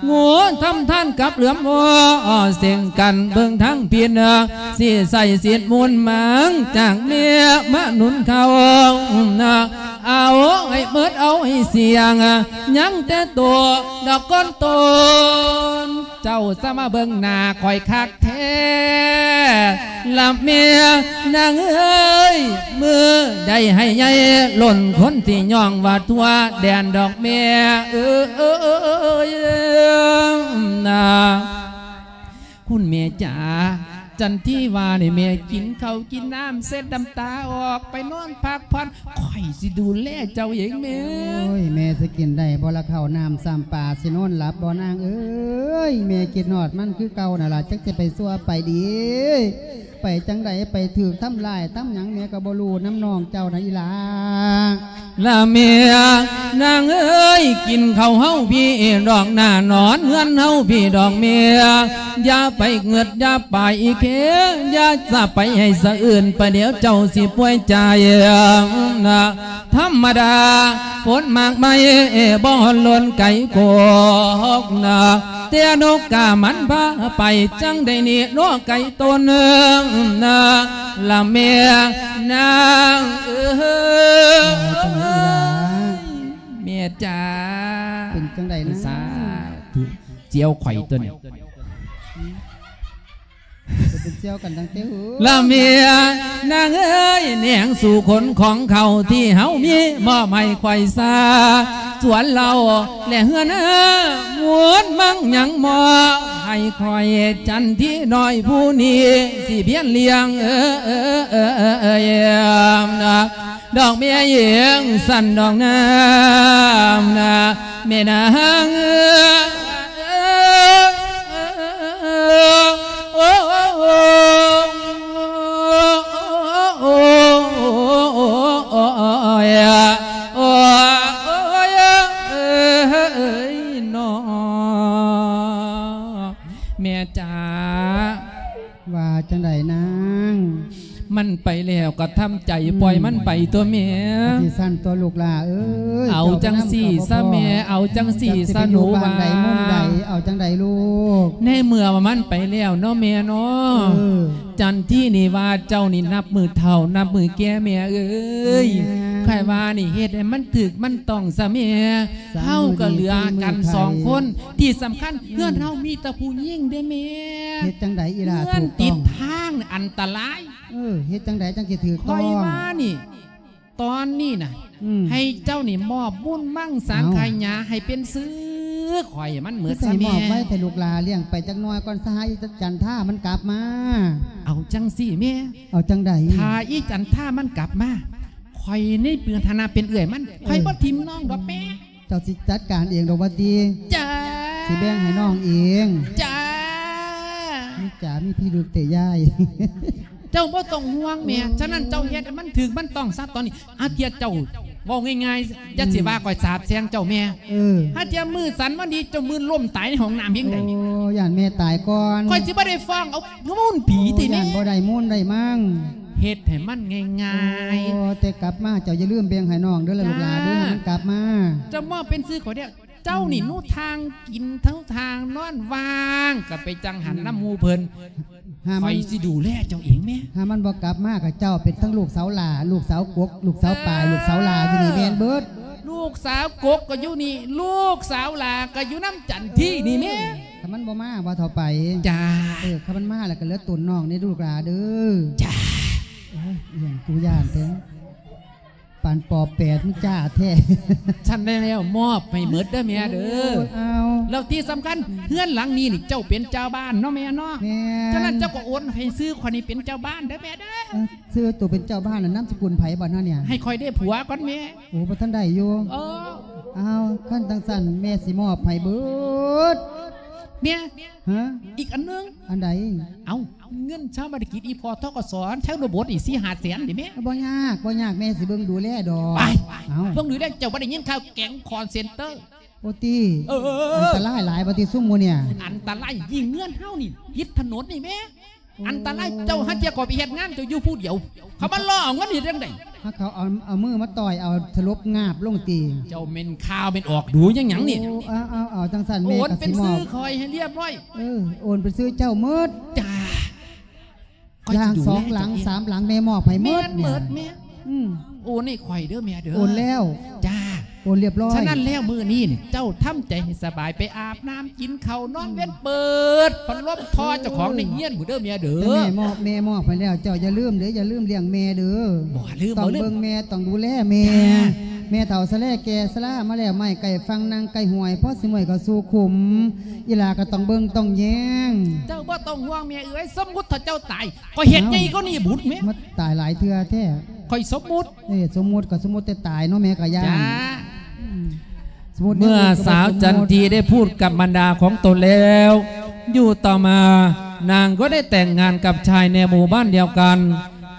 ງູທຳທານກັບເຫຼືອມວໍ ເສັງກັນເບິ່ງທາງຜິດ ຊິໃສ່ສິດມູນມັງ ຈາກແມ່ມາໜູນເຂົ້າ ເອົາໃຫ້ໝົດ ເອົາໃຫ້ສ່ຽງ ຍັງແຕ່ໂຕດອກກ່ອນໂຕນ ເຈົ້າສະມາເບິ່ງໜ້າຂ້ອຍຄັກແທ້ ລະແມ່ນາງເອີຍ ມື້ໃດໃຫ້ໃຫຍ່ລົ້ນຄົນ ຊິຍ້ອງວ່າທົ່ວແດນດອກແມ່ເອີຍນາ. ຄຸນແມ່ຈ໋າ ຈັນທີວ່ານີ້ແມ່ກິນເຂົ້າກິນນ້ຳເຊັດນ້ຳຕາອອກ ໄປນອນພັກຜ່ອນ ຂ້ອຍຊິດູແລເຈົ້າເອງແມ່. ໂອ້ຍ ແມ່ຊິກິນໄດ້ບໍ່ລະເຂົ້ານ້ຳຊ້ຳປາ ຊິນອນຫຼັບບໍ່ນາງເອີຍ? ແມ່ຄິດຮອດມັນຄືເກົ່ານັ້ນລະ ຈັກຊິໄປຊົ່ວໄປດີ ໄປຈັ່ງໃດ ໄປຖືກທຳຮ້າຍທຳຫຍັງ ແມ່ກໍບໍ່ຮູ້ນຳນ້ອງເຈົ້ານະອີ່ຫຼ້າ. ລະແມ່ນາງເອີຍ ກິນເຂົ້າເຮົາພີ້ດອກ ໜ້ານອນເຮືອນເຮົາພີ້ດອກແມ່ ຢ່າໄປເງືອດຢ່າໄປເຄ ຢ່າສະໄປໃຫ້ສະອື່ນ ປະດຽວເຈົ້າຊິປ່ວຍໃຈນະ. ທຳມະດາ ຜົນໝາກໄມ້ບໍ່ຫຼົ່ນໄກກົກນະ ແຕ່ນົກກາມັນພາໄປ ຈັ່ງໄດ້ໜີເນາະໄກ່ຕົນນະ ລະແມ່ນາງເອີຍ. ແມ່ຈ໋າ ເປັນຈັ່ງໃດນະ? ສາທຸ ສ່ຽວຂ້ອຍຕົວນີ້. ເປັນສ່ຽວກັນຕັ້ງແຕ່ ລະແມ່ນາງເອີຍ ແນງສູ່ຄົນຂອງເຂົາທີ່ເຮົາມີ ມອບໃຫ້ຂ້ອຍຊາ ສວນເຫຼົ້າ ແລະເຮືອນນາ ໝູນມັງຍັງມອບໃຫ້ຂ້ອຍ ຈັນທີນ້ອຍຜູ້ນີ້ ຊິພຽນລ້ຽງເອີຍ ດອກແມ່ເອີຍ ສັນດອກນາ ແມ່ນາງເອີຍ. ໂອ້ຍ ໂອ້ຍ ເອີຍ ເອີຍ ເນາະ ແມ່ຈ໋າ. ວ່າຈັ່ງໃດນາງ? ມັນໄປແລ້ວກໍທຳໃຈ ອືມ ປ່ອຍມັນໄປຕົວະແມ່. ຈັ່ງຊັ້ນຕົວະລູກຫຼ້າເອີຍ. ເອົາຈັ່ງຊີ້ຊະແມ່ ເຈົ້າໄປນຳກໍບໍ່ພໍ ເອົາຈັ່ງຊີ້ຊະ ເຈົ້າຊິໄປຢູ່ບ້ານໃດ ໝູ່ໃດ ເອົາຈັ່ງໃດລູກ? ໃນເມື່ອວ່າມັນໄປແລ້ວເນາະແມ່ເນາະ ເອີ ຈັນທີນີ້ວ່າເຈົ້ານີ້ນັບມື້ເຖົ້ານັບມື້ແກ່ແມ່ເອີຍ. ແມ່ ຂ້ອຍວ່ານີ້ເຮັດໃຫ້ມັນຖືກມັນຕ້ອງຊະແມ່. ເຮົາກໍເຫຼືອກັນສອງຄົນ ທີ່ສຳຄັນ ເຮືອນເຮົາມີແຕ່ຜູ້ຍິງເດ້ແມ່. ເຮັດຈັ່ງໃດອີ່ຫຼ້າ ເຮືອນຕິດທາງອັນຕະລາຍ. ເອີ ເຮັດຈັ່ງໃດຈັ່ງຊິຖືກຕ້ອງ? ຂ້ອຍວ່ານີ້ ຕອນນີ້ນະ ອືມ ໃຫ້ເຈົ້ານີ້ມອບບຸນມັງສັງຂະຫຍາ ເອົ້າ ໃຫ້ເປັນຊື່ຂ້ອຍມັນໝົດຊະແມ່. ຄືຊິໃຫ້ມອບໄວແທ້ລູກຫຼ້າ ລ້ຽງໄປຈັກໜ່ອຍກ່ອນ ສະຫາຍຈັນທາມັນກັບມາ. ເອົາຈັ່ງຊີ້ແມ່ ເອົາຈັ່ງໃດ? ຖ້າອີຈັນທາມັນກັບມາ ຂ້ອຍໃນເປັນຖານະເປັນເອື້ອຍມັນ ເອີ ຂ້ອຍບໍ່ຖິ້ມນ້ອງດອກແມ່. ເຈົ້າຊິຈັດການເອງດອກວ່າຕິ? ຈ້າ ຊິແບ່ງໃຫ້ນ້ອງເອງ. ຈ້າ ມີຈ໋າມີພິລຸດເຕະຍາຍ. ເຈົ້າບໍ່ຕ້ອງຫ່ວງແມ່. ໂອ້ຍ ສະນັ້ນເຈົ້າເຮັດໃຫ້ມັນຖືກມັນຕ້ອງຊະຕອນນີ້. ອາເທຍເຈົ້າເວົ້າງ່າຍໆ ຢ່າຊິວ່າຂ້ອຍສາບແຊ່ງເຈົ້າແມ່. ເອີ ຫາເທຍມື້ສັນວັນດີ ເຈົ້າມື້ລົ້ມຕາຍໃນຫ້ອງນ້ຳເພງໃດ. ໂອ້ ຢ້ານແມ່ຕາຍກ່ອນ. ຂ້ອຍຊິບໍ່ໄດ້ຟ້ອງເອົາມູນຜີຕິແມ່. ໂອ້ ຢ້ານບໍ່ໄດ້ມູນໄດ້ມັງ. ເຮັດໃຫ້ມັນງ່າຍໆ. ໂອ້ ແຕ່ກັບມາເຈົ້າຢ່າລືມແບ່ງໃຫ້ນ້ອງເດີລະ ຈ້າ ລູກຫຼ້າເດີ ໃຫ້ມັນກັບມາ. ເຈົ້າມອບເປັນຊື່ຂ້ອຍເດີ. ເຈົ້ານີ້ ອືມ ໜູທາງກິນເທົ່າທາງນອນ ວ່າງກໍໄປຈັ່ງຫັນ ອືມ ນຳໝູ່ເພິ່ນ. ຫາມັນ ຂ້ອຍຊິດູແລເຈົ້າເອງແມ່. ຫາມັນບໍ່ກັບມາກໍເຈົ້າເປັນທັງລູກສາວຫຼ້າ ລູກສາວກົກ ລູກສາວປາຍ ລູກສາວຫຼ້າຢູ່ນີ້ແມ່ນເບິດ. ລູກສາວກົກກໍຢູ່ນີ້ ລູກສາວຫຼ້າກໍຢູ່ນຳຈັນທີນີ້ແມ່. ຖ້າມັນບໍ່ມາວ່າເທົ່າໄປ. ຈ້າ ເອີ ຖ້າມັນມາແລ້ວກໍເຫຼືອຕົນນ້ອງເດ້ລູກຫຼ້າເດີ. ຈ້າ ໂອ້ຍ ອີ່ຫຍັງກູຢ້ານແທ້. ປານປໍແປດ ມັນຈ້າແທ້. ຊັ້ນແລ້ວ ມອບໃຫ້ໝົດເດີແມ່ເດີ. ໂອ້ຍ ເອົາ ແລ້ວທີ່ສຳຄັນ ເຮືອນຫຼັງນີ້ນີ້ ເຈົ້າເປັນເຈົ້າບ້ານເນາະແມ່ເນາະ. ແມ່ນ. ສະນັ້ນເຈົ້າກໍໂອນໃຫ້ຊື່ຂ້ອຍນີ້ເປັນເຈົ້າບ້ານເດີແມ່ເດີ. ເອີ ຊື່ໂຕເປັນເຈົ້າບ້ານ ແລ້ວນາມສະກຸນໃຜບັດເຮົານີ້? ໃຫ້ຂ້ອຍໄດ້ຜົວກ່ອນແມ່. ໂອ້ ບໍ່ທັນໄດ້ຢູ່. ເອີ ເອົາ ຄັນຈັ່ງຊັ້ນ ແມ່ຊິມອບໃຫ້ເບິດ. ແມ່ ຮະ? ອີກອັນໜຶ່ງ. ອັນໃດ? ເອົ້າ ເງິນຊາວບ້ານກິດອີ່ພໍ່ ທກສ ຊະນະບົດນີ້ ສີ່ຫ້າແສນນີ້ແມ່. ບໍ່ຍາກ ບໍ່ຍາກ ແມ່ຊິເບິ່ງດູແລດອກ. ໄປ ເອົ້າ ເບິ່ງດູແລ. ເຈົ້າບໍ່ໄດ້ຍິນຂ່າວແກັງຄອນເຊັນເຕີ? ໂອ້ຕິ ເອີ ອັນຕະລາຍຫຼາຍບໍ່ຕິຊຸມໝູ່ນີ້? ອັນຕະລາຍ ຍິ່ງເຮືອນເຮົານີ້ ຕິດຖະໜົນນີ້ແມ່. ໂອ້ ອັນຕະລາຍ. ເຈົ້າຫາເທື່ອກໍໄປເຮັດງານ ເຈົ້າຢູ່ຜູ້ດຽວ ເຂົາມາລໍ້ເອົາເງິນເຮັດຈັ່ງໃດ? ຫາເຂົາເອົາ ເອົາມືມາຕ່ອຍ ເອົາສະຫຼົບງາບລົງຕິ. ເຈົ້າແມ່ນຂ່າວແມ່ນອອກດູຫຍັງຫຍັງນີ້. ໂອ້ ເອົາ ເອົາ ເອົາ ຈັ່ງຊັ້ນແມ່ກໍຊິມອບ ໂອນເປັນຊື່ຂ້ອຍໃຫ້ລຽບຮ້ອຍ. ເອີ ໂອນເປັນຊື່ເຈົ້າໝົດ. ຈ້າ. ຢ່າງສອງຫຼັງ ສາມຫຼັງ ແມ່ມອບໃຫ້ໝົດ. ແມ່ນໝົດແມ່. ອືມ ໂອນໃຫ້ຂ້ອຍເດີແມ່ເດີ. ໂອນແລ້ວ. ຈ້າ ໂອນລຽບຮ້ອຍ. ສະນັ້ນແລ້ວ ມື້ນີ້ນີ້ ເຈົ້າທຳໃຈໃຫ້ສະບາຍ ໄປອາບນ້ຳກິນເຂົ້ານອນເວັນ ອືມ ເປີດພັດລົມ ເອີ ເຈົ້າຂອງໃນເຮືອນພຸ້ນເດີແມ່ເດີ. ແມ່ມອບ ແມ່ມອບໃຫ້ແລ້ວ ເຈົ້າຢ່າລືມເດີ ຢ່າລືມລ້ຽງແມ່ເດີ. ບໍ່ລືມ ຕ້ອງເບິ່ງແມ່ ຕ້ອງດູແລແມ່. ແມ່ເຖົ້າຊະແລແກ່ຊະລາມາແລ້ວ ໄມ້ໃກ້ຝັ່ງນັ່ງໃກ້ຫ້ວຍ ພໍຊິເມື່ອຍກໍສູ່ຂຸມ. ອີ່ຫຼ້າກໍຕ້ອງເບິ່ງຕ້ອງແຍງ. ເຈົ້າບໍ່ຕ້ອງຫ່ວງແມ່ເອີຍ ສົມມຸດຖ້າເຈົ້າຕາຍ ຂ້ອຍເຮັດໃຫຍ່ກວ່ານີ້ບຸດແມ່. ມາຕາຍຫຼາຍເທື່ອແທ້. ຂ້ອຍສົມມຸດ. ເອີ ສົມມຸດກໍສົມມຸດແຕ່ຕາຍເນາະ ແມ່ກໍຢ້ານ. ຈ້າ. ອືມ ສົມມຸດ ເມື່ອສາວຈັນທີໄດ້ພູດກັບມານດາຂອງຕົນແລ້ວ ຢູ່ຕໍ່ມານາງກໍໄດ້ແຕ່ງງານກັບຊາຍໃນໝູ່ບ້ານດຽວກັນ,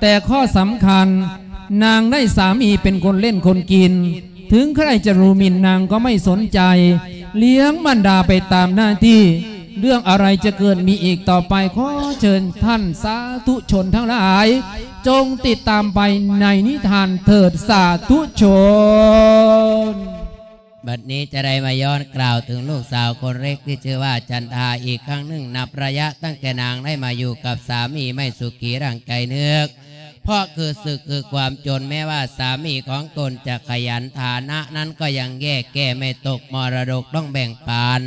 ແຕ່ຂໍ້ສຳຄັນ ນາງໄດ້ສາມີເປັນຄົນຫຼິ້ນຄົນກິນ. ເຖິງໃຄຈະດູໝິ່ນນາງກໍໄມ່ສົນໃຈ, ລ້ຽງມານດາໄປຕາມໜ້າທີ່. ເລື່ອງອະໄລຈະເກີດມີອີກຕໍ່ໄປ, ຂໍເຊີນທ່ານສາທຸຊົນທັງຫຼາຍ ຈົ່ງຕິດຕາມໄປໃນນິທານເຖີດສາທຸຊົນ. ບັດນີ້ຈະໄດ້ມາຍ້ອນກ່າວເຖິງລູກສາວຄົນເລັກທີ່ຊື່ວ່າຈັນທາອີກຄັ້ງໜຶ່ງ, ນັບໄລຍະຕັ້ງແຕ່ນາງໄດ້ມາຢູ່ກັບສາມີໄມ່ສຸຂີດັ່ງໃຈນຶກ. ເພາະຄືສຶກຄືຄວາມຈົນ, ແມ້ວ່າສາມີຂອງຕົນຈະຂະຫຍັນ, ຖານະນັ້ນກໍຍັງແຍ່ແກ້, ໄມ່ຕົກມໍລະດົກຕ້ອງແບ່ງປັນ,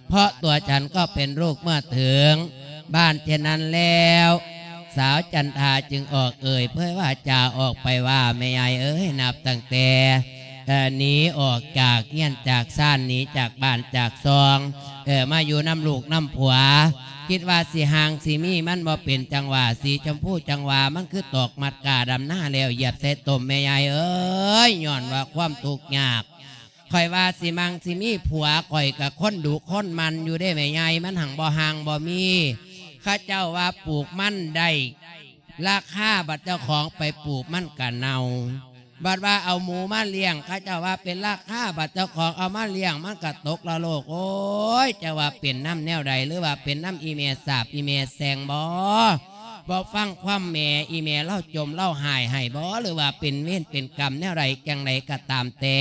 ເພາະຕົວສັນກໍເປັນລູກເມື່ອເຖິງບ້ານ. ເຊັ່ນນັ້ນແລ້ວ ສາວຈັນທາຈຶ່ງອອກເອີ່ຍເຜີຍວາຈາອອກໄປວ່າ, ແມ່ໃຫຍ່ເອີຍ, ນັບຕັ້ງແຕ່ ເອີ ໜີອອກຈາກເຮືອນຈາກຊານ, ໜີຈາກບ້ານຈາກຊ່ອງ, ເອີ ມາຢູ່ນຳລູກນຳຜົວ, ຄິດວ່າຊິຫ່າງຊິມີ, ມັນບໍ່ເປັນຈັງຫວະ. ສີຊົມພູຈັ່ງຫວາ ມັນຄືຕອກມັດກ້າດຳນາແລ້ວຢຽບໃສ່ຕົມ. ແມ່ໃຫຍ່ເອີຍ, ຍ້ອນວ່າຄວາມທຸກຍາກ, ຂ້ອຍວ່າຊິໝັ່ງຊິມີຜົວ, ຂ້ອຍກະຄົນດຸຄົນໝັ່ນຢູ່ເດ້ແມ່ໃຫຍ່, ມັນຮັ່ງບໍ່ຫ່າງບໍ່ມີ. ເຂົາເຈົ້າວ່າປູກມັນໄດ້ລາຄາ, ບັດເຈົ້າຂອງໄປປູກມັນກະເນົ່າ. ບັດວ່າເອົາໝູມາລ້ຽງ, ເຂົາເຈົ້າວ່າເປັນລາຄາ, ບັດເຈົ້າຂອງເອົາມາລ້ຽງ ມັນກະຕົກລະໂລກ. ໂອ້ຍ, ຈະວ່າເປັນນຳແນວໃດ, ຫຼືວ່າເປັນນຳອີ່ແມ່ສາບອີ່ແມ່ແຊ່ງບໍ? ບໍ່ຟັງຄວາມແມ່, ອີ່ແມ່ລາວຈົ່ມລາວຮ້າຍໃຫ້ບໍ? ຫຼືວ່າເປັນເວນເປັນກຳແນວໃດ, ຈັ່ງໃດກໍຕາມແຕ່,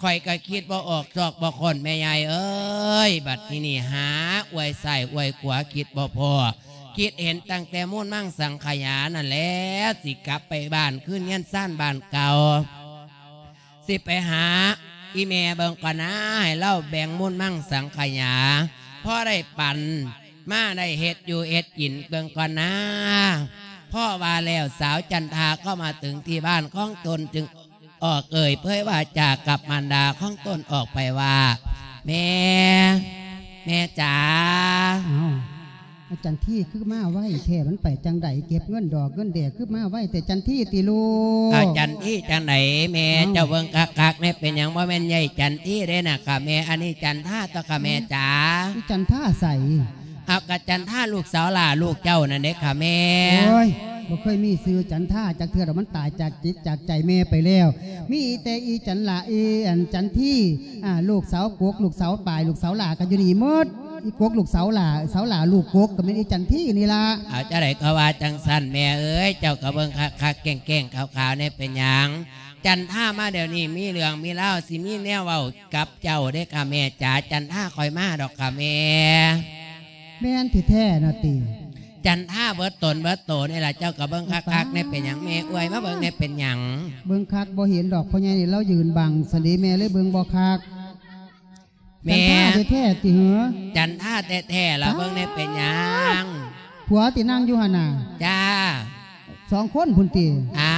ຂ້ອຍກໍຄິດບໍ່ອອກຊອກບໍ່ຄົ້ນ ແມ່ໃຫຍ່ເອີຍ. ບັດທີນີ້ຫາອວຍຊ້າຍອວຍຂວາ ຄິດບໍ່ພໍ. ຄິດເຫັນຕັ້ງແຕ່ມູນມັງສັງຂະຫຍານັ້ນແຫຼະ, ຊິກັບໄປບ້ານຄືນເຮືອນຊານບ້ານເກົ່າ, ຊິໄປຫາອີ່ແມ່ເບິ່ງກ່ອນນາ, ໃຫ້ລາວແບ່ງມູນມັງສັງຂະຫຍາ ພໍໄດ້ປັນມາ, ໄດ້ເຮັດຢູ່ເຮັດກິນເບິ່ງກ່ອນນາ. ພໍວ່າແລ້ວ ສາວຈັນທາກໍມາເຖິງທີ່ບ້ານຂອງຕົນ, ຈຶ່ງ ອອກເອີ່ຍເຜີຍວາຈາກັບມານດາຂອງຕົນອອກໄປວ່າ, ແມ່, ແມ່ຈ໋າ. ອ້າວ ອາຈັນທີຄືມາໄວແທ້, ມັນໄປຈັ່ງໃດ? ເກັບເງິນດອກເງິນແດກຄືມາໄວແທ້? ຈັນທີຕິລູກ? ອາຈັນທີຈັ່ງໃດແມ່? ອ້າວ ເຈົ້າເບິ່ງຄັກໆແນ່, ເປັນຫຍັງ? ບໍ່ແມ່ນຍາຍຈັນທີເດ້ນະຄະແມ່, ອັນນີ້ຈັນທາຕົວະຄະແມ່ຈ໋າ. ອີ່ຈັນທາໃສ? ເອົາ ກະຈັນທາລູກສາວຫຼ້າລູກເຈົ້ານັ້ນເດ້ຄະແມ່. ໂອ້ຍ ບໍ່ເຄີຍມີຊື່ຈັນທາຈັກເທື່ອດອກ, ມັນຕາຍຈາກຈິດຈາກໃຈແມ່ໄປແລ້ວ. ມີແຕ່ອີ່ຈັນຫຼ້າ, ອີ່ອັນຈັນທີ, ອ່າ ລູກສາວກົກ, ລູກສາວປາຍ, ລູກສາວຫຼ້າກໍຢູ່ນີ້ໝົດ. ອີ່ກົກລູກສາວຫຼ້າ, ສາວຫຼ້າລູກກົກກໍແມ່ນອີ່ຈັນທີນີ້ລະ. ເອົາ ຈັ່ງໃດກໍວ່າຈັ່ງຊັ້ນແມ່ເອີຍ, ເຈົ້າກໍເບິ່ງຄັກໆແກ້ງໆຂາວໆແນ່, ເປັນຫຍັງ? ຈັນທາມາດຽວນີ້ ມີເລື່ອງມີລາວ, ຊິມີແນວເວົ້າ ກັບເຈົ້າເດ້ຄະແມ່ຈ໋າ. ຈັນທາຄ່ອຍມາດອກຄະແມ່. ແມ່ນແທ້ໆນະຕິ? ຈັນທາເບິດຕົນເບິດໂຕນີ້ລະ, ເຈົ້າກໍເບິ່ງຄັກໆແນ່. ເປັນຫຍັງແມ່ເອື້ອຍ? ມາເບິ່ງແນ່ ເປັນຫຍັງ? ເບິ່ງຄັກບໍ່ເຫັນດອກ, ພໍ່ໃຫຍ່ນີ້ລາວຢືນບັງຊັ້ນເດແມ່, ເລີຍເບິ່ງບໍ່ຄັກ. ແມ່ ຈັນທາແທ້ໆຕິເຫີ? ຈັນທາແທ້ໆລະ. ເບິ່ງແນ່ ເປັນຫຍັງ? ຜົວຕິ ນັ່ງຢູ່ຫັ້ນນະ? ຈ້າ. ສອງຄົນພຸ້ນຕິ? ອ້າ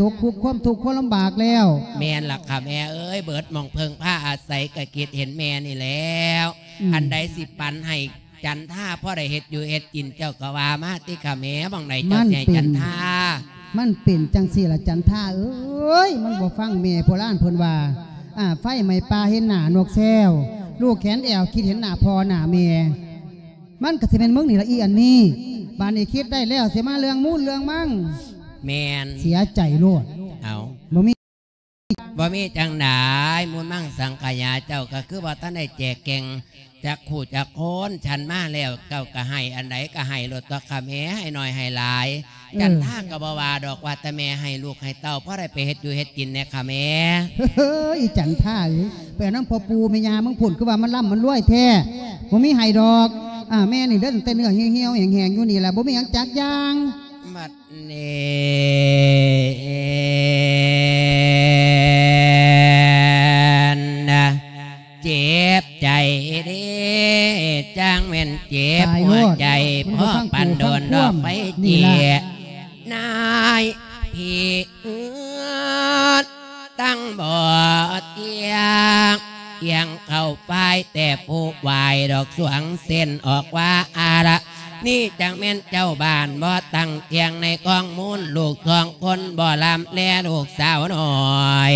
ຕົກທຸກຄວາມທຸກຄວາມລຳບາກແລ້ວ. ແມ່ນລະຄ່ະແມ່ເອີຍ ເບິດໝ່ອງເພິ່ງພາອາໄສກະຄິດເຫັນແມ່ນີ້ແລ້ວ. ອືມ ອັນໃດຊິປັນໃຫ້ຈັນທາພໍໄດ້ເຮັດຢູ່ເຮັດກິນ ເຈົ້າກະວ່າມາຕິຄ່ະແມ່ ໝ່ອງໃດເຈົ້າຊິໃຫ້ຈັນທາ? ມັນເປັນ ມັນເປັນຈັ່ງຊີ້ລະຈັນທາເອີຍ ມັນບໍ່ຟັງແມ່. ໂບລານເພິ່ນວ່າ ອາ ໄຟໄໝ້ປ່າເຫັນໜ້ານົກແຊວ ລູກແຂນແອວຄິດເຫັນໜ້າພໍ່ໜ້າແມ່. ມັນກະຊິແມ່ນມຶງນີ້ລະອີ່ອັນນີ້. ບາດນີ້ຄິດໄດ້ແລ້ວ ຊິມາເລື່ອງມູນເລື່ອງມັງ. ແມ່ນ ເສຍໃຈໂລດ. ເອົາ ບໍ່ມີ ບໍ່ມີຈັ່ງໃດ ມູນມັງສັງຂະຍາ ເຈົ້າກະຄືບໍ່ທັນໄດ້ແຈກແຈງຈັກຄູ່ຈັກຄົນ. ສັນມາແລ້ວ ເຈົ້າກະໃຫ້ອັນໃດກະໃຫ້ໂລດຕົວະຄ່ະແມ່ ໃຫ້ໜ້ອຍໃຫ້ຫຼາຍ. ເອີ ຈັນທາກະບໍ່ວ່າດອກ ວ່າແຕ່ແມ່ໃຫ້ລູກໃຫ້ເຕົ້າ ພໍໄດ້ໄປເຮັດຢູ່ເຮັດກິນແດ່ຄ່ະແມ່. ເຮີ້ຍ ອີ່ຈັນທາເອີຍ ໄປເອົານຳພໍ່ປູ່ແມ່ຍ່າມຶງພຸ້ນ ຄືວ່າມັນລ່ຳມັນລວຍແທ້. ບໍ່ມີໃຫ້ດອກ. ອາ ແມ່ນີ້ເດີ ຕັ້ງແຕ່ເນື້ອຫ່ຽວໆແຫ້ງໆຢູ່ນີ້ລະ ບໍ່ມີຫຍັງຈັກຢ່າງ. ບັດນີ້ນະ ເຈັບໃຈເດ້ ຈັ່ງແມ່ນເຈັບຫົວໃຈ ພໍປານໂດນດອກໄຟເຈຍ ນາຍພີ່ເອີຍ ຕັ້ງບໍ່ຕຽງ ກຽງເຂົ້າຝ່າຍແຕ່ຜູ້ວາຍດອກສວງເສັ້ນອອກວ່າອາລະ ນີ້ຈັ່ງແມ່ນເຈົ້າບ້ານບໍ່ຕັ້ງທ່ຽງໃນກອງມູນ ລູກສອງຄົນບໍ່ລຳແລລູກສາວນ້ອຍ.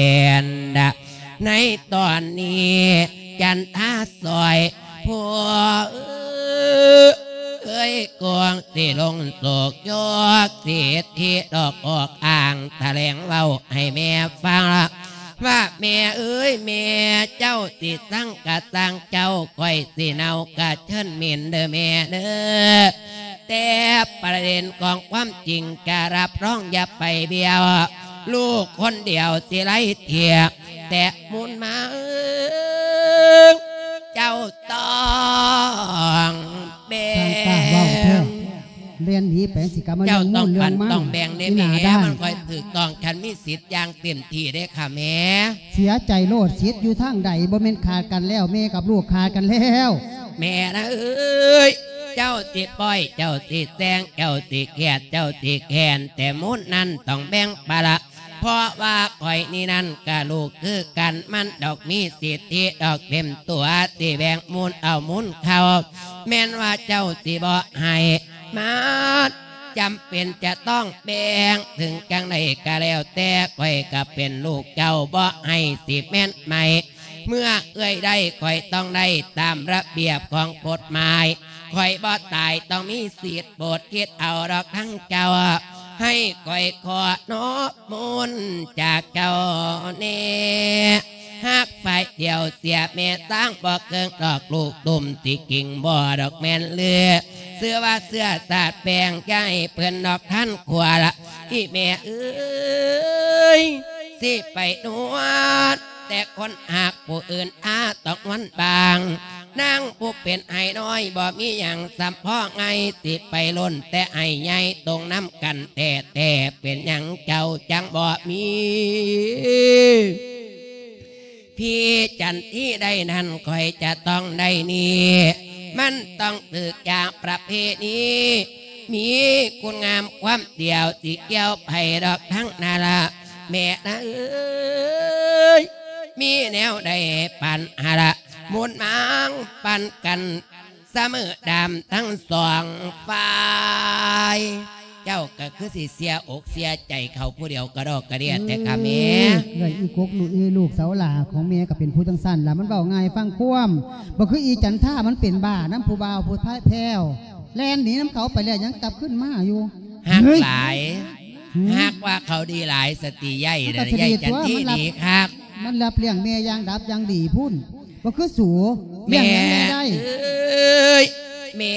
ໃນຕອນນີ້ຈັນທາຊ່ອຍ ຜົວເອີຍ ກວງຊິລົງໂສກໂຍກສິດທິດອກອອກອ້າງ ຖະແຫຼງເວົ້າໃຫ້ແມ່ຟັງ ວ່າແມ່ເອີຍ ແມ່ເຈົ້າຊິຊັງກະຊ່າງເຈົ້າ ຂ້ອຍຊິເນົາກະເຊີນເໝັນເດີແມ່ເດີ. ແຕ່ປະເດັນຂອງຄວາມຈິງຈະຮັບຮອງຢ່າໄປບຽວ ລູກຄົນດຽວຊິໄລ່ເທຍ ແຕະມູນມາເອີງ ເຈົ້າຕ້ອງແບ່ງ ຊ່າງກ້າເວົ້າແທ້ ແລ່ນໜີໄປ ຊິກະມາເລື່ອງມູນເລື່ອງມັນ ເຈົ້າຕ້ອງປັນຕ້ອງແບ່ງເດ້ແມ່ ມັນຄ່ອຍຖືກຕ້ອງ ຄັນມີສິດຢ່າງເຕັມທີ່ເດ້ຄ່ະແມ່. ເສຍໃຈໂລດ ສິດຢູ່ທາງໃດ ບໍ່ແມ່ນຂາດກັນແລ້ວ ແມ່ກັບລູກຂາດກັນແລ້ວ. ແມ່ນະເອີຍ ເຈົ້າຊິປ່ອຍ ເຈົ້າຊິແຊງ ເຈົ້າຊິຂຽດ ເຈົ້າຊິແຄ້ນ ແຕ່ມູນນັ້ນຕ້ອງແບ່ງປະລະ ເພາະວ່າຂ້ອຍນີ້ນັ້ນກະລູກຄືກັນ ມັນດອກມີສິດທິດອກເຕັມຕົວ ຊິແບ່ງມູນເອົາມູນເຂົ້າ ແມ່ນວ່າເຈົ້າຊິບໍ່ໃຫ້ ມັນຈຳເປັນຈະຕ້ອງແບ່ງ ເຖິງຈັ່ງໃດກະແລ້ວແຕ່ ຂ້ອຍກະເປັນລູກເຈົ້າ ບໍ່ໃຫ້ຊິແມ່ນໄໝ ເມື່ອເອື້ອຍໄດ້ ຂ້ອຍຕ້ອງໄດ້ຕາມລະບຽບຂອງກົດໝາຍ ຂ້ອຍບໍ່ຕາຍຕ້ອງມີສິດ ໂປດຄິດເອົາດອກທັງເຈົ້າ ໃຫ້ຂ້ອຍຂໍນອບມົນຈາກເຈົ້າແນ່ ຮັກຝ່າຍດຽວເສຍແມ່ ສ້າງບໍ່ເກີງດອກ ລູກຕຸ້ມຊິກິງບໍ່ດອກແມ່ນເລືອ ເຊື່ອວ່າເຊື້ອຊາດແບ່ງ ຢ່າໃຫ້ເພິ່ນດອກທັນຂົວລະ ອີ່ແມ່ເອີຍ ຊິໄປນວນ ແຕ່ຄົນຮັກຜູ້ອື່ນອາຕ້ອງນວນບາງ ນາງຜູ້ເປັນໄອ້ນ້ອຍບໍ່ມີຫຍັງ ສ່ຳພໍໄງ ຊິໄປລົ້ນແຕ່ໄອ້ໃຫຍ່ ຕົງນຳກັນແທ້ໆ ເປັນຫຍັງເຈົ້າຈັ່ງບໍ່ມີ ພີ່ຈັນທີໄດ້ນັ້ນ ຂ້ອຍຈະຕ້ອງໄດ້ນີ້ ມັນຕ້ອງຖືກຈາກປະເພນີ ມີຄຸນງາມຄວາມດຽວ ຊິກ່ຽວໃຜດອກທັງນັ້ນລະ ແມ່ນາເອີຍ ມີແນວໃດປັນຫາລະ ໝູນໝາງປັນກັນ ສະເໝີດຳທັງສອງຝ່າຍ ເຈົ້າກໍຄືຊິເສຍອົກເສຍໃຈເຂົາຜູ້ດຽວກະດອກກະເດຍແທ້ກະແມ່. ເອີຍ ເອື້ອຍອີກົກລູກເອີຍ ລູກສາວຫຼ້າຂອງແມ່ກໍເປັນຜູ້ຈັ່ງຊັ້ນລະ ມັນເວົ້າງ່າຍຟັງຄວາມ ບໍ່ຄືອີຈັນທາ ມັນເປັນບ້ານຳຜູ້ບ່າວຜູ້ແພ້ວ ແລ່ນໜີນຳເຂົາໄປແລ້ວຍັງກັບຄືນມາຢູ່. ຮັກ ເຮີ້ຍ ຫຼາຍ ຫືມ ຫາກວ່າເຂົາດີຫຼາຍ ສະຕິໃຫຍ່ ມັນກໍຊິດີຕົວະ ໃຫຍ່ຈັນທີ ມັນລັບ ດີຄັກ ມັນລັບລ້ຽງແມ່ຢ່າງດັບຢ່າງດີພຸ້ນ ບໍ່ຄືສູ ລ້ຽງຫຍັງແມ່ໄດ້. ແມ່ເອີຍ ແມ່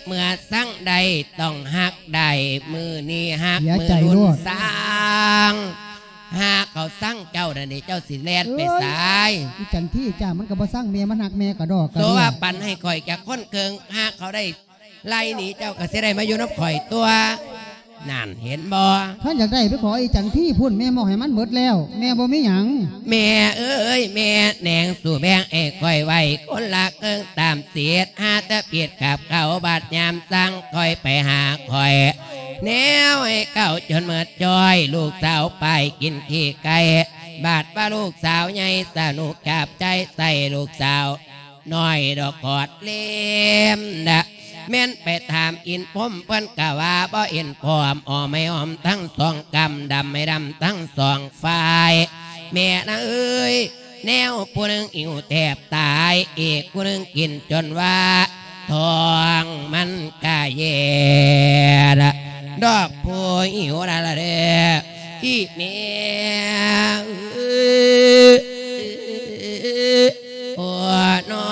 ເມື່ອສັງໄດ້ຕ້ອງຮັກໄດ້ ມື້ນີ້ຮັກ ເສຍໃຈ ມື້ລຸ້ນ ໂລດ ຊັງ ຫາເຂົາຊັງເຈົ້ານັ້ນນີ້ ເຈົ້າຊິແລ່ນໄປໃສ? ເອີຍ ອີຈັນທີຈ້າ ມັນກໍບໍ່ຊັງແມ່ ມັນຮັກແມ່ກະດອກກະເດຍ. ໂສວ່າປັນໃຫ້ຂ້ອຍຈັກຄົນເຄິ່ງ ຫາເຂົາໄດ້ ໄລ່ໜີເຈົ້າກໍຊິໄດ້ມາຢູ່ນຳຂ້ອຍຕົວະ ນັ້ນເຫັນບໍ່? ຄັນຢາກໄດ້ໄປຂໍອີຈັນທີພຸ້ນ ແມ່ມອບໃຫ້ມັນໝົດແລ້ວ ແມ່ບໍ່ມີຫຍັງ. ແມ່ເອີຍ ແມ່ແໜງສູ່ແບ່ງໃຫ້ຂ້ອຍໄວ້ຄົນລະເຄິ່ງຕາມສິດ ຫາແຕ່ຜິດກັບເຂົາ ບາດຍາມສັງຄ່ອຍໄປຫາຂ້ອຍ ແນວໃຫ້ເຂົາຈົນໝົດຈ້ອຍ ລູກສາວໄປກິນຂີ້ໄກ່ ບາດວ່າລູກສາວໃຫຍ່ສະໜຸກຈັບໃຈໃສ່ລູກສາວ ນ້ອຍດອກກອດເລັມດະ ແມ່ນໄປຖາມອິນພົມ ເພິ່ນກະວ່າບໍ່ເຫັນພ້ອມ ອ້ອມໃຫ້ອ້ອມທັງສອງກຳ ດຳໃຫ້ດຳທັງສອງຝ່າຍ ແມ່ນາເອີຍ ແນວຜູ້ໜຶ່ງຫິວແທບຕາຍ ອີກຜູ້ໜຶ່ງກິນຈົນວ່າ ທ້ອງມັນກະແຍ່ລະ ດອກຜູ້ຫິວລະລະເດີ ອີແມ່ເອີຍ ໂອ້ ນອ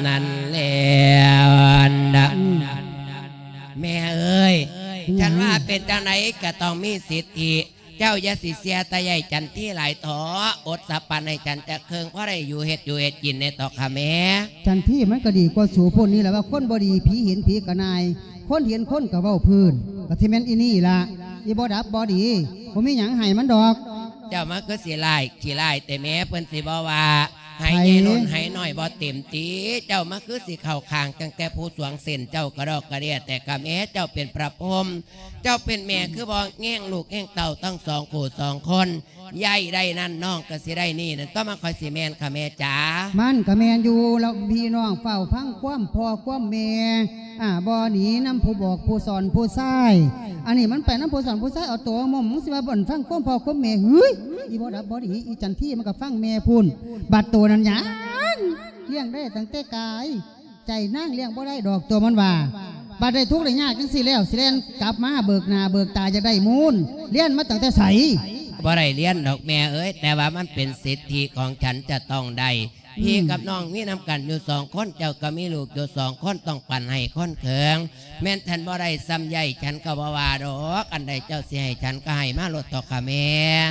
ນັ້ນແລ້ວນະ ອືມ ແມ່ເອີຍ ເປັນຫຍັງ? ຄັນວ່າເປັນຈັ່ງໃດກໍຕ້ອງມີສິດທິ ເຈົ້າຢ່າຊິເສຍຕາໃຫຍ່ຈັນທີຫຼາຍເຖາະ ອົດສະປັນໃຫ້ຈັນຈັກເຄິ່ງ ພໍໄດ້ຢູ່ເຮັດຢູ່ເຮັດກິນແດ່ເຖາະຄ່ະແມ່. ຈັນທີມັນກໍດີກວ່າສູພຸ້ນນີ້ແຫຼະ ວ່າຄົນບໍ່ດີ ຜີເຫັນຜີກະນາຍ ຄົນເຫັນຄົນກໍເວົ້າພື້ນ ກໍຊິແມ່ນອີນີ້ລະ ອີບໍ່ດັບບໍ່ດີ ບໍ່ມີຫຍັງໃຫ້ມັນດອກ. ເຈົ້າມາຄືຊິຮ້າຍຂີ້ຮ້າຍແຕ່ແມ່ ເພິ່ນຊິບໍ່ວ່າ ໃຫ້ໃຫຍ່ລົ້ນໃຫ້ນ້ອຍບໍ່ເຕັມຕິ ເຈົ້າມາຄືຊິເຂົ້າຂ້າງຕັ້ງແຕ່ຜູ້ສວງເສັ້ນເຈົ້າກະດອກກະເດຍແຕ່ກະແມ່ ເຈົ້າເປັນພະພົມ ເຈົ້າເປັນແມ່ຄືບໍ່ແຍງລູກແຍງເຕົ້າທັງສອງຄູ່ສອງຄົນ ໃຫຍ່ໄດ້ນັ້ນນ້ອງກໍຊິໄດ້ນີ້ນັ້ນ ຕໍ່ມາຂ້ອຍຊິແມ່ນຄ່ະແມ່ຈ໋າ. ມັນກໍແມ່ນຢູ່ ແລ້ວພີ່ນ້ອງເຝົ້າຟັງຄວາມພໍ່ຄວາມແມ່ ອາ ບໍ່ໜີນຳຜູ້ບອກຜູ້ສອນຜູ້ຊາຍ ອັນນີ້ມັນໄປນຳຜູ້ສອນຜູ້ຊາຍ ເອົາໂຕມາໝົມ ມຶງຊິວ່າບໍ່ຟັງຄວາມພໍ່ຄວາມແມ່ ເຮີ້ຍ ອີບໍ່ດັບບໍ່ດີ ອີຈັນທີມັນກໍຟັງແມ່ພຸ້ນ ບັດໂຕນັ້ນຫຍັງ ລ້ຽງໄດ້ຕັ້ງແຕ່ກາຍ ໃຈນາງລ້ຽງບໍ່ໄດ້ດອກ ຕົວະມັນວ່າ ບັດໄດ້ທຸກໄດ້ຍາກຈັ່ງຊີ້ແລ້ວ ຊິແລ່ນກັບມາເບີກໜ້າເບີກຕາ ຢາກໄດ້ມູນ ຮຽນມາຕັ້ງແຕ່ໃສ? ບໍ່ໄດ້ຮຽນດອກແມ່ເອີຍ ແຕ່ວ່າມັນເປັນສິດທິຂອງສັນຈະຕ້ອງໄດ້ ອືມ ພີ່ກັບນ້ອງມີນຳກັນຢູ່ສອງຄົນ ເຈົ້າກໍມີລູກຢູ່ສອງຄົນ ຕ້ອງປັນໃຫ້ຄົນເຄິ່ງ ແມ່ນທ່ານບໍ່ໄດ້ສ່ຳໃຫຍ່ ສັນກໍບໍ່ວ່າດອກ ອັນໃດເຈົ້າຊິໃຫ້ສັນກໍໃຫ້ມາໂລດເຖາະຄ່ະແມ່.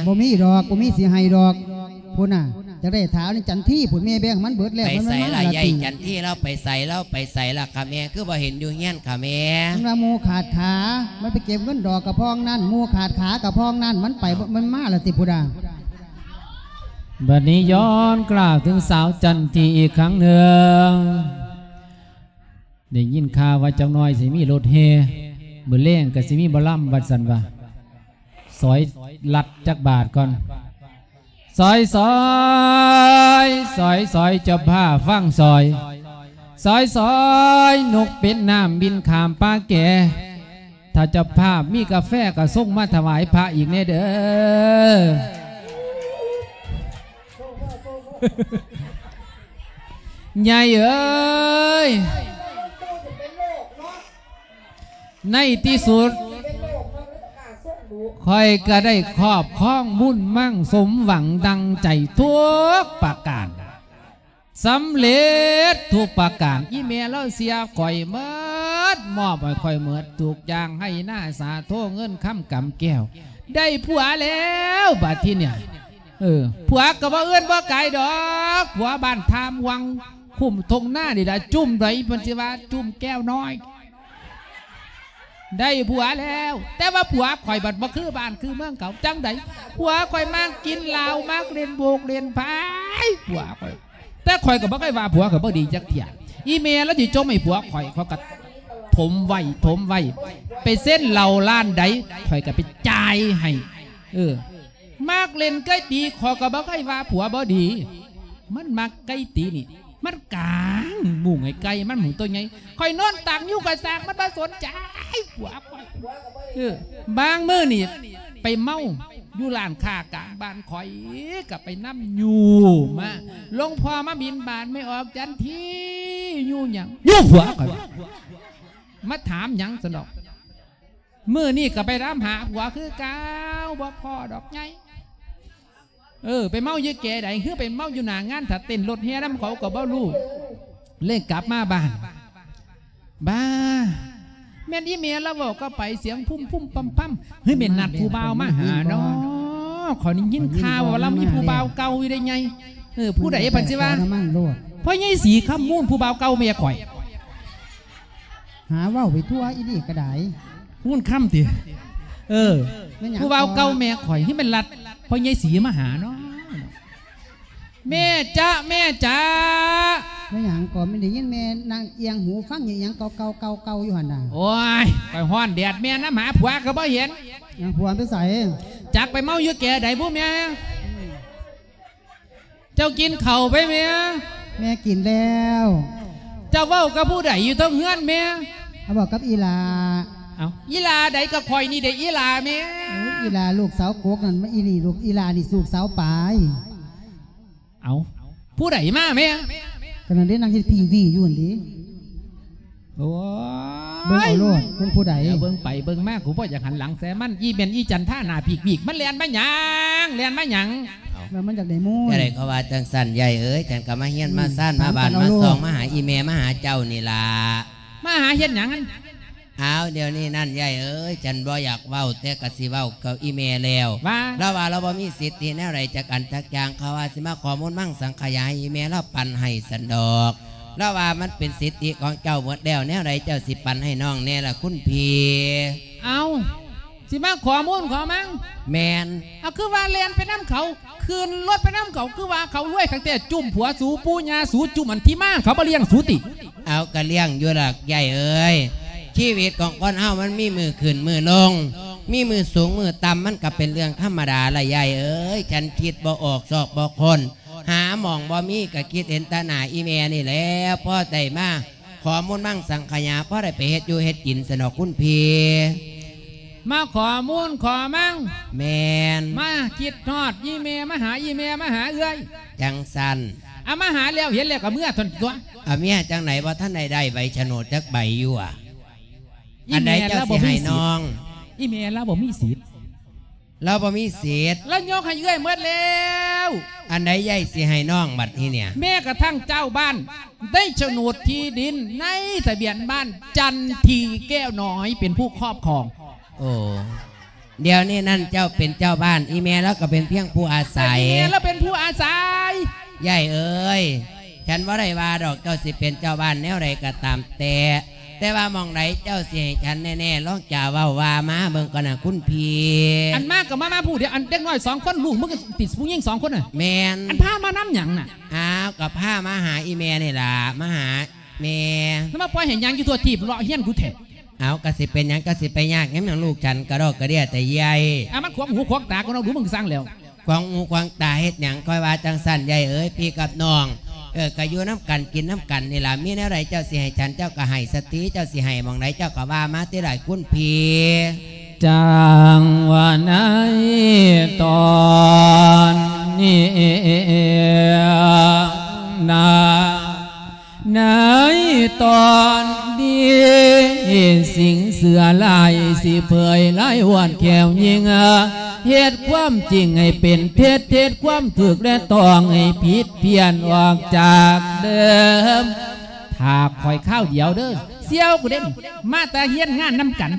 ບໍ່ມີດອກ ບໍ່ມີຊິໃຫ້ດອກ ພຸ້ນນະ ຈະໄດ້ຖາວໃນຈັນທີພຸ້ນ ແມ່ແບ່ງມັນເບິດແລ້ວ ໄປໃສລະ ມັນມາລະຕິ ໃຫຍ່ຈັນທີລາວໄປໃສ ລາວໄປໃສລະຄ່ະແມ່ ຄືບໍ່ເຫັນຢູ່ເຮືອນຄ່ະແມ່? ມັນວ່າໝູ່ຂາດຂາ ມັນໄປເກັບເງິນດອກກະພອງນັ້ນ ໝູ່ຂາດຂາກະພອງນັ້ນ ມັນໄປ ເອົ້າ ມັນມາລະຕິພຸ້ນນະ. ບັດນີ້ຍ້ອນກາບເຖິງສາວຈັນທີອີກຄັ້ງໜຶ່ງ ໄດ້ຍິນຂ່າວວ່າຈັກໜ້ອຍຊິມີລົດແຫ່ ມື້ແລງກໍຊິມີໝໍລຳ ວ່າຊັ້ນວ່າ ຊອຍລັດຈັກບາດກ່ອນ ຊອຍ ຊອຍ ຊອຍ ຊອຍ ເຈົ້າພາບຟັງຊອຍ ຊອຍ ຊອຍ ນົກເປັນນ້ຳບິນຂ້າມປ່າແກ່ ຖ້າເຈົ້າພາບມີກາແຟກໍສົ່ງມາຖວາຍພະອີກແດ່ເດີ. ໃຫຍ່ເອີຍ ໃນທີ່ສຸດ ຂ້ອຍກໍໄດ້ຄອບຄອງບຸນມັງສົມຫວັງດັ່ງໃຈທຸກປະການ ສຳເລັດທຸກປະການ ອີແມ່ລາວເສຍຂ້ອຍໝົດ ມອບໃຫ້ຂ້ອຍໝົດທຸກຢ່າງ ໄຮ່ນາສາໂທເງິນຄຳກຳແກ້ວ ໄດ້ຜົວແລ້ວບາດທີເນີ້ຍ ເອີ ຜົວກໍບໍ່ເອື້ອນບໍ່ກາຍດອກ ຜົວບ້ານທ່າມ່ວງ ຄຸ້ມທົ່ງນານີ້ລະ ຈຸ້ມໃດເພິ່ນຊິວ່າຈຸ້ມແກ້ວນ້ອຍ ໄດ້ຜົວແລ້ວ ແຕ່ວ່າຜົວຂ້ອຍບັດບໍ່ຄືບ້ານຄືເມືອງເຂົາ ຈັ່ງໃດ ຜົວຂ້ອຍມັກກິນເຫຼົ້າ ມັກຫຼິ້ນໂບກຫຼິ້ນພາຍ ຜົວຂ້ອຍ ແຕ່ຂ້ອຍກໍບໍ່ເຄີຍວ່າຜົວຂ້ອຍບໍ່ດີຈັກເທື່ອ. ອີແມ່ລາວຊິຈົ່ມໃຫ້ຜົວຂ້ອຍ ຂ້ອຍກໍຖົມໄວ້ ຖົມໄວ້. ໄປເຊັນເຫຼົ້າຮ້ານໃດ ຂ້ອຍກໍໄປຈ່າຍໃຫ້. ເອີ ມັກຫຼິ້ນໄກ່ຕີ ຂ້ອຍກໍບໍ່ເຄີຍວ່າຜົວບໍ່ດີ. ມັນມັກໄກ່ຕີນີ້ ມັນກາງມຸ້ງໃຫ້ໄກ່ມັນໝູໂຕໃຫຍ່. ຂ້ອຍນອນຕາກນິ້ວ ຂ້ອຍສາກ ມັນບໍ່ສົນໃຈຜົວຂ້ອຍ. ເອີ ບາງມື້ນີ້ໄປເມົາຢູ່ຮ້ານຄ້າກາງບ້ານ ຂ້ອຍກໍໄປນຳຍູ້ມາ. ຫຼວງພໍ່ມາບິນບາດ ແມ່ອອກຈັນທີ ຍູ້ຫຍັງ? ຍູ້ຜົວຂ້ອຍວ່າ. ມາຖາມຫຍັງຊັ້ນດອກ. ມື້ນີ້ກໍໄປຕາມຫາຜົວຄືເກົ່າ ບໍ່ພໍດອກໃຫຍ່. ເອີ ໄປເມົາຢູ່ແກ່ໃດ ຄືໄປເມົາຢູ່ໜ້າງານ ຖ້າເຕັ້ນລົດແຫ່ນຳເຂົາກໍບໍ່ຮູ້. ເລີຍກັບມາບ້ານ ບ້າ ແມ່ນອີແມ່ລາວເວົ້າກັບໃຜ ສຽງພຸ້ມໆ ປຳໆ. ເຮີ້ຍ ແມ່ນນັດຜູ້ບ່າວມາຫາເນາະ. ຂ້ອຍໄດ້ຍິນຂ່າວວ່າລາວມີຜູ້ບ່າວເກົ່າຢູ່ເດ້ໃຫຍ່. ເອີ ຜູ້ໃດ ເພິ່ນຊິວ່າ ພໍ່ໃຫຍ່ສີຄຳມູນ ຜູ້ບ່າວເກົ່າແມ່ຂ້ອຍ. ຫາເວົ້າໄປທົ່ວ ອີນີ້ກໍໄດ້. ມູນຄຳຕິ? ເອີ ແມ່ນຫຍັງ? ຜູ້ບ່າວເກົ່າແມ່ຂ້ອຍ ເຮີ້ຍ ແມ່ນລັດພໍ່ໃຫຍ່ສີມາຫາເນາະ. ແມ່ຈ໊ະ ແມ່ຈ໊ະ. ແມ່ນຫຍັງກໍ ແມ່ນໄດ້ຍິນແມ່ນັ່ງອຽງຫູຟັງອີຫຍັງເກົ່າໆ ເກົ່າໆຢູ່ຫັ້ນນະ? ໂອ້ຍ ຂ້ອຍຮ້ອນແດດ ແມ່ນຳຫາຜົວກໍບໍ່ເຫັນ. ຫຍັງ ຜົວໄປໃສ? ຈັກໄປເມົາຢູ່ແກ່ໃດບຸແມ່. ເຈົ້າກິນເຂົ້າໄປແມ່? ແມ່ກິນແລ້ວ. ເຈົ້າເວົ້າກັບຜູ້ໃດຢູ່ເທິງເຮືອນແມ່? ເຮົາເວົ້າກັບອີ່ຫຼ້າ. ເອົ້າ ອີ່ຫຼ້າໃດ? ກໍຂ້ອຍນີ້ເດ້ອີ່ຫຼ້າແມ່. ໂອ້ຍ ອີ່ຫຼ້າລູກສາວກົກນັ້ນ ມາອີ່ນີ້ລູກ ອີ່ຫຼ້ານີ້ລູກສາວປາຍ. ເອົ້າ ຜູ້ໃດມາແມ່? ກໍນັ້ນເດ້ ນັ່ງເຮັດທີວີຢູ່ຫັ້ນເດ້. ໂອ້ຍ ເບິ່ງເອົາໂລດ ເບິ່ງຜູ້ໃດ. ດຽວເບິ່ງໄປເບິ່ງມາ ກູບໍ່ຢາກຫັນຫຼັງໃສ່ມັນ. ອີແມ່ນອີຈັນທາໜ້າພີກໆ ມັນແລ່ນມາຫຍັງ ແລ່ນມາຫຍັງ? ເອົ້າ ແລ້ວມັນຢາກໄດ້ມູນ. ຈັ່ງໃດກໍວ່າຈັ່ງຊັ້ນ ຍາຍເອີຍ. ສັນກໍມາຮຽນມາຊານ ມາບ້ານມາຊ່ອງ ມາຫາອີແມ່ ມາຫາເຈົ້ານີ້ລະ. ມາຫາເຮັດຫຍັງ? ອ້າວ ດຽວນີ້ນັ້ນ ຍາຍເອີຍ ສັນບໍ່ຢາກເວົ້າ ແຕ່ກໍຊິເວົ້າກັບອີແມ່ແລ້ວ ວ່າ ລາວວ່າລາວບໍ່ມີສິດທິແນວໃດຈັກອັນຈັກຢ່າງ. ເຂົາວ່າຊິມາຂໍມູນມັງສັງຂະຍາໃຫ້ອີແມ່ລາວປັນໃຫ້ສັນດອກ. ລາວວ່າມັນເປັນສິດທິຂອງເຈົ້າໝົດແລ້ວ ແນວໃດເຈົ້າຊິປັນໃຫ້ນ້ອງແດ່ລະຄຸນພີ່? ເອົ້າ ຊິມາຂໍມູນຂໍມັງ? ແມ່ນ. ເອົາ ຄືວ່າແລ່ນໄປນຳເຂົາ ຂຶ້ນລົດໄປນຳເຂົາ ຄືວ່າເຂົາລວຍຄັກແທ້ ຈຸ້ມຜົວສູ ປູ່ຍ່າສູ ຈຸ້ມອັນທີ່ມາ ເຂົາບໍ່ລ້ຽງສູຕິ? ເອົາ ກະລ້ຽງຢູ່ດອກ ຍາຍເອີຍ. ຊີວິດຂອງຄົນເຮົາມັນມີມື້ຂຶ້ນມື້ລົງ ມີມື້ສູງມື້ຕ່ຳ ມັນກະເປັນເລື່ອງທຳມະດາລະ ຍາຍເອີຍ. ສັນຄິດບໍ່ອອກຊອກບໍ່ຄົ້ນ ຫາໝ່ອງບໍ່ມີ ກະຄິດເຫັນແຕ່ໜ້າອີແມ່ນີ້ແຫຼະ ພໍໄດ້ມາຂໍມູນມັງສັງຂະຍາ ພໍໄດ້ໄປເຮັດຢູ່ເຮັດກິນຊັ້ນດອກຄຸນພີ່. ມາຂໍມູນຂໍມັງ? ແມ່ນ. ມາຄິດຮອດອີແມ່ ມາຫາອີແມ່ ມາຫາເອື້ອຍ? ຈັ່ງຊັ້ນ. ອາ ມາຫາແລ້ວເຫັນແລ້ວກໍເມືອທົ່ນຕົວະ. ອາ ເມຍຈັ່ງໃດ ບໍ່ທັນໄດ້ໄດ້ໃບສະໂໜດຈັກໃບຢູ່ອະ. ອັນໃດເຈົ້າຊິໃຫ້ນ້ອງ? ອີແມ່ລາວບໍ່ມີສິດ ລາວບໍ່ມີສິດ ລາວຍົກໃຫ້ເອື້ອຍໝົດແລ້ວ. ອັນໃດຍາຍຊິໃຫ້ນ້ອງບັດນີ້ເນຍ? ແມ້ກະທັ່ງເຈົ້າບ້ານ ໃນໂສນດທີ່ດິນ ໃນທະບຽນບ້ານ ຈັນທີແກ້ວນ້ອຍເປັນຜູ້ຄອບຄອງ. ໂອ້ ດຽວນີ້ນັ້ນເຈົ້າເປັນເຈົ້າບ້ານ ອີແມ່ລາວກໍເປັນພຽງຜູ້ອາໄສ. ແຕ່ອີແມ່ລາວເປັນຜູ້ອາໄສ. ຍາຍເອີຍ ສັນບໍ່ໄດ້ວ່າດອກ ເຈົ້າຊິເປັນເຈົ້າບ້ານແນວໃດກໍຕາມແຕ່ ແຕ່ວ່າໝ່ອງໃດເຈົ້າຊິໃຫ້ສັນແນ່ໆ ລອງຈາເວົ້າວ່າມາເບິ່ງກ່ອນນະຄຸນພີ່. ອັນມາກໍມາ ມາຜູ້ດຽວ ອັນເດັກນ້ອຍສອງຄົນ ລູກມຶງຕິດຜູ້ຍິງສອງຄົນນະ. ແມ່ນ. ອັນພາມານຳຫຍັງນະ? ອ້າວ ກໍພາມາຫາອີແມ່ນີ້ລະ ມາຫາແມ່. ແລ້ວມາປ່ອຍໃຫ້ຍ່າງຢູ່ທົ່ວທີບເລາະເຮືອນກູແທ້. ເອົາ ກະຊິເປັນຫຍັງ ກະຊິໄປຍາກຫຍັງ ຫຍັງລູກສັນກະດອກກະເດຍແຕ່ໃຫຍ່. ອາ ມັນຂວາງຫູຂວາງຕາກວ່າເນາະ ດູເບິ່ງສ້າງແລ້ວ. ຂວາງຫູຂວາງຕາເຮັດຫຍັງ? ຂ້ອຍວ່າຈັ່ງຊັ້ນ ຍາຍເອີຍ ພີ່ກັບນ້ອງ ເອີ ກະຢູ່ນຳກັນ ກິນນຳກັນນີ້ລະ ມີແນວໃດເຈົ້າຊິໃຫ້ສັນ ເຈົ້າກະໃຫ້ສະຕິ ເຈົ້າຊິໃຫ້ໝ່ອງໃດ ເຈົ້າກະວ່າມາຕິຫຼາຍຄຸນພີ່. ຈັ່ງວ່າໃນຕອນນີ້ນະ ໃນຕອນນີ້ ສິ່ງເຊື່ອຫຼາຍ ຊິເຜີຍລາຍອວດແຂວຍິງ ເຮັດຄວາມຈິງໃຫ້ເປັນເທັດ ເຮັດຄວາມຖືກແລະຕ້ອງໃຫ້ຜິດ ປ່ຽນອອກຈາກເດີມ. ຖ້າຂ້ອຍຄາວດຽວເດີ ສ່ຽວກູເດ້ ມາແຕ່ຮຽນງານນຳກັນ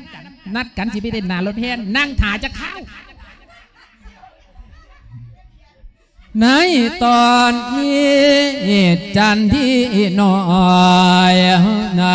ນັດກັນຊິໄປເຕັ້ນໜ້າລົດແຫ່ ນັ່ງຖ້າຈັກຄາວ. ໃນຕອນນີ້ຈັນທີນ້ອຍນະ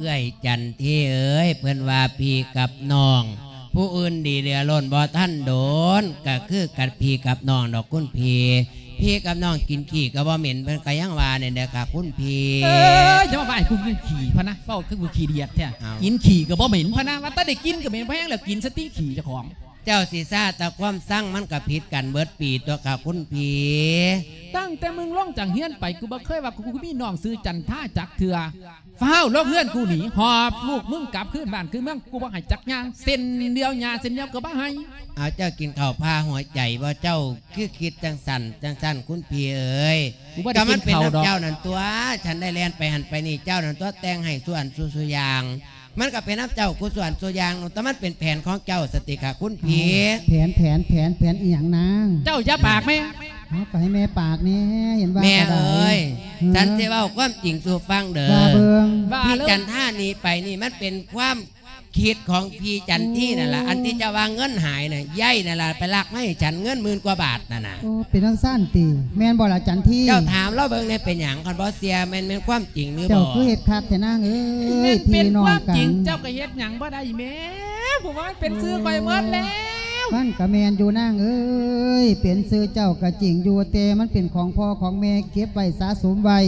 ເອື້ອຍຈັນທີເອີຍ ເພິ່ນວ່າພີ່ກັບນ້ອງ ຜູ້ອື່ນດີເຫຼືອລົ້ນບໍ່ທັນດົນ ກໍຄືກັບພີ່ກັບນ້ອງດອກຄຸນພີ່. ພີ່ກັບນ້ອງກິນຂີ້ກໍບໍ່ເໝັນ ເພິ່ນກໍຍັງວ່ານີ້ເດ້ອຄ່ະຄຸນພີ່. ເອີ ຢ່າມາວ່າໃຫ້ກູກິນຂີ້ພະນະ ເວົ້າຄືກູຂີ້ດຽດແທ້. ເອົ້າ ກິນຂີ້ກໍບໍ່ເໝັນພະນະ ວ່າແຕ່ໄດ້ກິນກໍເໝັນພໍແຮງແລ້ວ ກິນສະຕິຂີ້ເຈົ້າຂອງ. ເຈົ້າຊິຊ້າແຕ່ຄວາມຊັງ ມັນກໍຜິດກັນເບິດປີຕົວະຄ່າຄຸນພີ່. ຕັ້ງແຕ່ມຶງລົງຈາກເຮືອນໄປ ກູບໍ່ເຄີຍວ່າກູມີນ້ອງຊື່ຈັນທາຈັກເທື່ອ. ຟ້າວລົງເຮືອນກູໜີ ຫອບລູກມຶງກັບຄືນບ້ານຄືເມືອງ ກູບໍ່ໃຫ້ຈັກຢ່າງ ເສັ້ນດຽວຫຍ້າເສັ້ນດຽວກໍບໍ່ໃຫ້. ເອົາ ເຈົ້າກິນເຂົ້າຜ່າຫົວໃຈບໍ່? ເຈົ້າຄືຄິດຈັ່ງຊັ້ນ ຈັ່ງຊັ້ນຄຸນພີ່ເອີຍ. ກູບໍ່ໄດ້ກິນເຂົ້າດອກ. ກໍມັນເປັນນຳເຈົ້ານັ້ນຕົວະ ສັນໄດ້ແລ່ນໄປຫັ້ນໄປນີ້ ເຈົ້ານັ້ນຕົວະແຕ່ງໃຫ້ສູ່ອັນສູ່ ສູ່ຢ່າງ. ມັນກໍເປັນນຳເຈົ້າຄູ່ສ່ວນສູ່ຢ່າງ ແຕ່ມັນເປັນແຜນຂອງເຈົ້າສະຕິຄ່າຄຸນພີ່. ເອົາ ແຜນ ແຜນ ແຜນ ແຜນອີ່ຫຍັງນາງ? ເຈົ້າຢ່າປາກແມ່. ເອົາ ກໍໃຫ້ແມ່ປາກແດ່ ເຫັນວ່າແມ່ເອີຍ. ເອີ ສັນຊິເວົ້າຄວາມຈິງສູ່ຟັງເດີ. ວ່າເບິ່ງ. ວ່າເລີຍ. ທີ່ຈັນທາໜີໄປນີ້ ມັນເປັນຄວາມຄິດຂອງພີ່ຈັນທີນັ້ນລະ. ໂອ້ ອັນທີ່ເຈົ້າວ່າເງິນຫາຍນະ ຍາຍນັ້ນລະໄປລັກມາໃຫ້ສັນ ເງິນໝື່ນກວ່າບາດນັ້ນນະ. ໂອ້ ເປັນຈັ່ງຊັ້ນຕິ? ແມ່ນບໍ່ລະຈັນທີ? ເຈົ້າຖາມລາວເບິ່ງແດ່ ເປັນຫຍັງ? ຄັນບໍ່ເຊື່ອ ແມ່ນ ແມ່ນຄວາມຈິງຫຼືບໍ່? ເຈົ້າຄືເຮັດຄັກແທ້ນາງເອີຍ. ແມ່ນເປັນຄວາມຈິງ ພີ່ນ້ອງກັນ ເຈົ້າກໍເຮັດຫຍັງບໍ່ໄດ້ແມ່. ເພາະວ່າມັນເປັນຊື່ຂ້ອຍໝົດແລ້ວ. ມັນກໍແມ່ນຢູ່ນາງເອີຍ ເປັນຊື່ເຈົ້າກໍຈິງຢູ່ ແຕ່ມັນເປັນຂອງພໍ່ຂອງແມ່ເກັບໄວ້ສະສົມໄວ້.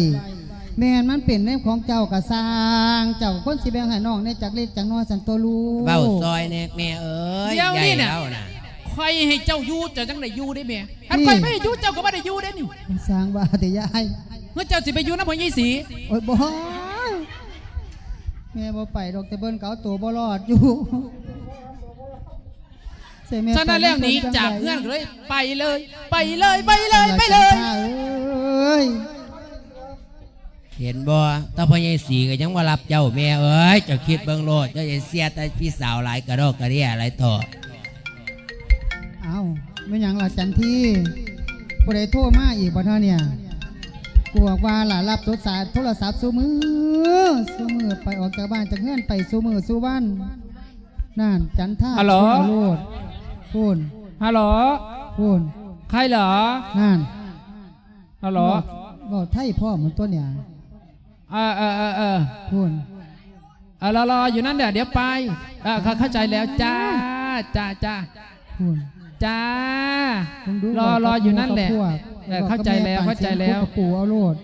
ແມ່ນມັນເປັນແນວຂອງເຈົ້າກໍຊ່າງ ເຈົ້າກໍຄວນຊິແບ່ງໃຫ້ນ້ອງແດ່ຈັກເລັກຈັກນ້ອຍຊັ້ນຕົວະລູກ. ເວົ້າຊ່ອຍແດ່ແມ່ເອີຍ. ດຽວນີ້ນະ ຍາຍລາວນະ ຂ້ອຍໃຫ້ເຈົ້າຢູ່ ເຈົ້າຈັ່ງໄດ້ຢູ່ເດ້ແມ່. ຄັນຂ້ອຍບໍ່ໃຫ້ຢູ່ ເຈົ້າກໍບໍ່ໄດ້ຢູ່ເດ້ນີ້. ຊ່າງວ່າແຕ່ຍາຍ. ເຮືອເຈົ້າຊິໄປຢູ່ນຳພໍ່ໃຫຍ່ສີ? ໂອ້ຍ ບໍ່ ແມ່ບໍ່ໄປດອກ ແຕ່ເບິ່ງກໍເອົາໂຕບໍ່ລອດຢູ່. ສະນັ້ນແລ້ວ ໜີຈາກເຮືອນເລີຍ ໄປເລີຍ ໄປເລີຍ ໄປເລີຍ ໄປເລີຍ. ເອີຍ ເຫັນບໍ່ ຕາພໍ່ໃຫຍ່ສີກໍຍັງບໍ່ຮັບເຈົ້າແມ່ເອີຍ. ເຈົ້າຄິດເບິ່ງໂລດ ເຈົ້າຢ່າເຊື່ອແຕ່ພີ່ສາວຫຼາຍກະດອກກະເດຍຫຼາຍເຖາະ. ເອົ້າ ແມ່ນຫຍັງລະຈັນທີ? ຜູ້ໃດໂທມາອີກບໍ່ເນາະເນຍ? ກວກວ່າລະ ຮັບໂທລະສັບ ໂທລະສັບຊຸມື້ ຊຸມື້ ໄປອອກຈາກບ້ານຈາກເຮືອນໄປຊຸມື້ຊຸວັນ. ນັ້ນ ຈັນທາ ຮັລໂຫຼ ໂທມາໂລດ. ພຸ້ນ ຮັລໂຫຼ ພຸ້ນ ໃຄເຫຼືອ? ນັ້ນ ຮັລໂຫຼ ເວົ້າ ເວົ້າໄທພ້ອມໝົດຕົວເນຍ. ເອີ ເອີ ເອີ ເອີ ພຸ້ນ ເອີ ລໍ ລໍຢູ່ນັ້ນແຫຼະ ດຽວໄປ. ເອີ ເຂົ້າ ເຂົ້າໃຈແລ້ວ ຈ້າ ຈ້າ ຈ້າ ພຸ້ນ ຈ້າ ເບິ່ງດູ ລໍ ລໍຢູ່ນັ້ນແຫຼະ. ເວົ້າກັບໝູ່ກັບພວກ ເອີ ເຂົ້າໃຈແລ້ວ ເຂົ້າໃຈແລ້ວ ກັບປູເອົາໂລດ.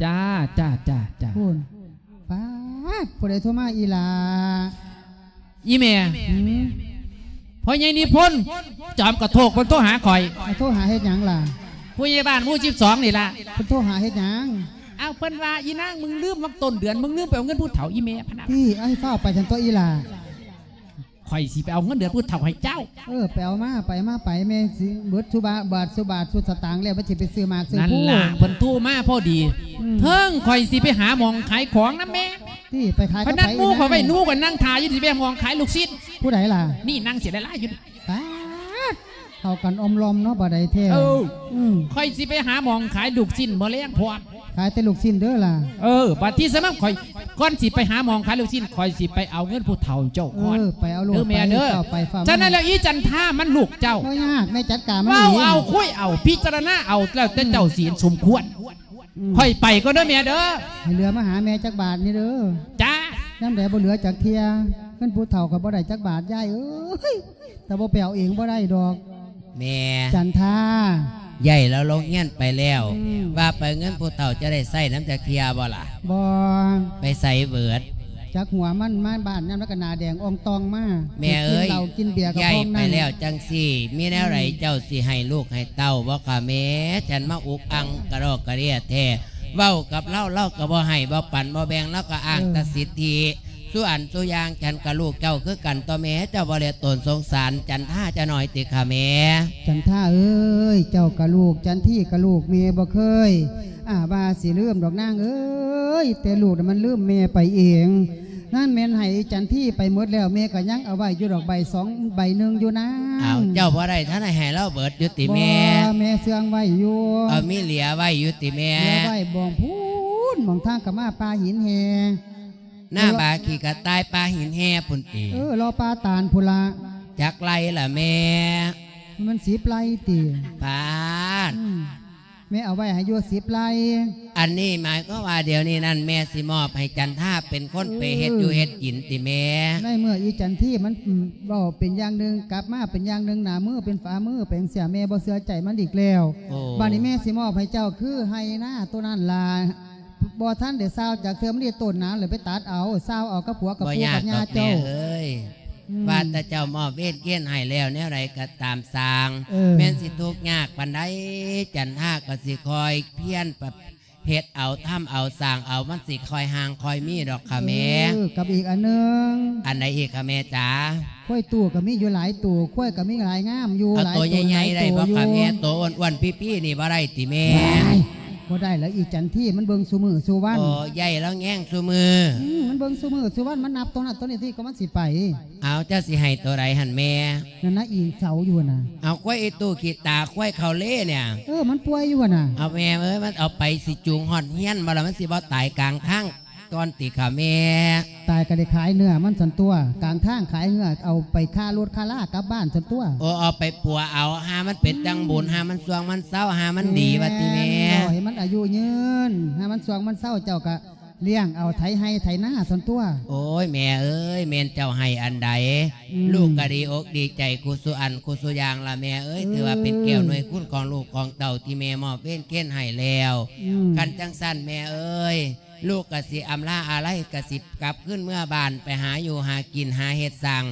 ຈ້າ ຈ້າ ຈ້າ ຈ້າ ພຸ້ນ. ປາດ ຜູ້ໃດໂທມາອີ່ຫຼ້າ? ອີ່ແມ່ ຫືມ? ພໍ່ໃຫຍ່ນິພົນ ຈອມກະໂທກ ເພິ່ນໂທຫາຂ້ອຍ. ເອົາ ໂທຫາເຮັດຫຍັງລະ? ຜູ້ໃຫຍ່ບ້ານໝູ່ສິບສອງນີ້ລະ. ເພິ່ນໂທຫາເຮັດຫຍັງ? ເອົາ ເພິ່ນວ່າ ອີນາງ ມຶງລືມວັນຕົ້ນເດືອນ ມຶງລືມໄປເອົາເງິນຜູ້ເຖົ້າ ອີ່ແມ່ພະນະ. ຕິ ເອົາ ໃຫ້ຟ້າວໄປຊັ້ນຕົວະອີ່ຫຼ້າ. ຂ້ອຍຊິໄປເອົາເງິນເດືອນຜູ້ເຖົ້າໃຫ້ເຈົ້າ. ເອີ ໄປເອົາມາ ໄປມາ ໄປ ແມ່ຊິເບິດຊຸບາດ ບາດຊຸບາດຊຸດສະຕາງແລ້ວ ມັນຊິໄປຊື້ໝາກຊື້ພູ. ນັ້ນລະ ເພິ່ນໂທມາພໍດີ. ອືມ ເທິງຂ້ອຍຊິໄປຫາໝ່ອງຂາຍຂອງນຳແມ່. ຕິ ໄປຂາຍກັບໃຜ? ເພິ່ນນັດໝູ່ຂ້ອຍໄວ້ ໜູກໍນັ່ງຖ້າຢູ່ ຊິໄປໝ່ອງຂາຍລູກຊີ້ນ. ຜູ້ໃດລະ? ນີ້ນັ່ງເສຍຫຼາຍໆຢູ່. ປາດ ເຂົ້າກັນອ່ອມລອມເນາະ ບໍ່ໄດ້ແທ້. ເອີ ອືມ ຂ້ອຍຊິໄປຫາໝ່ອງຂາຍລູກຊີ້ນມື້ແລງພ້ອມ. ຂາຍແຕ່ລູກຊີ້ນເດີລະ. ເອີ ບັດທີ່ສະມາຂ້ອຍ ກ່ອນຊິໄປຫາໝ່ອງຂາຍລູກຊີ້ນ ຂ້ອຍຊິໄປເອົາເງິນຜູ້ເຖົ້າເຈົ້າກ່ອນ. ເອີ ໄປເອົາໂລດ ເດີແມ່ເດີ. ເຈົ້າໄປ ຟ້າວມາ. ສະນັ້ນແລ້ວ ອີຈັນທາ ມັນລູກເຈົ້າ. ບໍ່ຍາກ ແມ່ຈັດການມັນເອງ. ເວົ້າເອົາ ຄຸຍເອົາ ພິຈາລະນາເອົາ ແລ້ວແຕ່ເຈົ້າ ອືມ ຊິເຫັນສົມຄວນ. ອືມ ຂ້ອຍໄປກ່ອນເດີແມ່ເດີ. ໃຫ້ເຫຼືອມາຫາແມ່ຈັກບາດນີ້ເດີ. ຈ້າ. ຍາມໃດບໍ່ເຫຼືອຈັກເທື່ອ ເງິນຜູ້ເຖົ້າຂ້ອຍບໍ່ໄດ້ຈັກບາດ ຍາຍເອີຍ. ແຕ່ບໍ່ໄປເອົາເອງບໍ່ໄດ້ດອກ. ແມ່ ຈັນທາ ຍາຍລາວລົງຮຽນໄປແລ້ວ. ອືມ ວ່າໄປເງິນຜູ້ເຖົ້າຈະໄດ້ໃຊ້ນຳຈັກເທື່ອບໍ່ລະ? ບໍ່. ໄປໃສເບີດ? ຈັກຫົວມັນ ມາບ້ານຍາມໃດກໍໜ້າແດງອ່ອງຕ່ອງມາ. ແມ່ເອີຍ ກິນເຫຼົ້າກິນເບຍກໍ ຍາຍ ພ້ອມນັ້ນ ໄປແລ້ວຈັ່ງຊີ້ ມີແນວໃດ ອືມ ເຈົ້າຊິໃຫ້ລູກໃຫ້ເຕົ້າບໍ່ຄະແມ່? ສັນມາອຸກອັ່ງກະດອກກະເດຍແທ້. ເວົ້າກັບລາວ ລາວກໍບໍ່ໃຫ້ ບໍ່ປັນ ບໍ່ແບ່ງ ລາວກໍອ້າງ ເອີ ແຕ່ສິດທິ. ສູ່ອັນສູ່ຢ່າງ ສັນກະລູກເຈົ້າຄືກັນຕົວະແມ່ ເຈົ້າບໍ່ແລຕົນສົງສານຈັນທາຈັກໜ້ອຍຕິຄະແມ່? ຈັນທາເອີຍ ເຈົ້າກະລູກ ຈັນທີກະລູກ ແມ່ບໍ່ເຄີຍ ອາ ວ່າຊິລືມດອກນາງເອີຍ ແຕ່ລູກນະມັນລືມແມ່ໄປເອງ. ນັ້ນແມ່ນໃຫ້ຈັນທີໄປໝົດແລ້ວ ແມ່ກະຍັງເອົາໄວ້ຢູ່ດອກ ໃບສອງໃບໜຶ່ງຢູ່ນາງ. ອ້າວ ເຈົ້າບໍ່ໄດ້ທັນໄດ້ໃຫ້ລາວເບີດຢູ່ຕິແມ່? ບໍ່ ແມ່ເຊື່ອງໄວ້ຢູ່. ເອົາ ມີເຫຼືອໄວ້ຢູ່ຕິແມ່? ເຫຼືອໄວ້ບ່ອນພຸ້ນ ໝ່ອງທາງເຂົ້າມາປ່າຫີນແຮ່ ໜ້າບາຂີ້ກະຕ່າຍ ປ່າຫີນແຮ່ພຸ້ນຕິ? ເອີ ລໍປ່າຕານພຸ້ນລະ. ຈັກໄຮ່ລະແມ່? ມັນສິບໄຮ່ຕິ? ປາດ ອືມ ແມ່ເອົາໄວ້ໃຫ້ຢູ່ສິບໄຮ່. ອັນນີ້ໝາຍຄວາມວ່າດຽວນີ້ນັ້ນ ແມ່ຊິມອບໃຫ້ຈັນທາເປັນຄົນໄປເຮັດ ເອີ ຢູ່ເຮັດກິນຕິແມ່? ໃນເມື່ອອີຈັນທີມັນ ອືມ ເວົ້າເປັນຢ່າງໜຶ່ງ ກັບມາເປັນຢ່າງໜຶ່ງ ໜ້າມືເປັນຝາມືໄປຈັ່ງຊີ້ ແມ່ບໍ່ເຊື່ອໃຈມັນອີກແລ້ວ. ໂອ້ ບາດນີ້ແມ່ຊິມອບໃຫ້ເຈົ້າຄືໄຮ່ນາໂຕນັ້ນລະ. ບໍ່ທັນໄດ້ຊາວຈັກເທື່ອ ມັນໄດ້ຕົ້ນນານແລ້ວ ໄປຕັດເອົາ ຊາວເອົາກັບຜົວກັບ ບໍ່ ປູ ຍາກ ກັບຍ່າ ດອກແມ່ ເຈົ້າ ເອີຍ. ອືມ ວ່າແຕ່ເຈົ້າມອບເວນເກນໃຫ້ແລ້ວ ແນວໃດກໍຕາມຊ່າງ ເອີ ແມ່ນຊິທຸກຍາກປານໃດ ຈັນທາກໍຊິຄອຍພຽນປະ ເຮັດເອົາ ທຳເອົາ ສ້າງເອົາ ມັນຊິຄ່ອຍຫ່າງຄ່ອຍມີດອກຄ່ະແມ່. ເອີ ກັບອີກອັນໜຶ່ງ ອັນໃດອີກຄ່ະແມ່ຈ໋າ? ຄວາຍຕູ້ກໍມີຢູ່ຫຼາຍຕູ້ ຄວາຍກໍມີຫຼາຍງາມຢູ່ ເອົາ ຫຼາຍໂຕໃຫຍ່ໆ ໄດ້ບໍ່ຄ່ະແມ່? ໂຕອ້ວນໆ ປີ້ໆ ນີ້ບໍ່ໄດ້ຕິແມ່? ບໍ່ໄດ້ແລ້ວ ອີຈັນທີມັນເບິ່ງຊຸມື້ຊຸວັນ. ໂອ້ ໃຫຍ່ແລ້ວແງງຊຸມື້. ອືມ ມັນເບິ່ງຊຸມື້ຊຸວັນ ມັນນັບໂຕນັ້ນໂຕນີ້ຕິ ກໍມັນຊິໄປ. ເອົາ ເຈົ້າຊິໃຫ້ໂຕໃດຫັ້ນແມ່? ນັ້ນນະ ອີເສົາຢູ່ຫັ້ນນະ. ເອົາ ຄວາຍອີຕູ້ຂີ້ຕາ ຄວາຍເຂົາເລນີ້. ເອີ ມັນປ່ວຍຢູ່ຫັ້ນນະ. ເອົາແມ່ເອີຍ ມັນເອົາໄປຊິຈູງຮອດເຮືອນບໍ່ລະ? ມັນຊິບໍ່ຕາຍກາງທາງກ່ອນຕິຄ່ະແມ່? ຕາຍກໍໄດ້ຂາຍເນື້ອມັນຊັ້ນຕົວະ ກາງທາງ ຂາຍເນື້ອເອົາໄປຄ່າລົດຄ່າລາກັບບ້ານຊັ້ນຕົວະ. ໂອ້ ເອົາໄປປົວເອົາ ຫາມັນເປັນຈັງບຸນ ຫາມັນຊ່ວງມັນເຊົາ ຫາມັນດີວ່າຕິແມ່. ແມ່ນ ເອົາໃຫ້ມັນອາຍຸຍືນ ຫາມັນຊ່ວງມັນເຊົາ ເຈົ້າກໍ ລ້ຽງເອົາໄຖໄຮ່ໄຖນາຊັ້ນຕົວະ. ໂອ້ຍ ແມ່ເອີຍ ແມ່ນເຈົ້າໃຫ້ອັນໃດ ອືມ ລູກກໍດີອົກດີໃຈຄູ່ສູ່ອັນຄູ່ສູ່ຢ່າງລະແມ່ເອີຍ. ເອີ ຖືວ່າເປັນແກ້ວໜ່ວຍຄຸນຂອງລູກຂອງເຕົ້າທີ່ແມ່ມອບເວນເກນໃຫ້ແລ້ວ. ອືມ ຄັນຈັ່ງຊັ້ນແມ່ເອີຍ ລູກກໍຊິອຳລາອາໄລ ກໍຊິກັບຄືນເມືອບ້ານ ໄປຫາຢູ່ຫາກິນ ຫາເຮັດສ້າງ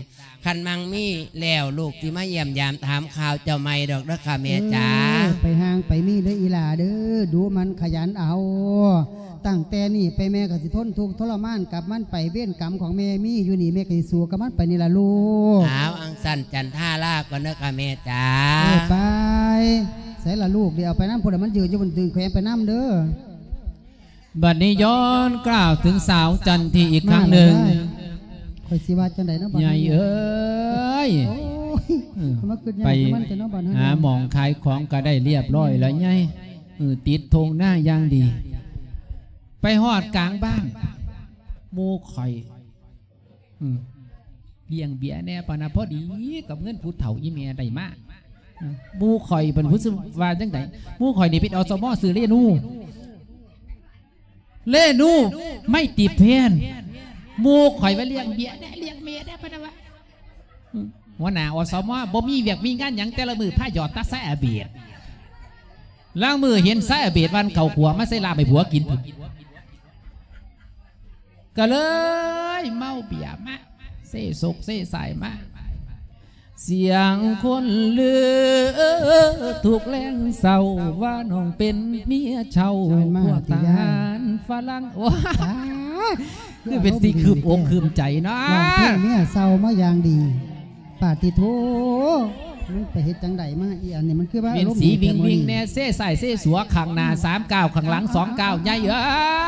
ຄັນມັງມີແລ້ວ ລູກຊິມາຢ້ຽມຢາມຖາມຂ່າວເຈົ້າໃໝ່ດອກເດີຄ່ະແມ່ຈ໋າ. ເອີ ໄປຫ່າງໄປມີເດີອີ່ຫຼ້າເດີ ດຸໝັ່ນຂະຫຍັນເອົາ. ຕັ້ງແຕ່ນີ້ໄປແມ່ກໍຊິທົນທຸກທໍລະມານກັບມັນໄປ ເວນກຳຂອງແມ່ມີຢູ່ນີ້ ແມ່ກໍຊິສູ້ກັບມັນໄປນີ້ລະລູກ. ອ້າວ ອັງຊັ້ນຈັນທາລາກ່ອນເດີຄ່ະແມ່ຈ໋າ. ເອີ ໄປ ໃສລະລູກ ດຽວເອົາໄປນຳ ຜູ້ໃດມັນຢືນຢູ່ບົນດຶງແຂວນໄປນຳເດີ. ບັດນີ້ຍ້ອນກ່າວເຖິງສາວຈັນທີອີກຄັ້ງໜຶ່ງ. ມາແລ້ວ ຂ້ອຍຊິວ່າຈັ່ງໃດເນາະບັດນີ້ ໃຫຍ່ເອີຍ. ໂອ້ຍ ເອີ ມາຄິດຍາກນຳມັນແທ້ເນາະບັດນີ້. ຫາໝ່ອງຂາຍຂອງກໍໄດ້ລຽບຮ້ອຍແລ້ວໃຫຍ່. ເອີ ຕິດທົ່ງນາຢ່າງດີ. ໄປຮອດກາງບ້ານ ໝູ່ຂ້ອຍ ອືມ ລ້ຽງເບຍແດ່ປານນະ ພໍດີກັບເງິນຜູ້ເຖົ້າອີ່ແມ່ໄດ້ມາ. ອືມ ໝູ່ຂ້ອຍເພິ່ນຮູ້ສຶກວ່າຈັ່ງໃດ? ໝູ່ຂ້ອຍນີ້ເປັນ ອສມ ຊື່ເລນູ ເລນູ ໄມຕີແພນ. ໝູ່ຂ້ອຍວ່າລ້ຽງເບຍແດ່ ລ້ຽງເບຍແດ່ ເພິ່ນວ່າ. ອືມ ຫົວໜ້າ ອສມ ບໍ່ມີວຽກມີງານຫຍັງ ແຕ່ລະມື້ພາຫຍອດຕາສາຍອາເບດ. ລາງມື້ເຫັນສາຍອາເບດວັນເຂົ້າຂົ້ວມາໃສ່ລາບໃຫ້ຜົວກິນພຸ້ນ. ກໍເລີຍເມົາເບຍມາ ເຊສົກເຊສາຍມາ. ສຽງຄົນລືທຸກແລງເຊົ້າ ວ່ານ້ອງເປັນເມຍເຊົ່າ ພວກທະຫານຝຣັ່ງ. ໂອ້ຍ ຄືເປັນຊິຄືມອົກຄືມໃຈເນາະ ຮ້ອງເພງເມຍເຊົ່າມາຢ່າງດີ. ປາຕິໂທ ມັນໄປເຮັດຈັ່ງໃດມາ ອີອັນນີ້ມັນຄືວ່າ ເປັນສີວິງວິງແດ່ ເຊຊ້າຍເຊຂວາ ຂ້າງໜ້າສາມກ້າວ ຂ້າງຫຼັງສອງກ້າວ ໃຫຍ່ເອີ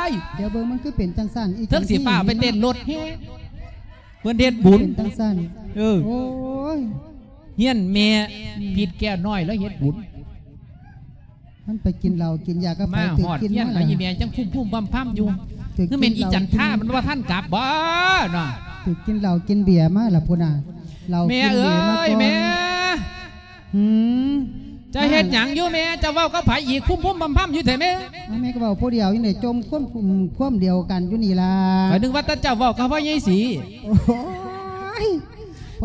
ຍ. ດຽວເບິ່ງ ມັນຄືເປັນຈັ່ງຊັ້ນ ອີກ ເຖິງຊິຟ້າວໄປເຕັ້ນລົດແຫ່ ເພິ່ນເຮັດບຸນ ເປັນຈັ່ງຊັ້ນ. ເອີ ໂອ້ຍ ຮຽນແມ່ ອືມ ພິດແກ້ວນ້ອຍ ລາວເຮັດບຸນ. ມັນໄປກິນເຫຼົ້າກິນຢາກັບໃຜ ມາຮອດຮຽນ ຖືກກິນມາ ແລ້ວອີແມ່ຈັ່ງພຸ້ມໆພຳໆຢູ່. ຄືແມ່ນອີຈັນທາ ມັນບໍ່ທັນກັບບໍ່ເນາະ? ຖືກກິນເຫຼົ້າກິນເບຍມາລະພຸ້ນນະ. ເຫຼົ້າກິນເບຍມາກ່ອນ. ແມ່ເອີຍ ແມ່ ຫືມ ເຈົ້າເຮັດຫຍັງຢູ່ແມ່? ເຈົ້າເວົ້າກັບໃຜອີກ ພຸ້ມໆພຳໆຢູ່ແທ້ແມ່? ເອົາ ແມ່ກໍເວົ້າຜູ້ດຽວຢູ່ນີ້ ຈົ່ມຄວາມ ຄວາມດຽວກັນຢູ່ນີ້ລະ. ຂ້ອຍນຶກວ່າແຕ່ເຈົ້າເວົ້າກັບພໍ່ໃຫຍ່ສີ. ໂອ້ຍ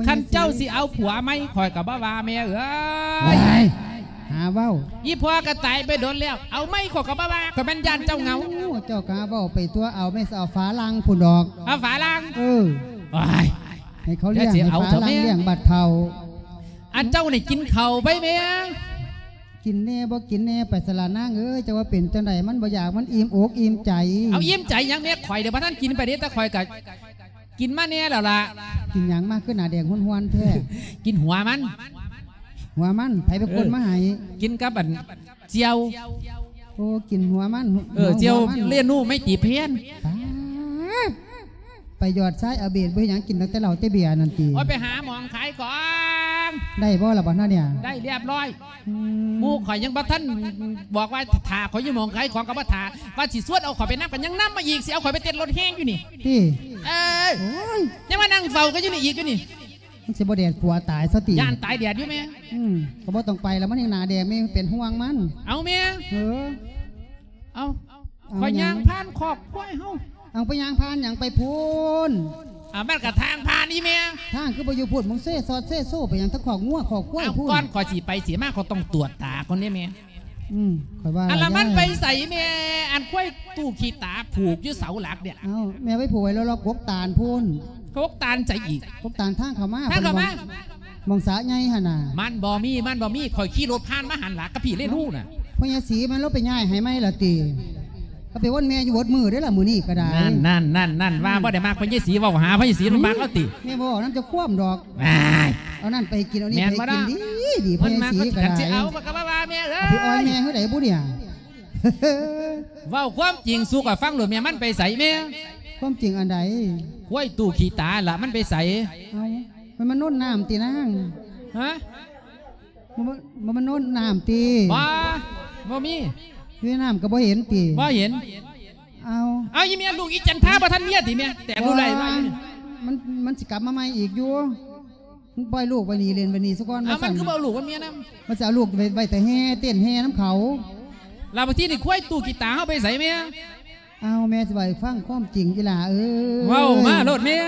ຄັນເຈົ້າຊິເອົາຜົວໃໝ່ ຂ້ອຍກໍບໍ່ວ່າແມ່ເອີຍ. ຫາເວົ້າ ອີ່ພໍ່ກໍຕາຍໄປດົນແລ້ວ ເອົາໃໝ່ຂ້ອຍກໍບໍ່ວ່າ ຂ້ອຍແມ່ນຢ້ານເຈົ້າເຫງົາ. ໂອ້ ເຈົ້າກໍຫາເວົ້າໄປຕົວະ ເອົາແມ່ ຊິເອົາຝຣັ່ງພຸ້ນດອກ. ເອົາຝຣັ່ງ? ເອີ ໂອ້ຍ ໃຫ້ເຂົາລ້ຽງ ໃຫ້ຝຣັ່ງລ້ຽງບັດເຖົ້າ. ອັນເຈົ້ານີ້ກິນເຂົ້າໄປແມ່? ກິນແດ່ບໍ່ກິນແດ່ໄປສະລະນາງເອີຍ. ເຈົ້າວ່າເປັນຈັ່ງໃດ ມັນບໍ່ຢາກ ມັນອີ່ມອົກອີ່ມໃຈ. ເອົາອີ່ມໃຈຫຍັງແມ່? ຂ້ອຍເດບໍ່ທັນກິນໄປເດ້ ແຕ່ຂ້ອຍກໍ ກິນມາແດ່ແລ້ວລະ. ກິນຫຍັງມາ ຄືໜ້າແດງຮວນໆແທ້? ກິນຫົວມັນ. ຫົວມັນ ໃຜເປັນຄົນມາໃຫ້? ເອີ ກິນກັບອັນຈ່ຽວ. ໂອ້ ກິນຫົວມັນ. ເອີ ເນາະ ຈ່ຽວ ຫົວມັນ ເລນູໄມຕີແພນ. ປາດ ໄປຢອດຊາຍອາເບດ ບໍ່ເຮັດຫຍັງ ກິນຕັ້ງແຕ່ເຫຼົ້າແຕ່ເບຍນັ້ນຕິ? ໂອ້ຍ ໄປຫາໝ່ອງຂາຍຂອງ. ໄດ້ບໍ່ລະບັດນັ້ນເນຍ? ໄດ້ລຽບຮ້ອຍ. ອືມ ໝູ່ຂ້ອຍຍັງບໍ່ທັນບອກວ່າຖ້າຂ້ອຍຢູ່ໝ່ອງຂາຍຂອງກໍບໍ່ຖ້າ ວ່າຊິຊວນເອົາຂ້ອຍໄປນຳກໍຍັງນຳມາອີກ ຊິເອົາຂ້ອຍໄປເຕັ້ນລົດແຮ່ຢູ່ນີ້. ຕິ? ເອີຍ ໂອ້ຍ ຍັງມານັ່ງເຝົ້າກັນຢູ່ນີ້ອີກຢູ່ນີ້. ມັນຊິບໍ່ແດດຂົວຕາຍຊະຕິ? ຢ້ານຕາຍແດດຢູ່ແມ່. ອືມ ກໍບໍ່ຕ້ອງໄປລະ ມັນຍັງໜ້າແດງ ແມ່ເປັນຫ່ວງມັນ. ເອົາແມ່ ເອີ ເອົາ ຂ້ອຍຍ່າງຜ່ານຄອກຄວາຍເຮົາ. ເອົາ ໄປຍ່າງຜ່ານຫຍັງໄປພຸ້ນ? ອ່າ ມັນກະທາງຜ່ານນີ້ແມ່. ທາງຄືບໍ່ຢູ່ພຸ້ນ? ມຶງເຊຊອດເຊໂຊໄປຫຍັງ ທາງຄອກງົວຄອກຄວາຍພຸ້ນ? ເອົ້າ ກ່ອນຂ້ອຍຊິໄປຊິມາ ຂ້ອຍຕ້ອງຕວດຕາກ່ອນເດ້ແມ່. ອືມ ຂ້ອຍວ່າ ອັນລະມັນໄປໃສແມ່? ອັນຄວາຍຕູ້ຂີ້ຕາຜູກຢູ່ເສົາຫຼັກເນຍ. ເອົ້າ ແມ່ໄປຜູກໄວ້ລອກໆກົກຕານພຸ້ນ. ກ ກົກຕານໃສອີກ? ກົກຕານທາງເຂົ້າມາ ທາງເຂົ້າມາ ໝ່ອງ ໝ່ອງສະໃຫຍ່ຫັ້ນນະ. ມັນບໍ່ມີ ມັນບໍ່ມີ ຂ້ອຍຂີ່ລົດຜ່ານມາຫັ້ນລະ ກັບພີ່ເລລູນະ. ພໍ່ໃຫຍ່ສີມັນລົງໄປຍ້າຍໃຫ້ໃໝ່ລະຕິ? ກໍໄປວົນແມ່ຢູ່ເບິດມື້ເດ້ລະ ມື້ນີ້ກໍໄດ້. ນັ້ນໆໆໆ ວ່າບໍ່ໄດ້ມັກພໍ່ໃຫຍ່ສີ ເວົ້າຫາພໍ່ໃຫຍ່ສີ ມັນມັກລະຕິ? ແມ່ບໍ່ເວົ້ານຳເຈົ້າຄວາມດອກ. ອ້າຍ ເອົານັ້ນໄປກິນ ເອົານີ້ໄປກິນ ແມ່ນບໍ່ລະ? ດີ ດີ ພໍ່ໃຫຍ່ສີກໍໄດ້. ເພິ່ນມັກກໍຊິເອົາ ມັນກໍມາວ່າແມ່ເອີຍ ເອົາໄປອ່ອຍແມ່ເຮົາໄດ້ບຸນີ້. ເວົ້າຄວາມຈິງສູ່ຂ້ອຍຟັງໂລດແມ່ ມັນໄປໃສແມ່? ຄວາມຈິງອັນໃດ? ຄວາຍຕູ້ຂີ້ຕາລະ ມັນໄປໃສ? ເອົ້າ ມັນມາໂນ້ນນ້ຳຕິນາງ? ຮະ? ບໍ່ ບໍ່ ບໍ່ມາໂນ້ນນ້ຳຕິ? ບໍ່ ບໍ່ມີ. ຢູ່ໃນນ້ຳກໍບໍ່ເຫັນຕິ? ບໍ່ເຫັນ. ເອົາ ເອົາ ອີແມ່ ລູກອີຈັນທາບໍ່ທັນເມຍຕິແມ່? ແຕ່ງລູກໄດ້ມາຢູ່ນີ້ ມັນ ມັນຊິກັບມາໃໝ່ອີກຢູ່. ມັນປ່ອຍລູກໄວ້ນີ້ ເລ່ນໄວ້ນີ້ຊະກ່ອນ. ເອົາ ວ່າຊັ້ນ ມັນຄືບໍ່ເອົາລູກມາເມຍນຳ? ມັນຊິເອົາລູກໄວ້ ໄວ້ແຕ່ແຫ່ ເຕັ້ນແຫ່ນຳເຂົາ. ລະບາດທີນີ້ຄວາຍຕູ້ຂີ້ຕາເຮົາໄປໃສແມ່? ເອົາ ແມ່ຊິເວົ້າໃຫ້ຟັງຄວາມຈິງ ອີຫຼ້າເອີຍ. ເວົ້າມາໂລດແມ່.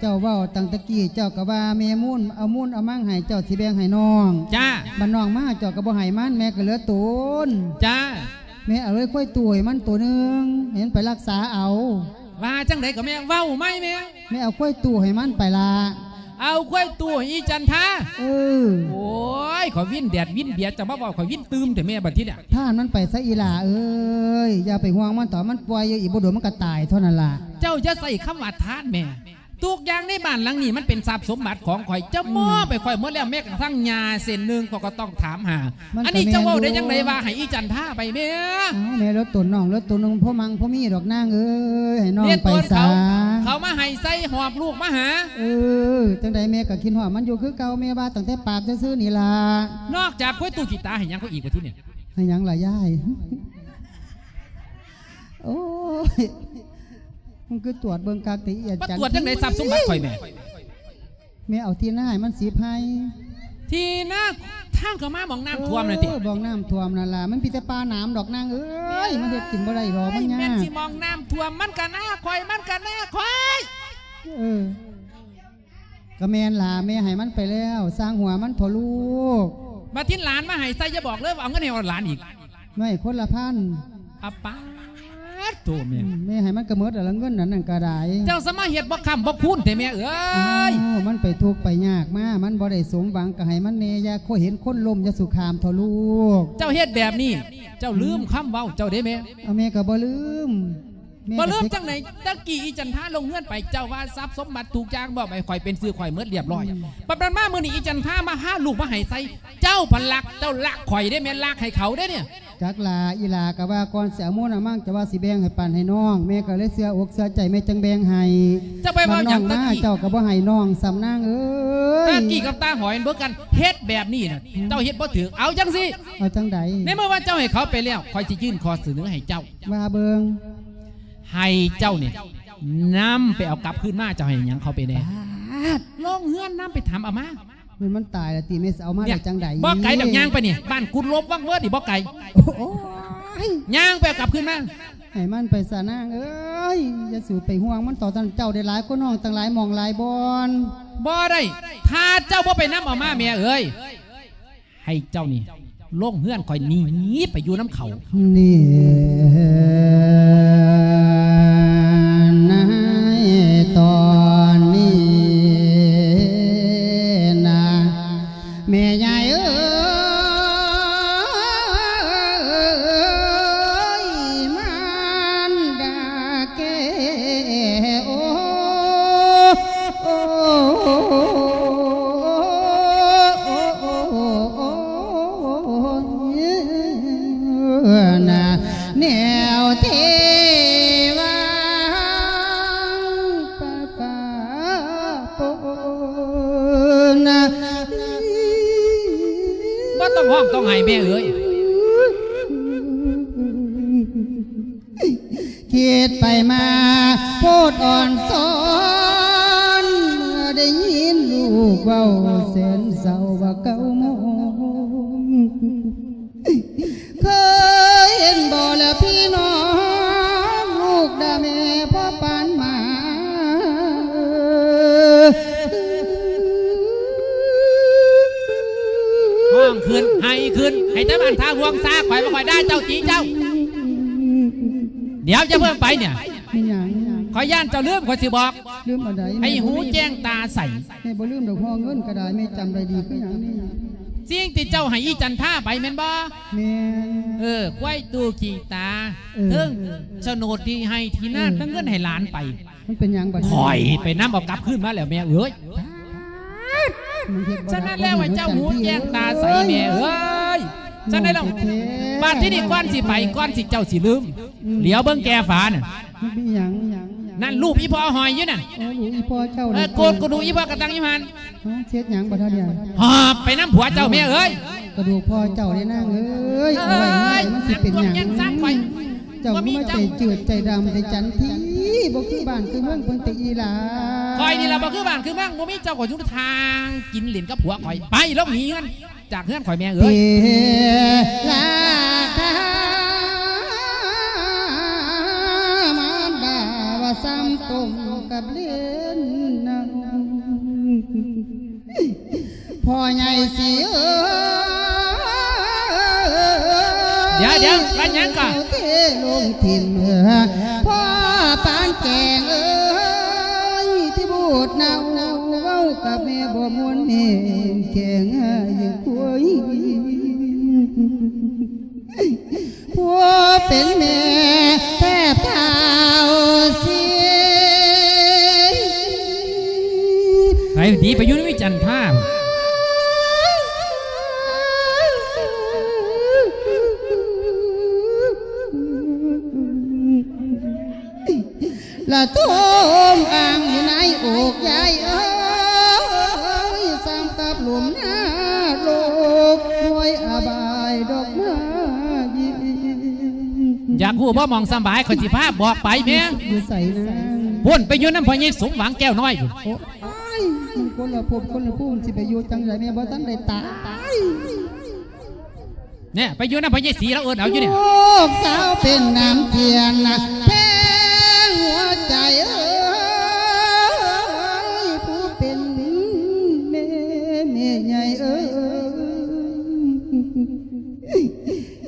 ເຈົ້າເວົ້າຕັ້ງແຕ່ກີ້ ເຈົ້າກໍວ່າແມ່ມູນເອົາມູນເອົາມັງໃຫ້ ເຈົ້າຊິແບ່ງໃຫ້ນ້ອງ. ຈ້າ. ບັດນ້ອງມາເຈົ້າກໍບໍ່ໃຫ້ມັນ ແມ່ກໍເຫຼືອຕົນ. ຈ້າ. ແມ່ເອົາເລີຍຄວາຍຕູ້ໃຫ້ມັນໂຕໜຶ່ງ ໃຫ້ມັນໄປລັກສາເອົາ. ວ່າຈັ່ງໃດກໍແມ່ ເວົ້າໃໝ່ແມ່. ແມ່ເອົາຄວາຍຕູ້ໃຫ້ມັນໄປລະ. ເອົາຄວາຍຕູ້ໃຫ້ອີຈັນທາ? ເອີ. ໂອ້ຍ ຂ້ອຍວິນແດດວິນເບຍ ເຈົ້າມາເວົ້າຂ້ອຍວິນຕື່ມແທ້ແມ່ ບັດທີນີ້. ທ່ານມັນໄປຊະອີຫຼ້າເອີຍ ຢ່າໄປຫ່ວງມັນເຖາະ ມັນປ່ອຍຢູ່ ອີກບໍ່ດົນມັນກໍຕາຍເທົ່ານັ້ນລະ. ເຈົ້າຢ່າໃຊ້ຄຳວ່າທ່ານແມ່. ທຸກຢ່າງໃນບ້ານຫຼັງນີ້ມັນເປັນຊັບສົມບັດຂອງຂ້ອຍ ເຈົ້າມອບໃຫ້ຂ້ອຍໝົດແລ້ວ ແມ້ກະທັ່ງຫຍ້າເສັ້ນໜຶ່ງຂ້ອຍກໍຕ້ອງຖາມຫາ. ອັນນີ້ເຈົ້າເວົ້າໄດ້ຈັ່ງໃດວ່າໃຫ້ອີຈັນທາໄປແມ່? ເອົາ ແມ່ເລີດຕົນນ້ອງເລີດຕົນນ້ອງ ພໍມັ່ງພໍມີດອກນາງເອີຍ ໃຫ້ນ້ອງໄປສາ. ເຂົາ ເຂົາມາໃຫ້ໃສ່ຫອບລູກມາຫາ. ເອີ ຈັ່ງໃດແມ່ກໍຄິດຮອດມັນຢູ່ຄືເກົ່າ ແມ່ວ່າຕັ້ງແຕ່ປາກຊື່ໆນີ້ລະ. ນອກຈາກຄວາຍຕູ້ຂີ້ຕາໃຫ້ຫຍັງເຂົາອີກວ່າທີນີ້? ໃຫ້ຫຍັງລະຍາຍ? ໂອ້ຍ ມັນຄືຕວດເບິ່ງຄັກແທ້ ອີອາຈານ. ມາຕວດຈັ່ງໃດຊັບສົມບັດຂ້ອຍແມ່? ແມ່ເອົາທີ່ນາໃຫ້ມັນສິບໄຮ່. ທີ່ນາທາງເຂົ້າມາໝ່ອງນ້ຳຖ້ວມນັ້ນຕິ? ເອີ ໝ່ອງນ້ຳຖ້ວມນັ້ນລະ ມັນມີແຕ່ປ່າໜາມດອກນາງເອີຍ ມັນເຮັດກິນບໍ່ໄດ້ດອກ ມັນຍາກ. ແມ່ນຊິໝ່ອງນ້ຳຖ້ວມ ມັນກະນາຂ້ອຍ ມັນກະນາຂ້ອຍ. ເອີ ກໍແມ່ນລະ ແມ່ໃຫ້ມັນໄປແລ້ວ ຊ່າງຫົວມັນເຖາະລູກ. ບາດທີຫຼານມາໃຫ້ໃສ່ ຢ່າບອກເລີຍວ່າເອົາເງິນໃຫ້ເອົາຫຼານອີກ. ໄວ້ຄົນລະພັນ. ອາປາດໂຕແມ່. ອືມ ແມ່ໃຫ້ມັນກະໝົດລະເງິນອັນນັ້ນກະໄດ້. ເຈົ້າສະມາເຮັດບໍ່ຄ້ຳບໍ່ຄູນແທ້ແມ່ເອີຍ. ອ້າວ ມັນໄປທຸກໄປຍາກມາ ມັນບໍ່ໄດ້ສົມຫວັງ ກະໃຫ້ມັນແດ່ ຢ່າເຫັນຄົນລົ້ມ ຢ່າສຸຂາມເຖາະລູກ. ເຈົ້າເຮັດແບບນີ້ ເຈົ້າລືມຄຳເວົ້າເຈົ້າເດ້ແມ່. ເອົາ ແມ່ກະບໍ່ລືມ. ບໍ່ລືມຈັ່ງໃດ? ຕະກີ້ອີຈັນທາລົງເຮືອນໄປ ເຈົ້າວ່າຊັບສົມບັດທຸກຢ່າງມອບໃຫ້ຂ້ອຍເປັນຊື່ຂ້ອຍໝົດລຽບຮ້ອຍ. ອືມ ບັດນັ້ນມາມື້ນີ້ອີຈັນທາມາຫາລູກມາໃຫ້ໃສ່ ເຈົ້າພັນລັກ ເຈົ້າລັກຂ້ອຍເດ້ ແມ່ນລັກໃຫ້ເຂົາເດ້ນີ້. ຈັກລະ ອີຫຼ້າກະວ່າກ່ອນຊິເອົາມູນເອົາມັງ ເຈົ້າວ່າຊິແບ່ງໃຫ້ປັນໃຫ້ນ້ອງ ແມ່ກະເລີຍເຊື່ອອົກເຊື່ອໃຈ ແມ່ຈັ່ງແບ່ງໃຫ້. ເຈົ້າໄປເວົ້າຫຍັງຕະກີ້? ມາເຈົ້າກະບໍ່ໃຫ້ນ້ອງຊ້ຳນາງເອີຍ. ຕະກີ້ກັບຕາຫອຍເບິ່ງກັນ ເຮັດແບບນີ້ນະ ອືມ ເຈົ້າເຮັດບໍ່ຖືກ. ເອົາຈັ່ງຊີ້ ເອົາຈັ່ງໃດ? ໃນເມື່ອວ່າເຈົ້າໃຫ້ເຂົາໄປແລ້ວ ຂ້ອຍຊິຍື່ນຂໍ້ສະເໜີໃຫ້ເຈົ້າ. ວ່າເບິ່ງ. ໃຫ້ເຈົ້ານີ້ນຳໄປເອົາກັບຄືນມາ ເຈົ້າໃຫ້ຫຍັງເຂົາໄປແດ່? ບາດ ລົງເຮືອນນຳໄປທຳເອົາມາ. ມັນ ມັນຕາຍລະຕິ ແມ່ຊິເອົາມາໄດ້ຈັ່ງໃດ? ບໍ່ໄກດອກ ຍ່າງໄປນີ້ ບ້ານກຸດລົບວັງເວີດນີ້ບໍ່ໄກ. ໂອ້ຍ ຍ່າງໄປເອົາກັບຄືນມາ. ໃຫ້ມັນໄປສະນາງເອີຍ ຢ່າສູ່ໄປຫ່ວງມັນເຖາະ ເຈົ້າໄດ້ຫຼາຍກວ່ານ້ອງຕັ້ງຫຼາຍໝ່ອງຫຼາຍບ່ອນ. ບໍ່ໄດ້ ຖ້າເຈົ້າບໍ່ໄປນຳເອົາມາແມ່ເອີຍ. ໃຫ້ເຈົ້ານີ້ລົງເຮືອນຂ້ອຍໜີໄປຢູ່ນຳເຂົາ. ນີ້ນະ ຕອນນີ້ນະ ແມ່ຍາຍເອີຍ ມານດາແກ້ ໂອ ໂອ ນະ ແນວເທວາປະປາໂປນະ. ບໍ່ຕ້ອງຮ້ອງຕ້ອງໄຫ້ແມ່ເອີຍ. ຄິດໄປມາໂພດອ່ອນຊອນ ເມື່ອໄດ້ຍິນລູກເວົ້າແສນເສົ້າວ່າເກົ້າໂມງ. ເຄີຍເຫັນບໍ່ລະພີ່ນ້ອງ ລູກດາແມ່ພໍ່ປານໝາ. ຮ້ອງຂຶ້ນ ໄຫ້ຂຶ້ນ ໃຫ້ແຕ່ບ້ານທ່າຫ່ວງຊາ ຂ້ອຍບໍ່ຄ່ອຍດ່າເຈົ້າ ຕີເຈົ້າ. ດຽວຈະເບິ່ງໄປນີ້ ແມ່ນຫຍັງ? ຂ້ອຍຢ້ານເຈົ້າລືມ ຂ້ອຍຊິບອກ ລືມອັນໃດ? ໃຫ້ຫູແຈ້ງຕາໃສ. ແມ່ບໍ່ລືມດອກ ຫໍເງິນກໍໄດ້ ແມ່ຈຳໄດ້ດີຄືຫຍັງນີ້? ສິ່ງທີ່ເຈົ້າໃຫ້ອີຈັນທາໄປແມ່ນບໍ່? ແມ່ນ. ເອີ ຄວາຍຕູ້ຂີ້ຕາ ເອີ ເຖິງໂສນດທີ່ໃຫ້ທີ່ນາ ເອີ ທັງເງິນໃຫ້ຫຼານໄປ ມັນເປັນຫຍັງບັດນີ້? ຂ້ອຍໄປນຳເອົາກັບຄືນມາແລ້ວແມ່ເອີຍ. ສະນັ້ນແລ້ວໃຫ້ເຈົ້າຫູແຈ້ງຕາໃສແມ່ເອີຍ. ສະນັ້ນແລ້ວ ບາດທີນີ້ກ່ອນຊິໄປ ກ່ອນຊິເຈົ້າຊິລືມ ອືມ ຫຼຽວເບິ່ງແກ່ຝານັ້ນ. ມັນມີຫຍັງ? ນັ້ນຮູບອີ່ພໍ່ຫ້ອຍຢູ່ນັ້ນ. ໂອ້ ຮູບອີ່ພໍ່ເຈົ້າ. ເອີ ໂກດກະດູກອີ່ພໍ່ກະຕັງຢູ່ຫັ້ນ. ເຮັດຫຍັງບັດເຮົານີ້? ຫອບໄປນຳຜົວເຈົ້າແມ່ເອີຍ. ກະດູກພໍ່ເຈົ້າເດ້ນາງເອີຍ. ເອົາໄວ້ໃຫ້ມັນຊິເປັນຫຍັງ? ເຈົ້າຄືມາໃຈຈືດໃຈດຳແທ້ຈັນທີ ບໍ່ຄືບ້ານຄືເມືອງເພິ່ນແຕ່ອີ່ຫຼ້າ. ຂ້ອຍນີ້ລະບໍ່ຄືບ້ານຄືເມືອງ ບໍ່ມີເຈົ້າກໍຢູ່ທາງກິນຫຼິ້ນກັບຜົວຂ້ອຍ. ໄປ ລົງໜີເຮືອນ ຈາກເຮືອນຂ້ອຍແມ່ເອີຍ. ເປລາຄາມານດາວ່າຊ້ຳຕົ້ມກັບເລນນາງ ພໍ່ໃຫຍ່ສີເອີຍ. ດຽວໆ ວ່າຫຍັງກໍ? ເທລົງຖິ້ມ ພໍ່ປານແກງເອີຍ ທີ່ບູດເນົ່າ ເວົ້າກັບແມ່ບໍ່ມ່ວນ ແມ່ແກງໃຫ້ຄວາຍ. ຜູ້ເປັນແມ່ແທບເທົ້າເສຍ. ໄປໜີໄປຢູ່ນຳອີ່ຈັນທາ ລະໂທມອ່າງຢູ່ໃນອົກຍາຍເອີຍ ສ່ຳກັບຫຼຸມນະລົກ ຫ້ວຍອະບາຍດອກນາຍິງ. ຢາກຮູ້ບໍ່ໝ່ອງສຳບາຍ ຂ້ອຍຊິພາບອກໄປແມ່. ຢູ່ໃສນາງ? ພຸ້ນ ໄປຢູ່ນຳພໍ່ໃຫຍ່ສົມຫວັງແກ້ວນ້ອຍພຸ້ນ. ໂອ້ຍ ມັນຄົນລະພົບຄົນລະພູມ ຊິໄປຢູ່ຈັ່ງໃດ ແມ່ບໍ່ທັນໄດ້ຕາຍ. ແນ່ ໄປຢູ່ນຳພໍ່ໃຫຍ່ສີ ລາວເອີ້ນເອົາຢູ່ນີ້. ລູກສາວເປັນນ້ຳທຽນນະ ແພງຫົວໃຈເອີຍ ຜູ້ເປັນແມ່ແມ່ໃຫຍ່ເອີຍ.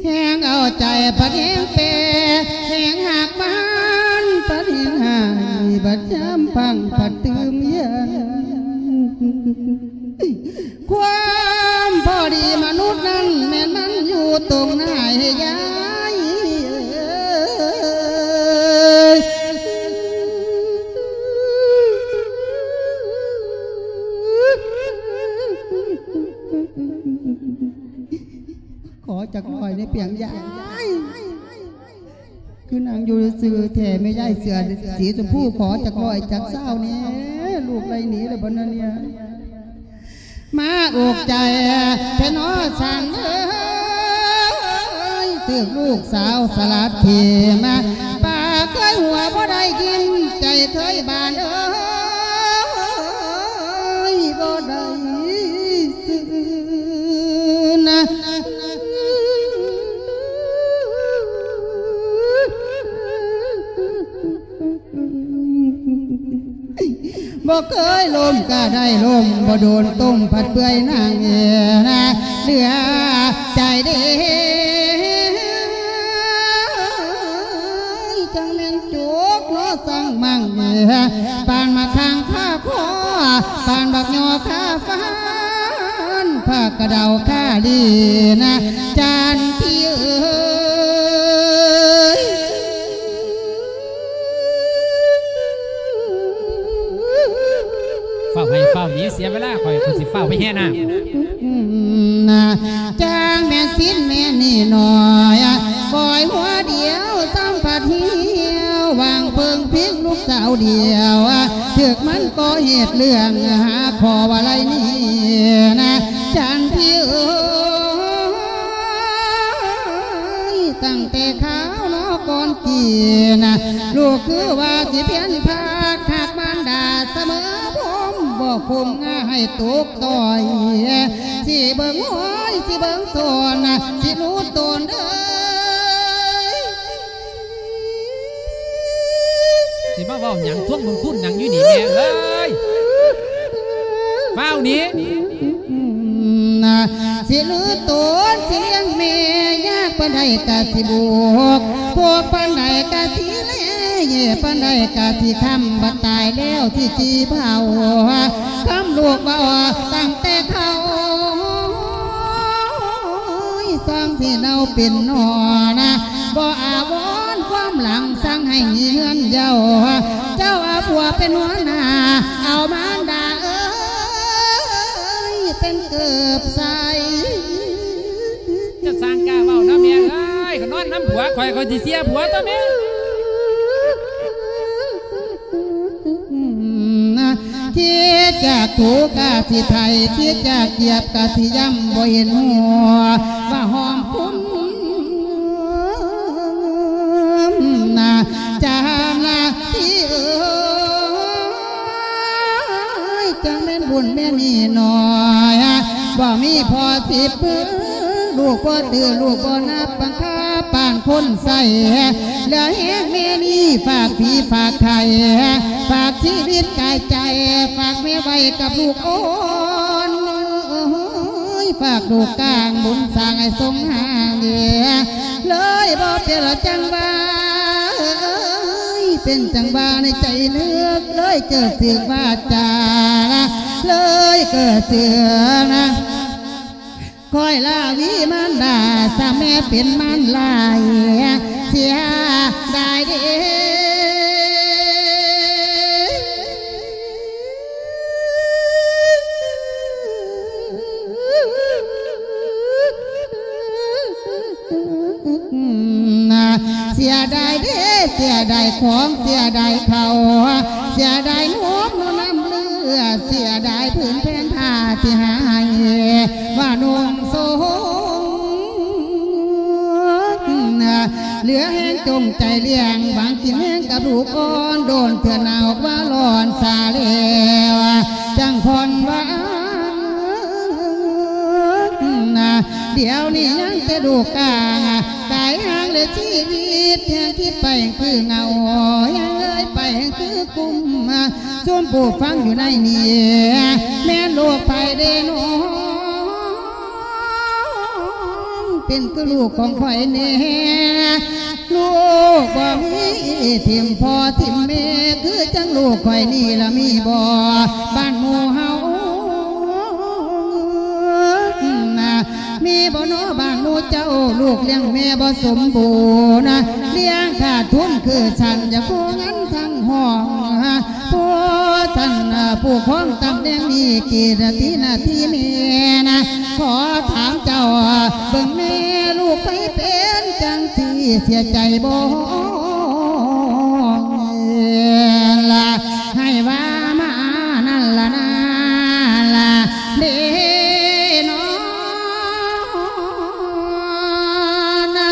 ແຮງເອົາໃຈພັດແຮງແປ ແຮງຮັກມັນພັດແຮງໃຫ້ ບັດຍາມພັງພັດຕື່ມເຢັນ. ຄວາມພໍດີມະນຸດນັ້ນ ແມ່ນມັນຢູ່ຕົງໜ້າໃຫ້ຍາຍ. ຂໍຈັກຮ້ອຍໃນປຽງຍາຍ. ຄືນາງຢູ່ຊື່ແທ້ ແມ່ຍາຍເສື້ອສີຊົມພູ ຂໍຈັກຮ້ອຍຈັກຊາວແດ່ ລູກໄລ່ໜີແລ້ວບໍ່ນະເນຍ. ມາອົກໃຈແທ້ນໍຊ່າງເອີຍ ຖືກລູກສາວສະຫຼາດເຂມາ ປາກເຄີຍຫົວບໍ່ໄດ້ກິນ ໃຈເຄີຍບານເອີຍ ບໍ່ໄດ້ຊື່ນະ. ບໍ່ເຄີຍລົມກະໄດ້ລົມ ບໍ່ໂດນຕົ້ມຜັດເປື່ອຍນາງເອີຍນະ ເຫຼືອໃຈເດ້ ຈັ່ງແມ່ນຈົກເນາະ ສັງມັງເອີຍ ປານໝາກຄາງຄາຄໍ ປານບັກຍໍຄາຟານ ຜັກກະເດົາຄາລີນະ ຈັນທີເອີຍ. ຟ້າວໃຫ້ຟ້າວໜີ ເສຍເວລາ ຂ້ອຍ ຂ້ອຍຊິຟ້າວໄປແຫ່ນ້ຳ. ຈ້າງແມ່ນສິນແມ່ນໜີ້ນ້ອຍ ປ່ອຍຫົວດຽວ ສຳຜັດຫ່ຽວ ຫວ່າງເພິ່ງພິງລູກສາວດຽວ ຖືກມັນກໍ່ເຫດເລື່ອງ ຫາຂໍ້ວ່າໄລ່ໜີນະ ຈັນທີເອີຍ. ຕັ້ງແຕ່ຄາວນອກກ່ອນກີນະ ລູກຄືວ່າຊິພຽນພາກ ຮັກມານດາສະເໝີພົມ ບໍ່ຄົມງາໃຫ້ຕົກຕ່ອຍ ຊິເບິ່ງຫ້ອຍ ຊິເບິ່ງສອນ ຊິໜູດຕົນເອີຍ. ຊິມາເວົ້າຫຍັງ ທວງບຸນຄຸນຫຍັງຢູ່ນີ້ແມ່ເອີຍ ຟ້າວໜີ. ຊິຫຼືຕົນ ຊິລ້ຽງແມ່ ຍາກປານໃດກະຊິບວກ ພວກປານໃດກະຊິແລ ປານໃດກະຊິຄ້ຳ ບັດຕາຍແລ້ວຊິຈີບເຮົາ ຄຳລູກເວົ້າຕັ້ງແຕ່ເຂົາ ສ້າງທີ່ເຮົາເປັນໜໍນະ ບໍ່ອາວອນຄວາມຫຼັງ ສັ່ງໃຫ້ມີເຮືອນເຍົາ ເຈົ້າເອົາຜົວເປັນຫົວໜ້າ ເອົາມານດາເອີຍ ເປັນເກີບໃສ່. ຈະສ້າງກ້າເວົ້ານະແມ່ເອີຍ ກໍນອນນຳຜົວຂ້ອຍ ຂ້ອຍຊິເສຍຜົວຕົວະແມ່. ຄິດຈາກຖືກະຊິໄຖ ຄິດຈາກກຽບກະຊິຢຳ ບໍ່ເຫັນຫົວວ່າຫອມຄຸນນະ ຈານະທີ່ເອີຍ ຈັ່ງແມ່ນບຸນແມ່ນີ້ໜ້ອຍ ບໍ່ມີພໍ່ສິບ ລູກບໍ່ຕື້ ລູກບໍ່ນັບບັງຄັບປານຄົນໃຊ້ ເຫຼືອແຮງແມ່ນີ້ ຝາກຜີຝາກໄຂ່ ຝາກຊີວິດກາຍໃຈ ຝາກແມ່ໄວ້ກັບລູກອ່ອນ ເອີຍ ຝາກລູກກາງບຸນສ້າງໃຫ້ສົມຫາງ ເລີຍບໍ່ເປັນລະຈັ່ງວ່າ ເອີຍ ເປັນຈັ່ງວ່າໃນໃຈນຶກ ເລີຍເຈີຖືກວາຈາ ເລີຍເກີດເຊື່ອນະ ຄອຍລາວີມານດາ ສາແມ່ເປັນມານລາຍ ເສຍດາຍເດ້. ເສຍດາຍເດ້ ເສຍດາຍຂອງ ເສຍດາຍເຂົ້າ ເສຍດາຍນົມນຳເລືອດ ເສຍດາຍຜືນແຜ່ນຜ້າທີ່ໃຫ້ວ່ານຸ່ງສົງ ເຫຼືອແຮງຈົງໃຈລ້ຽງ ຫວັງກິນແຮງກັບລູກອ່ອນ ໂດນເທື່ອໜາວວ່າຮ້ອນຊາແລ້ວ ຈັ່ງຜ່ອນຫວັງ ດຽວນີ້ຍັງແຕ່ລູກກາງ ຕາຍຫ່າງແລະຊີວິດ ແຮງຄິດໄປຄືເຫງົາ ແຮງເອີຍໄປຄືກຸມ ຊຸມຜູ້ຟັງຢູ່ໃນນີ້ ແມ່ນລູກໃຜເດນ້ອງ ເປັນຄືລູກຂອງຂ້ອຍແດ່ ລູກບໍ່ມີຖິ້ມພໍ່ຖິ້ມແມ່ ຄືຈັ່ງລູກຂ້ອຍນີ້ລະມີບໍ່ ບ້ານໝູ່ເຮົາ ນະ ມີບໍ່ນໍບ້ານໝູ່ເຈົ້າ ລູກລ້ຽງແມ່ບໍ່ສົມບູນນະ ລ້ຽງຂາດທຶນຄືສັນ ຢາກຂໍເງິນທັງຫ້ອງ ຜູ້ສັນ ຜູ້ຄອງຕຳແໜ່ງນີ້ ກີດນາທີນາທີແມ່ນະ ຂໍຖາມເຈົ້າເບິ່ງແນ່ ລູກໃຜເປັນຈັ່ງຊີ້ ເສຍໃຈບໍ່ ລະ ໃຫ້ວ່າມານັ້ນລະນາລະເດນ້ອງນະ.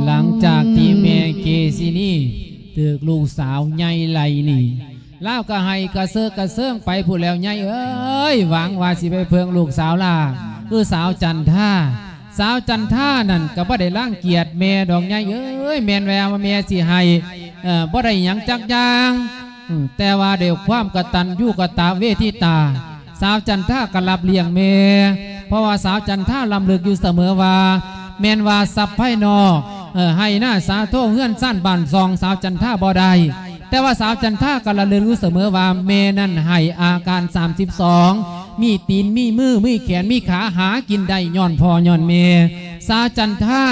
ຫຼັງຈາກທີ່ແມ່ເກຊິນີຖືກລູກສາວໃຫຍ່ໄລ່ໜີ ລາວກໍໄຫ້ກະເຊີກະເຊີງໄປພຸ້ນແລ້ວ ຍາຍເອີຍ ຫວັງວ່າຊິໄປເພິ່ງລູກສາວຫຼ້າ ຄືສາວຈັນທາ. ສາວຈັນທານັ້ນກໍບໍ່ໄດ້ລັງກຽດແມ່ດອກ ຍາຍເອີຍ ແມ່ນວ່າແມ່ຊິໃຫ້ ເອີ ບໍ່ໄດ້ຫຍັງຈັກຢ່າງ ອື ແຕ່ວ່າດ້ວຍຄວາມກະຕັນຍູກະຕະເວທິຕາ ສາວຈັນທາກໍຮັບລ້ຽງແມ່ ເພາະວ່າສາວຈັນທາລຳລຶກຢູ່ສະເໝີວ່າ ແມ່ນວ່າຊັບພາຍນອກ ເອີ ໄຮ່ນາສາໂທເຮືອນຊານບ້ານຊ່ອງ ສາວຈັນທາບໍ່ໄດ້ ແຕ່ວ່າສາວຈັນທາກໍລະລຶກຢູ່ສະເໝີວ່າ ແມ່ນັ້ນໃຫ້ອາການສາມສິບສອງ ມີຕີນ ມີມື ມີແຂນ ມີຂາ ຫາກິນໄດ້ຍ້ອນພໍ່ຍ້ອນແມ່. ສາວຈັນທາ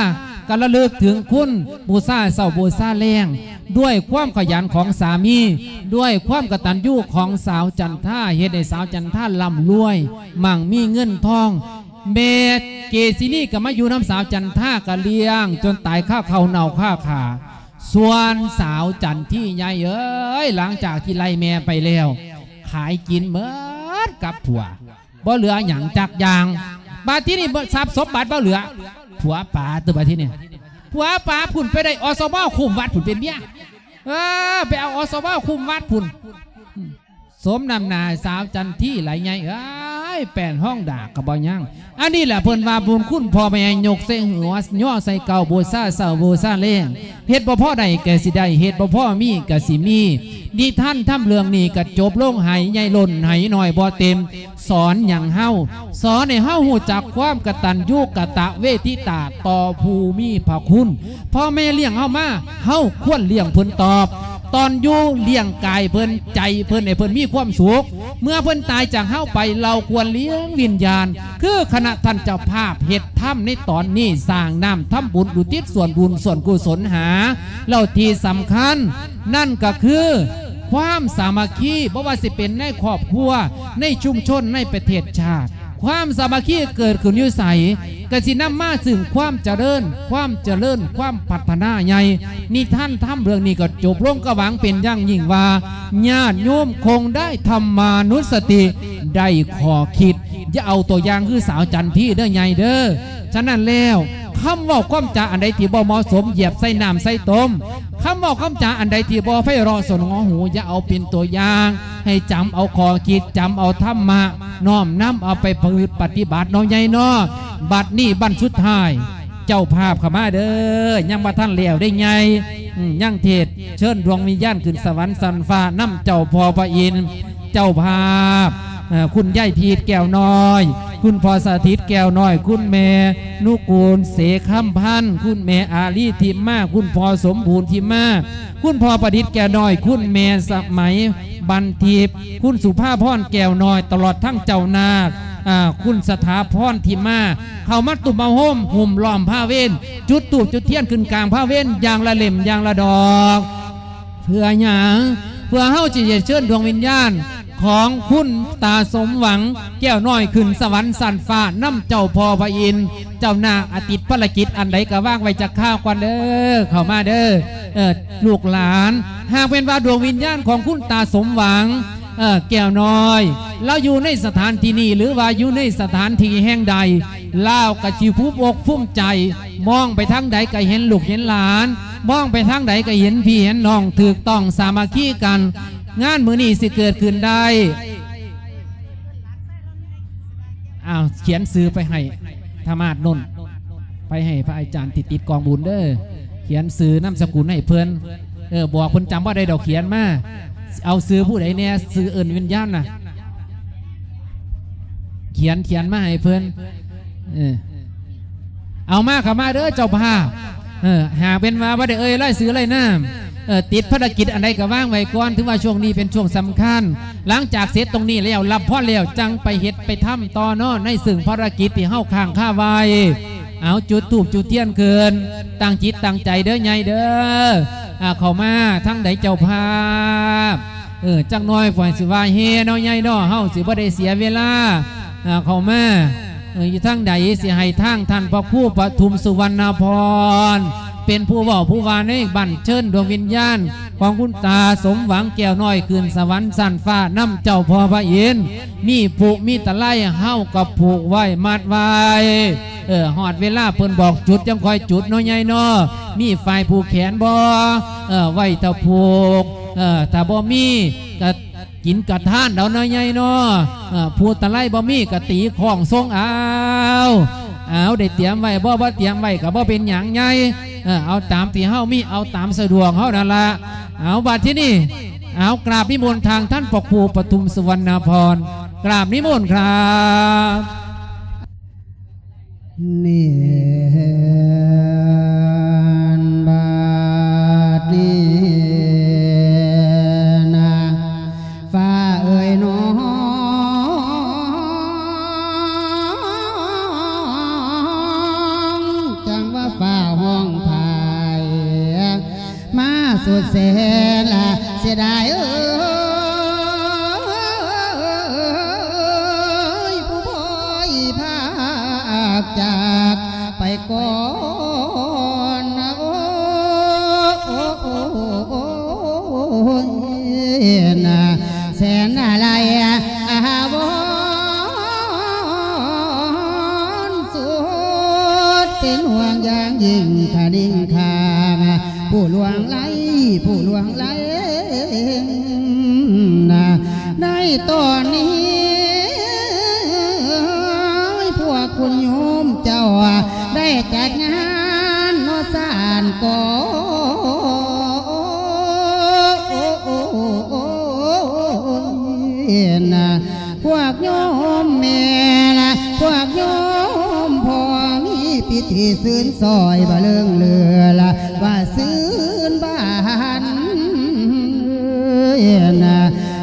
ກໍລະລຶກເຖິງຄຸນບູຊາເຊົ້າບູຊາແລງ ດ້ວຍຄວາມຂະຫຍັນຂອງສາມີ ດ້ວຍຄວາມກະຕັນຍູຂອງສາວຈັນທາ ເຮັດໃຫ້ສາວຈັນທາລ່ຳລວຍ ໝັ່ງມີເງິນທອງ. ແມ່ເກຊິນີກໍມາຢູ່ນຳສາວຈັນທາ ກໍລ້ຽງຈົນຕາຍຄາເຂົ້າເນົ່າຄາຂາ. ສ່ວນສາວຈັນທີ ຍາຍເອີຍ ຫຼັງຈາກທີ່ໄລ່ແມ່ໄປແລ້ວ ຂາຍກິນເໝິດກັບຜົວ ບໍ່ເຫຼືອຫຍັງຈັກຢ່າງ. ບາດທີນີ້ ຊັບສົມບັດບໍ່ເຫຼືອ ຜົວປາຕົວະ ບາດທີນີ້ ຜົວປາພຸ້ນ ໄປໄດ້ ອສມ ຄຸ້ມວັດພຸ້ນເປັນເມຍ ເອີ ໄປເອົາ ອສມ ຄຸ້ມວັດພຸ້ນ. ສົມນ້ຳໜ້າສາວຈັນທີຫຼາຍ ຍາຍເອີຍ. ຍແປນຫ້ອງດາກກໍບໍ່ຍັງ. ອັນນີ້ແຫຼະເພິ່ນວ່າບຸນຄຸນພໍ່ແມ່ ຍົກໃສ່ຫົວ ຍໍໃສ່ເກົ້າ ບູຊາເຊົ້າບູຊາແລງ. ເຮັດບໍ່ພໍໄດ້ກໍຊິໄດ້ ເຮັດບໍ່ພໍມີກໍຊິມີ. ນິທານທຳເລື່ອງນີ້ກໍຈົບລົງ ໄຫໃຫຍ່ລົ້ນ ໄຫນ້ອຍບໍ່ເຕັມ. ສອນຫຍັງເຮົາ? ສອນໃຫ້ເຮົາຮູ້ຈັກຄວາມກະຕັນຍູກະຕະເວທິຕາຕໍ່ຜູ້ມີພະຄຸນ. ພໍ່ແມ່ລ້ຽງເຮົາມາ ເຮົາຄວນລ້ຽງເພິ່ນຕອບ. ຕອນຢູ່ລ້ຽງກາຍເພິ່ນ ໃຈເພິ່ນ ໃຫ້ເພິ່ນມີຄວາມສຸກ. ເມື່ອເພິ່ນຕາຍຈາກເຮົາໄປ ເຮົາຄວນລ້ຽງວິນຍານ ຄືຄະນະທ່ານເຈົ້າພາບເຮັດທຳໃນຕອນນີ້ ສ້າງນ້ຳທຳບຸນ ອຸທິດສ່ວນບຸນສ່ວນກຸສົນຫາ. ແລ້ວທີ່ສຳຄັນນັ້ນກໍຄື ຄວາມສາມັກຄີ ບໍ່ວ່າຊິເປັນໃນຄອບຄົວ ໃນຊຸມຊົນ ໃນປະເທດຊາດ ຄວາມສາມັກຄີເກີດຂຶ້ນຢູ່ໃສ ກໍຊິນຳມາຊຶ່ງຄວາມຈະເລີນ ຄວາມຈະເລີນ ຄວາມພັດທະນາໃຫຍ່. ນິທານທຳເລື່ອງນີ້ກໍຈົບລົງ ກໍຫວັງເປັນຢ່າງຍິ່ງວ່າ ຍາດໂຍມຄົງໄດ້ທຳມານຸສະຕິ ໄດ້ຂໍ້ຄິດ. ຢ່າເອົາຕົວຢ່າງຄືສາວຈັນທີເດີໃຫຍ່ເດີ. ສະນັ້ນແລ້ວ ຄຳເວົ້າຄຳຈາອັນໃດທີ່ບໍ່ເໝາະສົມ ຢຽບໃສ່ນ້ຳໃສ່ຕົມ. ຄຳເວົ້າຄຳຈາອັນໃດທີ່ບໍ່ໄພເລາະສະຫງວຫູ ຢ່າເອົາເປັນຕົວຢ່າງ, ໃຫ້ຈຳເອົາຂໍ້ຄິດ, ຈຳເອົາທຳມະ, ນ້ອມນຳເອົາໄປປະພຶດປະຕິບັດເນາະ ໃຫຍ່ເນາະ. ບັດນີ້ບັ້ນສຸດທ້າຍ ເຈົ້າພາບເຂົ້າມາເດີ, ຍັງບໍ່ທັນແລ້ວເດ້ໃຫຍ່. ອືມ ຍັງເທດເຊີນດວງວິນຍານຂຶ້ນສະຫວັນຊັ້ນຟ້ານຳເຈົ້າພໍ່ພະອິນ. ເຈົ້າພາບ ເອີ ຄຸນຍາຍພີດແກ້ວນ້ອຍ, ຄຸນພໍ່ສະຖິດແກ້ວນ້ອຍ, ຄຸນແມ່ນຸກູນເສຄຳພັນ, ຄຸນແມ່ອາລີທິມມາ, ຄຸນພໍ່ສົມບູນທິມມາ, ຄຸນພໍ່ປະດິດແກ້ວນ້ອຍ, ຄຸນແມ່ສະໄໝບັນທິບ, ຄຸນສຸພາພອນແກ້ວນ້ອຍ, ຕະຫຼອດທັງເຈົ້ານາກ ອາ ຄຸນສະຖາພອນທິມມາ ເຂົ້າມາຕຸ້ມມາໂຮມ ຫຸ້ມລ້ອມພາເວັນ, ຈຸດທູບຈຸດທຽນຂຶ້ນກາງພາເວັນຢ່າງລະເຫຼັ້ມຢ່າງລະດອກ. ເພື່ອຫຍັງ? ເພື່ອເຮົາຊິໄດ້ເຊີນດວງວິນຍານຂອງຄຸນຕາສົມຫວັງແກ້ວນ້ອຍຂຶ້ນສະຫວັນຊັ້ນຟ້ານຳເຈົ້າພໍ່ພະອິນ. ເຈົ້ານາກອາຕິດພາລະກິດອັນໃດກໍວາງໄວ້ຈັກຄາວກ່ອນເດີ. ເຂົ້າມາເດີ ເອີ ລູກຫຼານ. ຫາກແມ່ນວ່າດວງວິນຍານຂອງຄຸນຕາສົມຫວັງ ເອີ ແກ້ວນ້ອຍ ລາວຢູ່ໃນສະຖານທີ່ນີ້ ຫຼືວ່າຢູ່ໃນສະຖານທີ່ແຫ່ງໃດ ລາວກໍຊິພູມອົກພູມໃຈ ມອງໄປທາງໃດກໍເຫັນລູກເຫັນຫຼານ, ມອງໄປທາງໃດກໍເຫັນພີ່ເຫັນນ້ອງ ຖືກຕ້ອງສາມັກຄີກັນ. ງານມື້ນີ້ຊິເກີດຂຶ້ນໄດ້ ອ້າວ ຂຽນຊື່ໄປໃຫ້ທະມາດໂນ້ນ ໄປໃຫ້ພະອາຈານທີ່ຕິດກອງບຸນເດີ. ຂຽນຊື່ນາມສະກຸນໃຫ້ເພິ່ນ. ເອີ ບອກເພິ່ນຈຳບໍ່ໄດ້ດອກ ຂຽນມາ. ເອົາຊື່ຜູ້ໃດແດ່? ຊື່ເອີ້ນວິນຍານນະ. ຂຽນ ຂຽນມາໃຫ້ເພິ່ນ. ເອີ ເອົາມາ ເຂົ້າມາເດີເຈົ້າພາບ. ເອີ ຫາກເປັນວ່າບໍ່ໄດ້ເອີ່ຍລາຍຊື່ລາຍນາມ ເອີ ຕິດພາລະກິດອັນໃດກໍວາງໄວ້ກ່ອນ. ຖືວ່າຊ່ວງນີ້ເປັນຊ່ວງສຳຄັນ. ຫຼັງຈາກເສັດຕົງນີ້ແລ້ວ ຮັບພອນແລ້ວ ຈັ່ງໄປເຮັດໄປທຳຕໍ່ເນາະ ໃນເຊິ່ງພາລະກິດທີ່ເຮົາຄ້າງຄາໄວ້. ເອົາ ຈຸດທູບຈຸດທຽນຂຶ້ນ ຕັ້ງຈິດຕັ້ງໃຈເດີໃຫຍ່ເດີ. ອາ ເຂົ້າມາທາງໃດເຈົ້າພາບ? ເອີ ຈັກໜ້ອຍຝ່າຍຊິວ່າແຫ່ເນາະໃຫຍ່ເນາະ ເຮົາຊິບໍ່ໄດ້ເສຍເວລາ. ອາ ເຂົ້າມາ ເອີ ຢູ່ທາງໃດ ຊິໃຫ້ທາງທ່ານພະຄູປະທຸມສຸວັນນະພອນ ເປັນຜູ້ເວົ້າຜູ້ວ່າໃນບັ້ນເຊີນດວງວິນຍານຂອງຄຸນຕາສົມຫວັງແກ້ວນ້ອຍ ຂຶ້ນສະຫວັນຊັ້ນຟ້ານຳເຈົ້າພໍ່ພະອິນ. ມີຜູກມີຕະໄລ ເຮົາກໍຜູກໄວ້ມັດໄວ້. ເອີ ຮອດເວລາເພິ່ນບອກຈຸດ ຈັ່ງຄ່ອຍຈຸດເນາະໃຫຍ່ເນາະ. ມີຝ້າຍຜູກແຂນບໍ່? ເອີ ໄວ້ຖ້າຜູກ. ເອີ ຖ້າບໍ່ມີກໍ ກິນກະທານເອົາເນາະໃຫຍ່ເນາະ. ເອີ ຜູ້ຕະໄລບໍ່ມີກະຕີຄ້ອງຊົງເອົາ. ເອົາ ໄດ້ຕຽມໄວ້ບໍ່? ບໍ່ຕຽມໄວ້ກະບໍ່ເປັນຫຍັງໃຫຍ່. ເອີ ເອົາຕາມທີ່ເຮົາມີ ເອົາຕາມສະດວກເຮົານັ້ນລະ. ເອົາ ບັດທີນີ້ ເອົາ ກາບນິມົນທາງທ່ານພະຄູປະທຸມສຸວັນນະພອນ ກາບນິມົນຄັບ. ເນນ ບາດນີ້ນະ ຟ້າເອີຍນ້ອງ ຈັ່ງວ່າຟ້າຮ້ອງພາຍ ມາສຸດແສນລະເສຍດາຍເອີຍ ຜູ້ພອຍພາກຈາກໄປກ່ອນນະ ໂອ້ ໂອ້ ໂອ້ ໂອ້ ໂອ້ຍນະ ແສນອາໄລອາວອນ ສຸດເປັນຫ່ວງຢ່າງຍິ່ງຄະນິງຄາ ຜູ້ລ່ວງໄຫຼ ຜູ້ລ່ວງໄຫຼນະ ໃນຕອນນີ້ ຄຸນໂຍມເຈົ້າໄດ້ຈັດງານເນາະ ສານກໍ ພວກໂຍມແມ່ລະ ພວກໂຍມພໍ່ ມີພິທີຊື່ນຊ້ອຍ ບໍ່ເລີງເຫຼືອລະ ວ່າຊື່ນບານ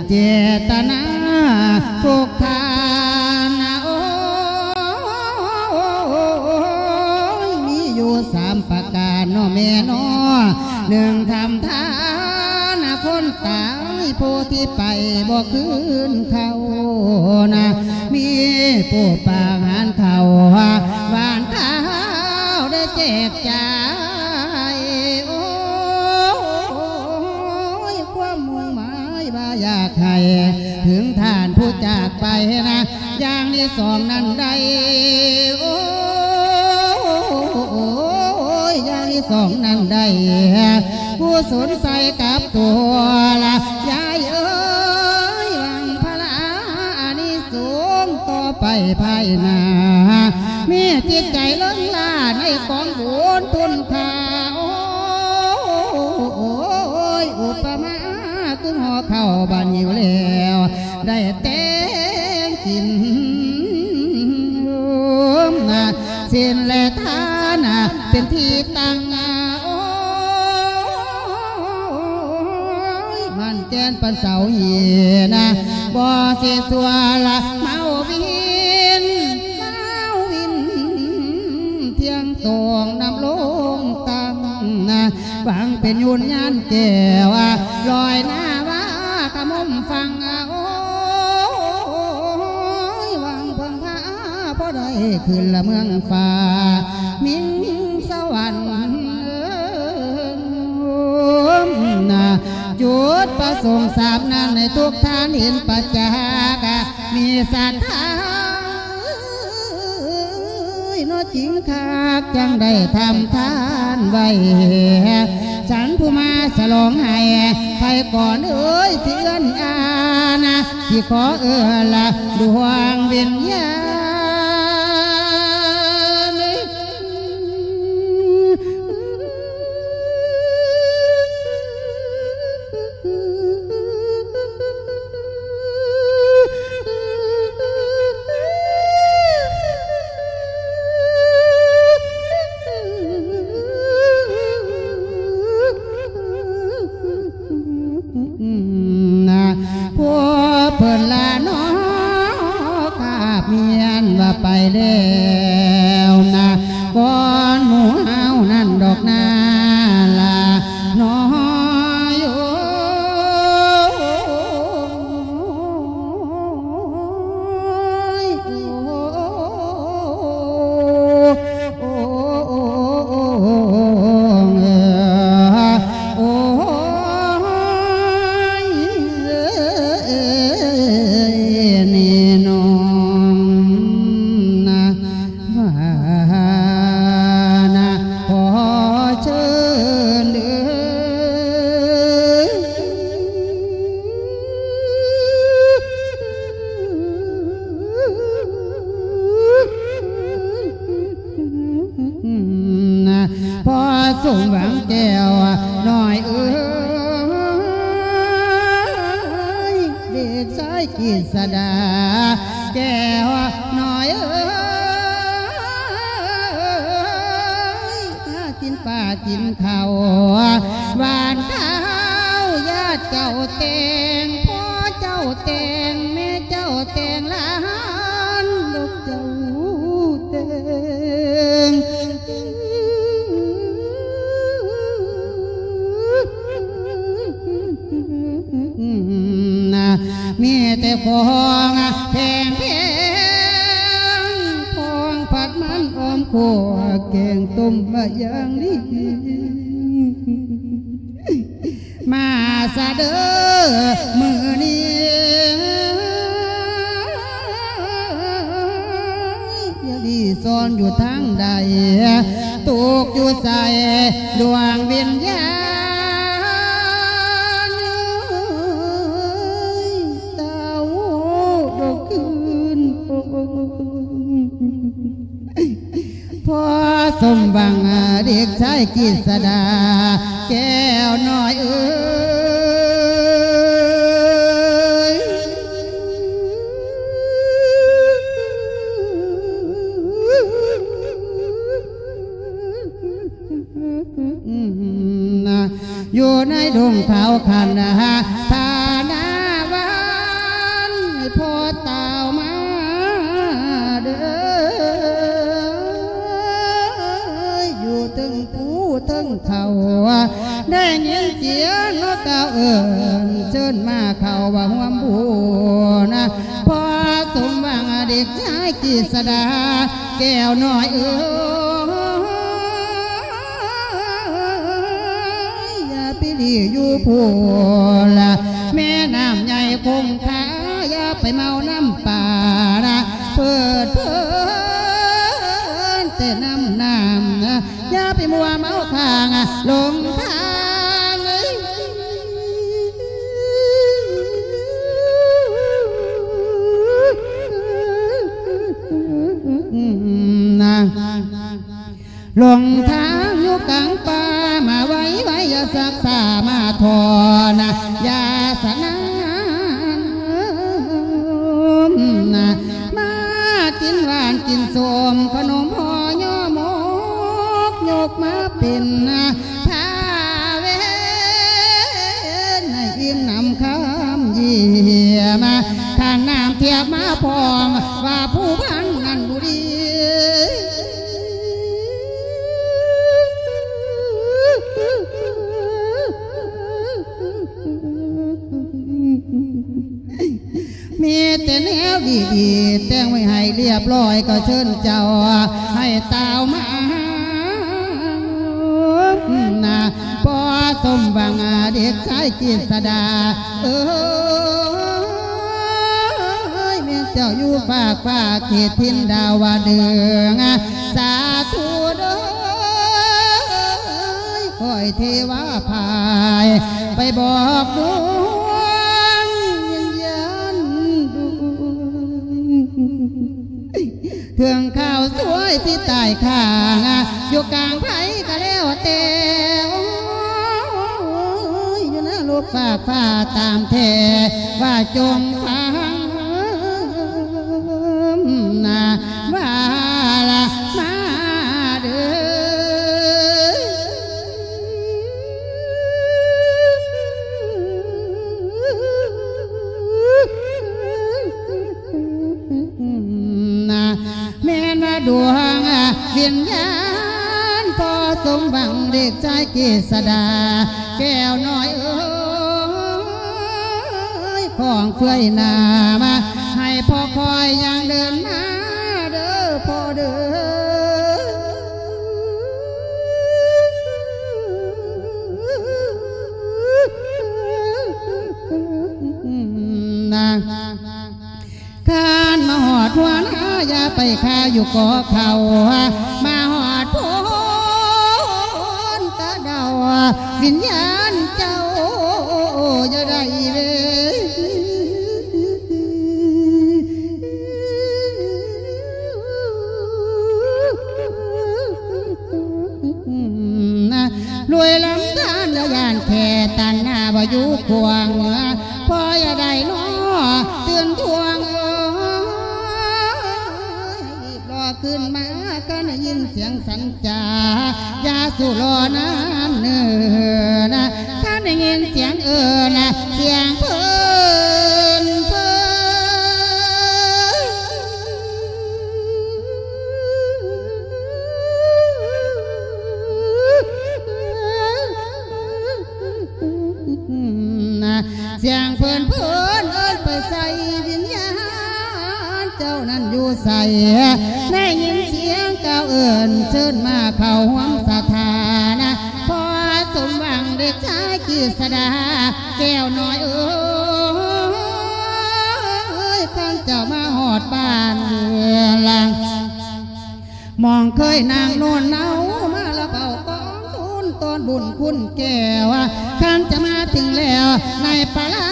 ເຈດຕະນາທຸກທ່ານ ໂອ້ຍ ມີຢູ່ສາມປະການເນາະແມ່ເນາະ ໜຶ່ງທຳທານຄົນຕາຍ ຜູ້ທີ່ໄປບໍ່ຄືນເຂົ້ານະ ມີຜູ້ປາຫານເຂົ້າ ຫວານຂ້າວໄດ້ແຈກຈ່າຍ ໂອ້ຍ ຄວາມມຸ່ງໝາຍວ່າຢາກໃຫ້ເຖິງທ່ານຜູ້ຈາກໄປນະ ຢ່າງທີ່ສອງນັ້ນໄດ້ ໂອ້ຍ ຢ່າງທີ່ສອງນັ້ນໄດ້ ຜູ້ສົນໃສ່ກັບຕົວລະ ຍາຍເອີຍ ຫວັງຜະລາອານິສົງຕໍ່ໄປພາຍໜ້າ ມີຈິດໃຈເລີງລ້າໃນກອງບຸນຄຸນຄ່າ ໂອ້ຍ ອຸປະມາຄືຫໍ່ເຂົ້າບາດຫິວແລ້ວ ໄດ້ແຕ່ງກິນ ສິນແລະທານເປັນທີ່ຕັ້ງ ໂອ້ຍ ໝັ້ນແກ່ນປານເສົາຫີນ ບໍ່ຊິຊົ່ວລະເມົາວິນ ເມົາວິນ ທ່ຽງຕອງນຳລົງຕັ້ງ ຫວັງເປັນຍູນຍານແກ້ວ ລອຍໜ້າວ່າກະມຸມຟັງ ໂອ້ຍ ຫວັງເພິ່ງພາພໍໄດ້ຂຶ້ນລະເມືອງຟ້າ ມິງສະຫວັນ ຈຸດປະສົງສາມນັ້ນ ໃຫ້ທຸກທ່ານເຫັນປະຈັກ ມີສັດທາເນາະຈິງຄັກ ຈັ່ງໄດ້ທຳທານໄວ້ ສັນຜູ້ມາສະຫຼອງໃຫ້ ໃຜກ່ອນເອີຍຊິເອື້ອນອານ ຊິຂໍເອື້ອນລະດວງວິນຍານ ນະ ພວກເພິ່ນລະເນາະ ກາບມຽນວ່າໄປແລ້ວນະ ກ່ອນໝູ່ເຮົານັ້ນດອກນາລະເນາະ ໂອ້ຍ ໂອ້ ໂອ້ ໂອ້ ໂອ້ຍ ນີ້ນ້ອງນະ ວ່ານະ ຂໍເຊີນເດີ. ພໍ່ສົມຫວັງແກ້ວນ້ອຍເອີຍ ເດັກຊາຍກິດສະດາແກ້ວນ້ອຍເອີຍ ກິນປາກິນເຂົ້າ ຫວານຂ້າວ ຍາດເຈົ້າແຕ່ງ ພໍ່ເຈົ້າແຕ່ງ ແມ່ເຈົ້າແຕ່ງ ຫຼານລູກເຈົ້າແຕ່ງ ນະ ມີແຕ່ຂອງແພງໆ ຂອງຜັດມັນອ້ອມຂົ້ວ ແກງຕົ້ມມາຢ່າງດີ ມາຊະເດີມື້ນີ້ ຢ່າລີ້ຊ່ອນຢູ່ທາງໃດ ຕົກຢູ່ໃສດວງວິນຍານ ເຕົ້າດອກຄືນໂອ. ພໍສົມຫວັງເດັກຊາຍກິດສະດາແກ້ວນ້ອຍເອີຍ ຢູ່ໃນດົງເຖົ້າຄັນທານາວັນ ພໍ່ເຕົ້າມາເດີ ຢູ່ເທິງພູເທິງເຂົາ ໄດ້ຍິນສຽງນົກກ່າວເອີ້ນ ເຊີນມາເຂົ້າຮ່ວມບຸນ ພໍສົມຫວັງເດັກຊາຍກິດສະດາ ແກ້ວນ້ອຍເອີຍ ຢ່າໄປຫຼີ້ຢູ່ພຸ້ນລະ ແມ່ນ້ຳໃຫຍ່ຄົງຄາ ຢ່າໄປເມົານ້ຳປານະ ເພີດເພີນແຕ່ນ້ຳນ້ຳນະ ຢ່າໄປມົວເມົາຂ້າງ ຫຼົງທາງເອີຍ ນະ ຫຼົງທາງຢູ່ກາງປ່າ ມາໄວໆ ຢ່າຊັກຊ້າມາທໍ້ນະ ຢ່າສະໜານນະ ມາກິນຫວານກິນສົ້ມ ຂະໜົມຫໍ່ຍໍໝົກ ຍົກມາເປັນ ພາເວນໃຫ້ອີ່ມນ້ຳຄຳຢ້ຽມ ຄັນນ້ຳທຽບມາພ້ອມ ວ່າຜູ້ພັນນັ້ນບໍ່ດີ ມີແຕ່ແນວດີໆ ແຕ່ງໄວ້ໃຫ້ລຽບລ້ອຍ ກໍເຊີນເຈົ້າໃຫ້ຕ່າວມານະ ພໍສົມຫວັງເດັກຊາຍກິດສະດາເອີຍ ແມ່ນເຈົ້າຢູ່ຟາກຟ້າເຂດຖິ່ນດາວະດຶງ ສາທຸເດີ ຂໍໃຫ້ເທວາພາຍ ໄປບອກດວງວິນຍານດວງ ເຖິງຄາວສວຍຊິຕາຍຄ້າງ ຢູ່ກາງໃຜກໍແລ້ວແຕ່ ໂອ້ຍ ຢູ່ນະໂລກຟາກຟ້າຕາມແທ້ ວ່າຈົ່ງຟັງ ນາວ່າລະມາເດີ ນາແມ່ນວ່າດວງວິນຍານ ພໍສົມຫວັງເດັກຊາຍກິດສະດາ ແກ້ວນ້ອຍເອີຍ ຂອງເຟືອຍໜ້າມາ ໃຫ້ພໍ່ຄອຍຍ່າງເດີນມາເດີພໍ່ເດີ ນາ ຄັນມາຮອດຫົວນາ ຢ່າໄປຄາຢູ່ກໍເຂົາ ມາຮອດໂພນຕາດາວ ວິນຍານເຈົ້າຢ່າໄດ້ເວ ລວຍລຳທານລະຢ້ານແຄ່ຕັນຫາບໍ່ຢູ່ຂວາງ ພໍ່ຢ່າໄດ້ລໍຕື່ນທວງ ເອີຍ ຮີບລໍຂຶ້ນມາ ຄັນໄດ້ຍິນສຽງສັນຈາ ຢ່າສູ່ລໍນານເນີນ ຄັນໄດ້ຍິນສຽງເອີ້ນ ສຽງເພີນເພີນ ສຽງເພີນເພີນເອີ້ນໄປໃສ ວິນຍານເຈົ້ານັ້ນຢູ່ໃສ ໄດ້ຍິນສຽງກ່າວເອີ້ນ ເຊີນມາເຂົ້າຮ່ວມສະຖານະ ພໍສົມຫວັງເດັກຊາຍກິດສະດາ ແກ້ວນ້ອຍເອີຍ ຄັນເຈົ້າມາຮອດບ້ານເມືອງ ໝ່ອງເຄີຍນາງໂນນເນົາ ມາລະເບົາກອງທຶນ ຕ້ອນບຸນຄຸນແກ້ວ ຄັນຈະມາເຖິງແລ້ວ ໃນປະລາ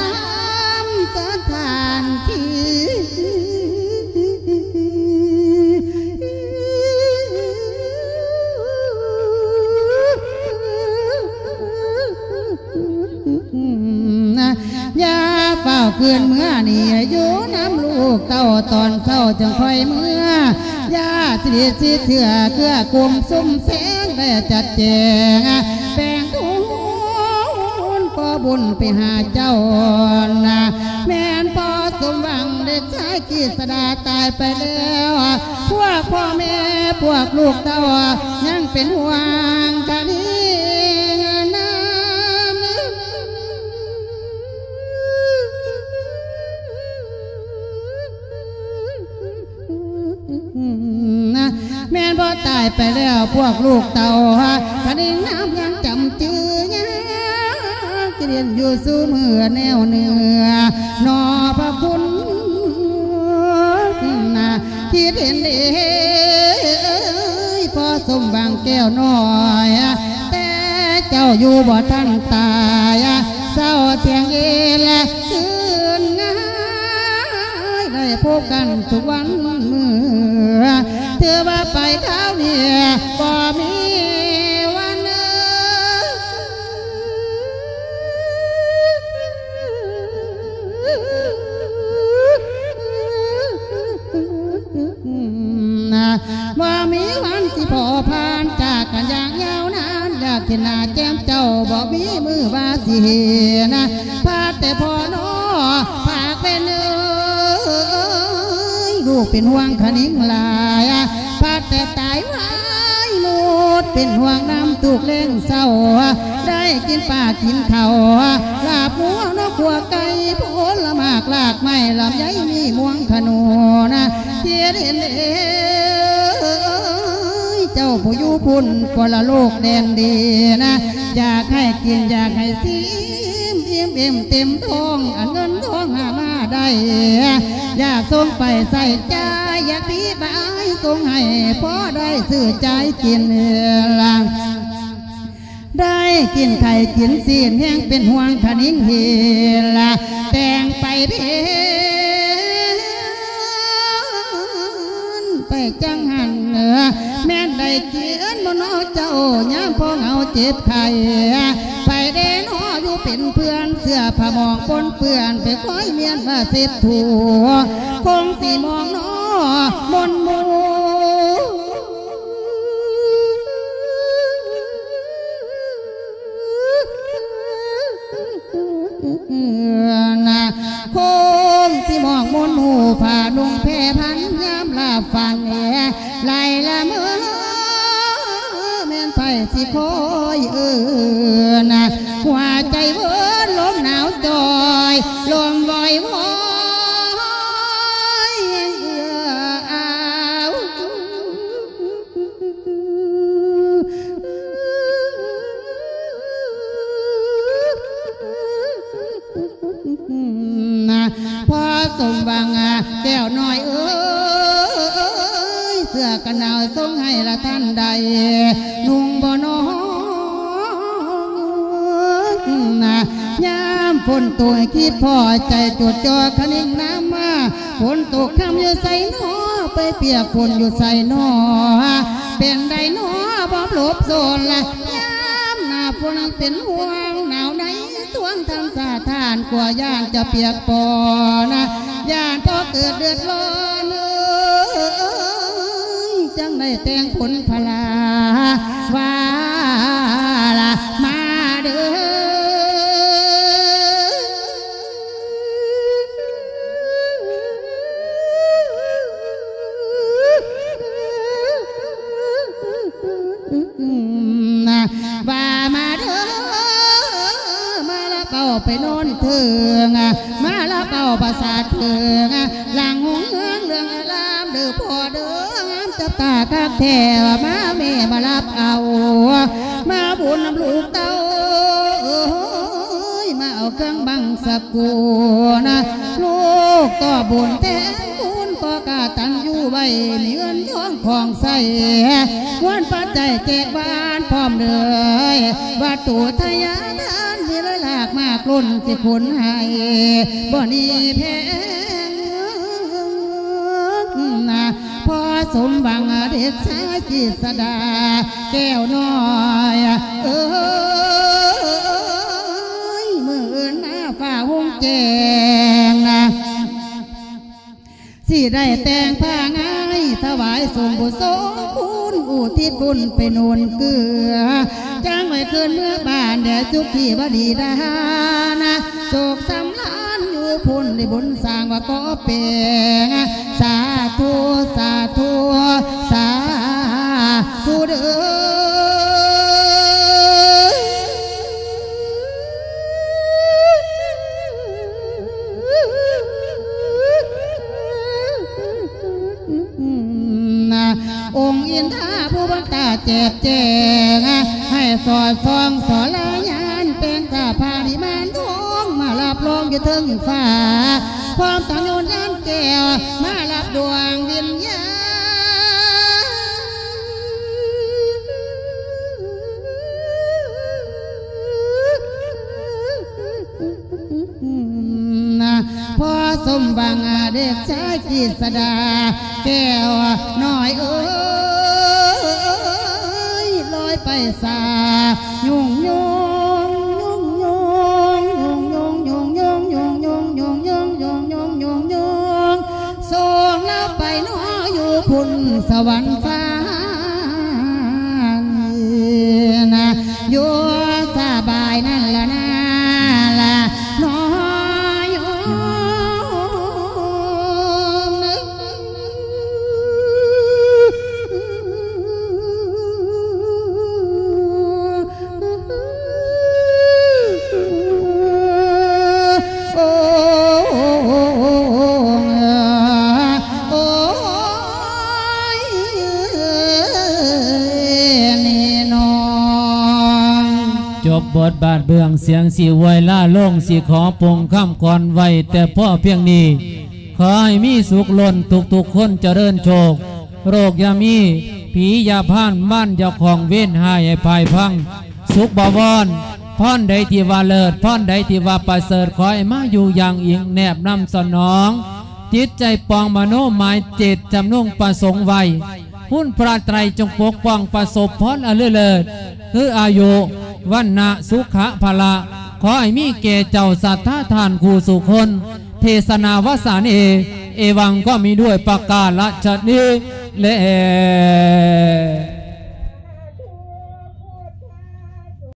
ມສະຖານທີ່ ຄືນເມືອນີ້ຢູ່ນຳລູກເຕົ້າ ຕອນເຊົ້າຈຶ່ງຄ່ອຍເມືອ ຢ່າສະດິດຊິເທື່ອ ເກື້ອກຸມຊຸມແສງໄດ້ຈັດແຈງ ແບ່ງບຸນ ຂໍບຸນໄປຫາເຈົ້ານະ ແມ່ນພໍ່ສົມຫວັງເດັກຊາຍ ກິດສະດາຕາຍໄປແລ້ວ ພວກພໍ່ແມ່ພວກລູກເຕົ້າ ຍັງເປັນຫ່ວງຄະນິງນຳ ແມ່ນບໍ່ຕາຍໄປແລ້ວ ພວກລູກເຕົ້າ ຄະນິງນຳຍັງຈຳຈື່ ຍັງຈະເຫັນຢູ່ສູ່ມື້ແນວເໜືອ ໜໍ່ພະຄຸນນະ ທີ່ເຫັນເດ້ພໍ່ສົມຫວັງແກ້ວນ້ອຍ ແຕ່ເຈົ້າຢູ່ບໍ່ທັນຕາຍ ເຊົ້າທ່ຽງເອນ ຄືນງາຍ ໄດ້ພົບກັນທຸກວັນມື້ ຖືວ່າໄປຄາວນີ້ບໍ່ມີວັນ ບໍ່ມີວັນຊິພໍຜ່ານຈາກກັນຢ່າງຍາວນານ ຢາກເຫັນໜ້າແຈ່ມເຈົ້າ ບໍ່ມີມື້ວ່າຊິເຫັນ ພາແຕ່ພໍ່ນ້ອງ ພາເປັນເອີຍ ລູກເປັນຫ່ວງຄະນິງຫຼາຍ ພາແຕ່ຕາຍວາຍໝົດ ເປັນຫ່ວງນຳທຸກແລງເຊົ້າ ໄດ້ກິນປາກິນເຂົ້າ ລາບງົວນົກຂົ້ວໄກ່ ຜົນລະໝາກລາກໄມ້ ລຳໄຍມີມ່ວງຂະໜູນ ທີ່ເຫັນເອ ເຈົ້າຜູ້ຢູ່ພຸ້ນປະລະໂລກແດນດີນະ ຢາກໃຫ້ກິນຢາກໃຫ້ຊີມ ອີ່ມເຕັມທ້ອງ ອັນເງິນທອງຫາມາໄດ້ ຢາກສົ່ງໄປໃຊ້ຈ່າຍ ຢາກປີບາຍສົ່ງໃຫ້ພໍໄດ້ຊື້ຈ່າຍກິນລະ ໄດ້ກິນໄຂ່ກິນຊີ້ນ ແຮງເປັນຫ່ວງຄະນິງເຮລະ ແຕ່ງໄປເພນໄປຈັ່ງຫັ້ນ ແມ່ນໄດ້ກິນບໍ່ນໍເຈົ້າ ຍາມພໍ່ເຮົາເຈັບໄຂ້ ໄປແດ່ນໍຢູ່ເປັນເພື່ອນ ເສື້ອຜ້າໝອງປົນເປື້ອນ ໄປຄອຍມ້ຽນວ່າເຊັດຖູ ຄົງຊິໝອງນໍມົນໝູ່ ນະ ຄົງຊິໝອງມົນໝູ່ ຜ້ານຸ່ງແພພັນ ຍາມລາບຝັນແອ ໄລ່ລະເມີ ແມ່ນໃຜຊິຄອຍເອີ້ນ ຫົວໃຈເວີນ ລົມໜາວຈ່ອຍ ລົມວອຍວອຍ ເອື້ອອາວ ພໍ່ສົມຫວັງແກ້ວນ້ອຍເອີຍ ເສື້ອກັນໜາວສົ່ງໃຫ້ລະທ່ານໃດນຸ່ງບໍ່ນໍ ຍາມຝົນຕົກຄິດພໍໃຈຈົດຈ່ອ ຄະນິງນຳມາ ຝົນຕົກຄ່ຳຢູ່ໃສນໍ ໄປປຽກຝົນຢູ່ໃສນໍ ເປັນໃດນໍບໍ່ຫຼົບໂຊນລະ ຍາມໜ້າຝົນເປັນຫ່ວງໜາວໃນ ທວງທ່ານສາທ່ານ ກົວຢ້ານຈະປຽກປອນ ຢ້ານພໍ່ເກີດເດືອດຮ້ອນເອີຍ ຈັ່ງໄດ້ແຕ່ງຜົນພະລາ ວ່າລະມາເດີ ວ່າມາເດີ ມາລະເປົາໄປນອນເທິງ ມາລະເປົາປາສາດເທິງ ຫຼັງຮຸ່ງເຮືອງເລື່ອງອາລາມ ເດີພໍ່ເດີ ງາມຈັບຕາຄັກແທ້ ມາແມ່ມາລະເປົາ ມາບຸນນຳລູກເຕົ້າ ເອີຍ ມາເອົາເຄື່ອງບັງສະກຸນ ລູກຕໍ່ບຸນແທນຄຸນ ພໍ່ກະຕັນຍູໄວ້ ມີເງິນທອງຂອງໃຊ້ ເງິນປັດໄຈແຈກບ້ານພ້ອມເລີຍ ວັດຖຸທະຍາທານ ມີຫຼາຍຫຼາກມາກລົ້ນ ຊິຂົນໃຫ້ບໍ່ໜີແພງ ນະ ພໍ່ສົມຫວັງເດັກຊາຍກິດສະດາແກ້ວນ້ອຍເອີຍ ມື້ອື່ນມາຟ້າຮຸ່ງແຈ້ງ ໄດ້ແຕ່ງຜ້າງາຍຖວາຍສົງບຸນສົງຄຸນ ອຸທິດບຸນໄປໜູນເກືອ ຈ້າງໄວ້ຄືນເມືອບ້ານແດ່ສຸຂີວະດີດານະ ໂສກສຳລານຢູ່ພຸ້ນ ໄດ້ບຸນສ້າງວ່າກໍແປງ ສາທຸ ສາທຸ ສາທຸເດີ. ອົງອິນທາຜູ້ບັນດາແຈບແຈງ ໃຫ້ສອດສ່ອງສອລາຍານ ແປງສະພານິມານທອງ ມາຮັບຮອງຢູ່ເທິງຟ້າ ພ້ອມທັງໂຍນຍານແກ້ວ ມາຮັບດວງວິນຍານ ພໍສົມຫວັງເດັກຊາຍກິດສະດາ ແກ້ວນ້ອຍເອີຍ ລອຍໄປສາ ຍຸ່ງຍົງ ຍຸ່ງຍົງ ຍຸ່ງຍົງ ຍຸ່ງຍົງ ຍຸ່ງຍົງ ຍຸ່ງຍົງ ຍຸ່ງຍົງ ຍຸ່ງຍົງ ສົ່ງລາວໄປເນາະຢູ່ພຸ້ນສະຫວັນຟ້າ ນະ ຢູ່ສະບາຍນັ້ນລະນາ ລະເນາະໂຍມ. ໂອ້ ໂອ້ຍ ນີ້ນ້ອງ ຈົບບົດບາດເບື້ອງ ສຽງຊິອວຍລາລົງ ຊິຂໍປົງຄຳກ່ອນໄວ້ແຕ່ພໍພຽງນີ້. ຂໍໃຫ້ມີສຸກລົ້ນທຸກໆຄົນ ຈະເລີນໂຊກ ໂລກຢ່າມີ ຜີຢ່າຜ່ານ ບ້ານຢ່າຂອງ ເວນຮ້າຍໃຫ້ພາຍພັງ ສຸກບໍວອນ ພອນໃດທີ່ວ່າເລີດ ພອນໃດທີ່ວ່າປະເສີດ ຂໍໃຫ້ມາຢູ່ຢ່າງອີງແນບນຳສະໜອງ ຈິດໃຈປອງມະໂນໝາຍເຈດຈຳນົງປະສົງໄວ້ ຄຸນພະໄຕຣຈົ່ງປົກປ້ອງປະສົບພອນອັນເລີດເລີດ ຄືອາຍຸ ວັນນະ ສຸຂະ ພະລະ ຂໍໃຫ້ມີແກ່ເຈົ້າສັດທາທ່ານຄູ່ສູ່ຄົນ ເທສະນາວາສາເນ ເອວັງກໍມີດ້ວຍປະກາລະຊະນີ້ແລ.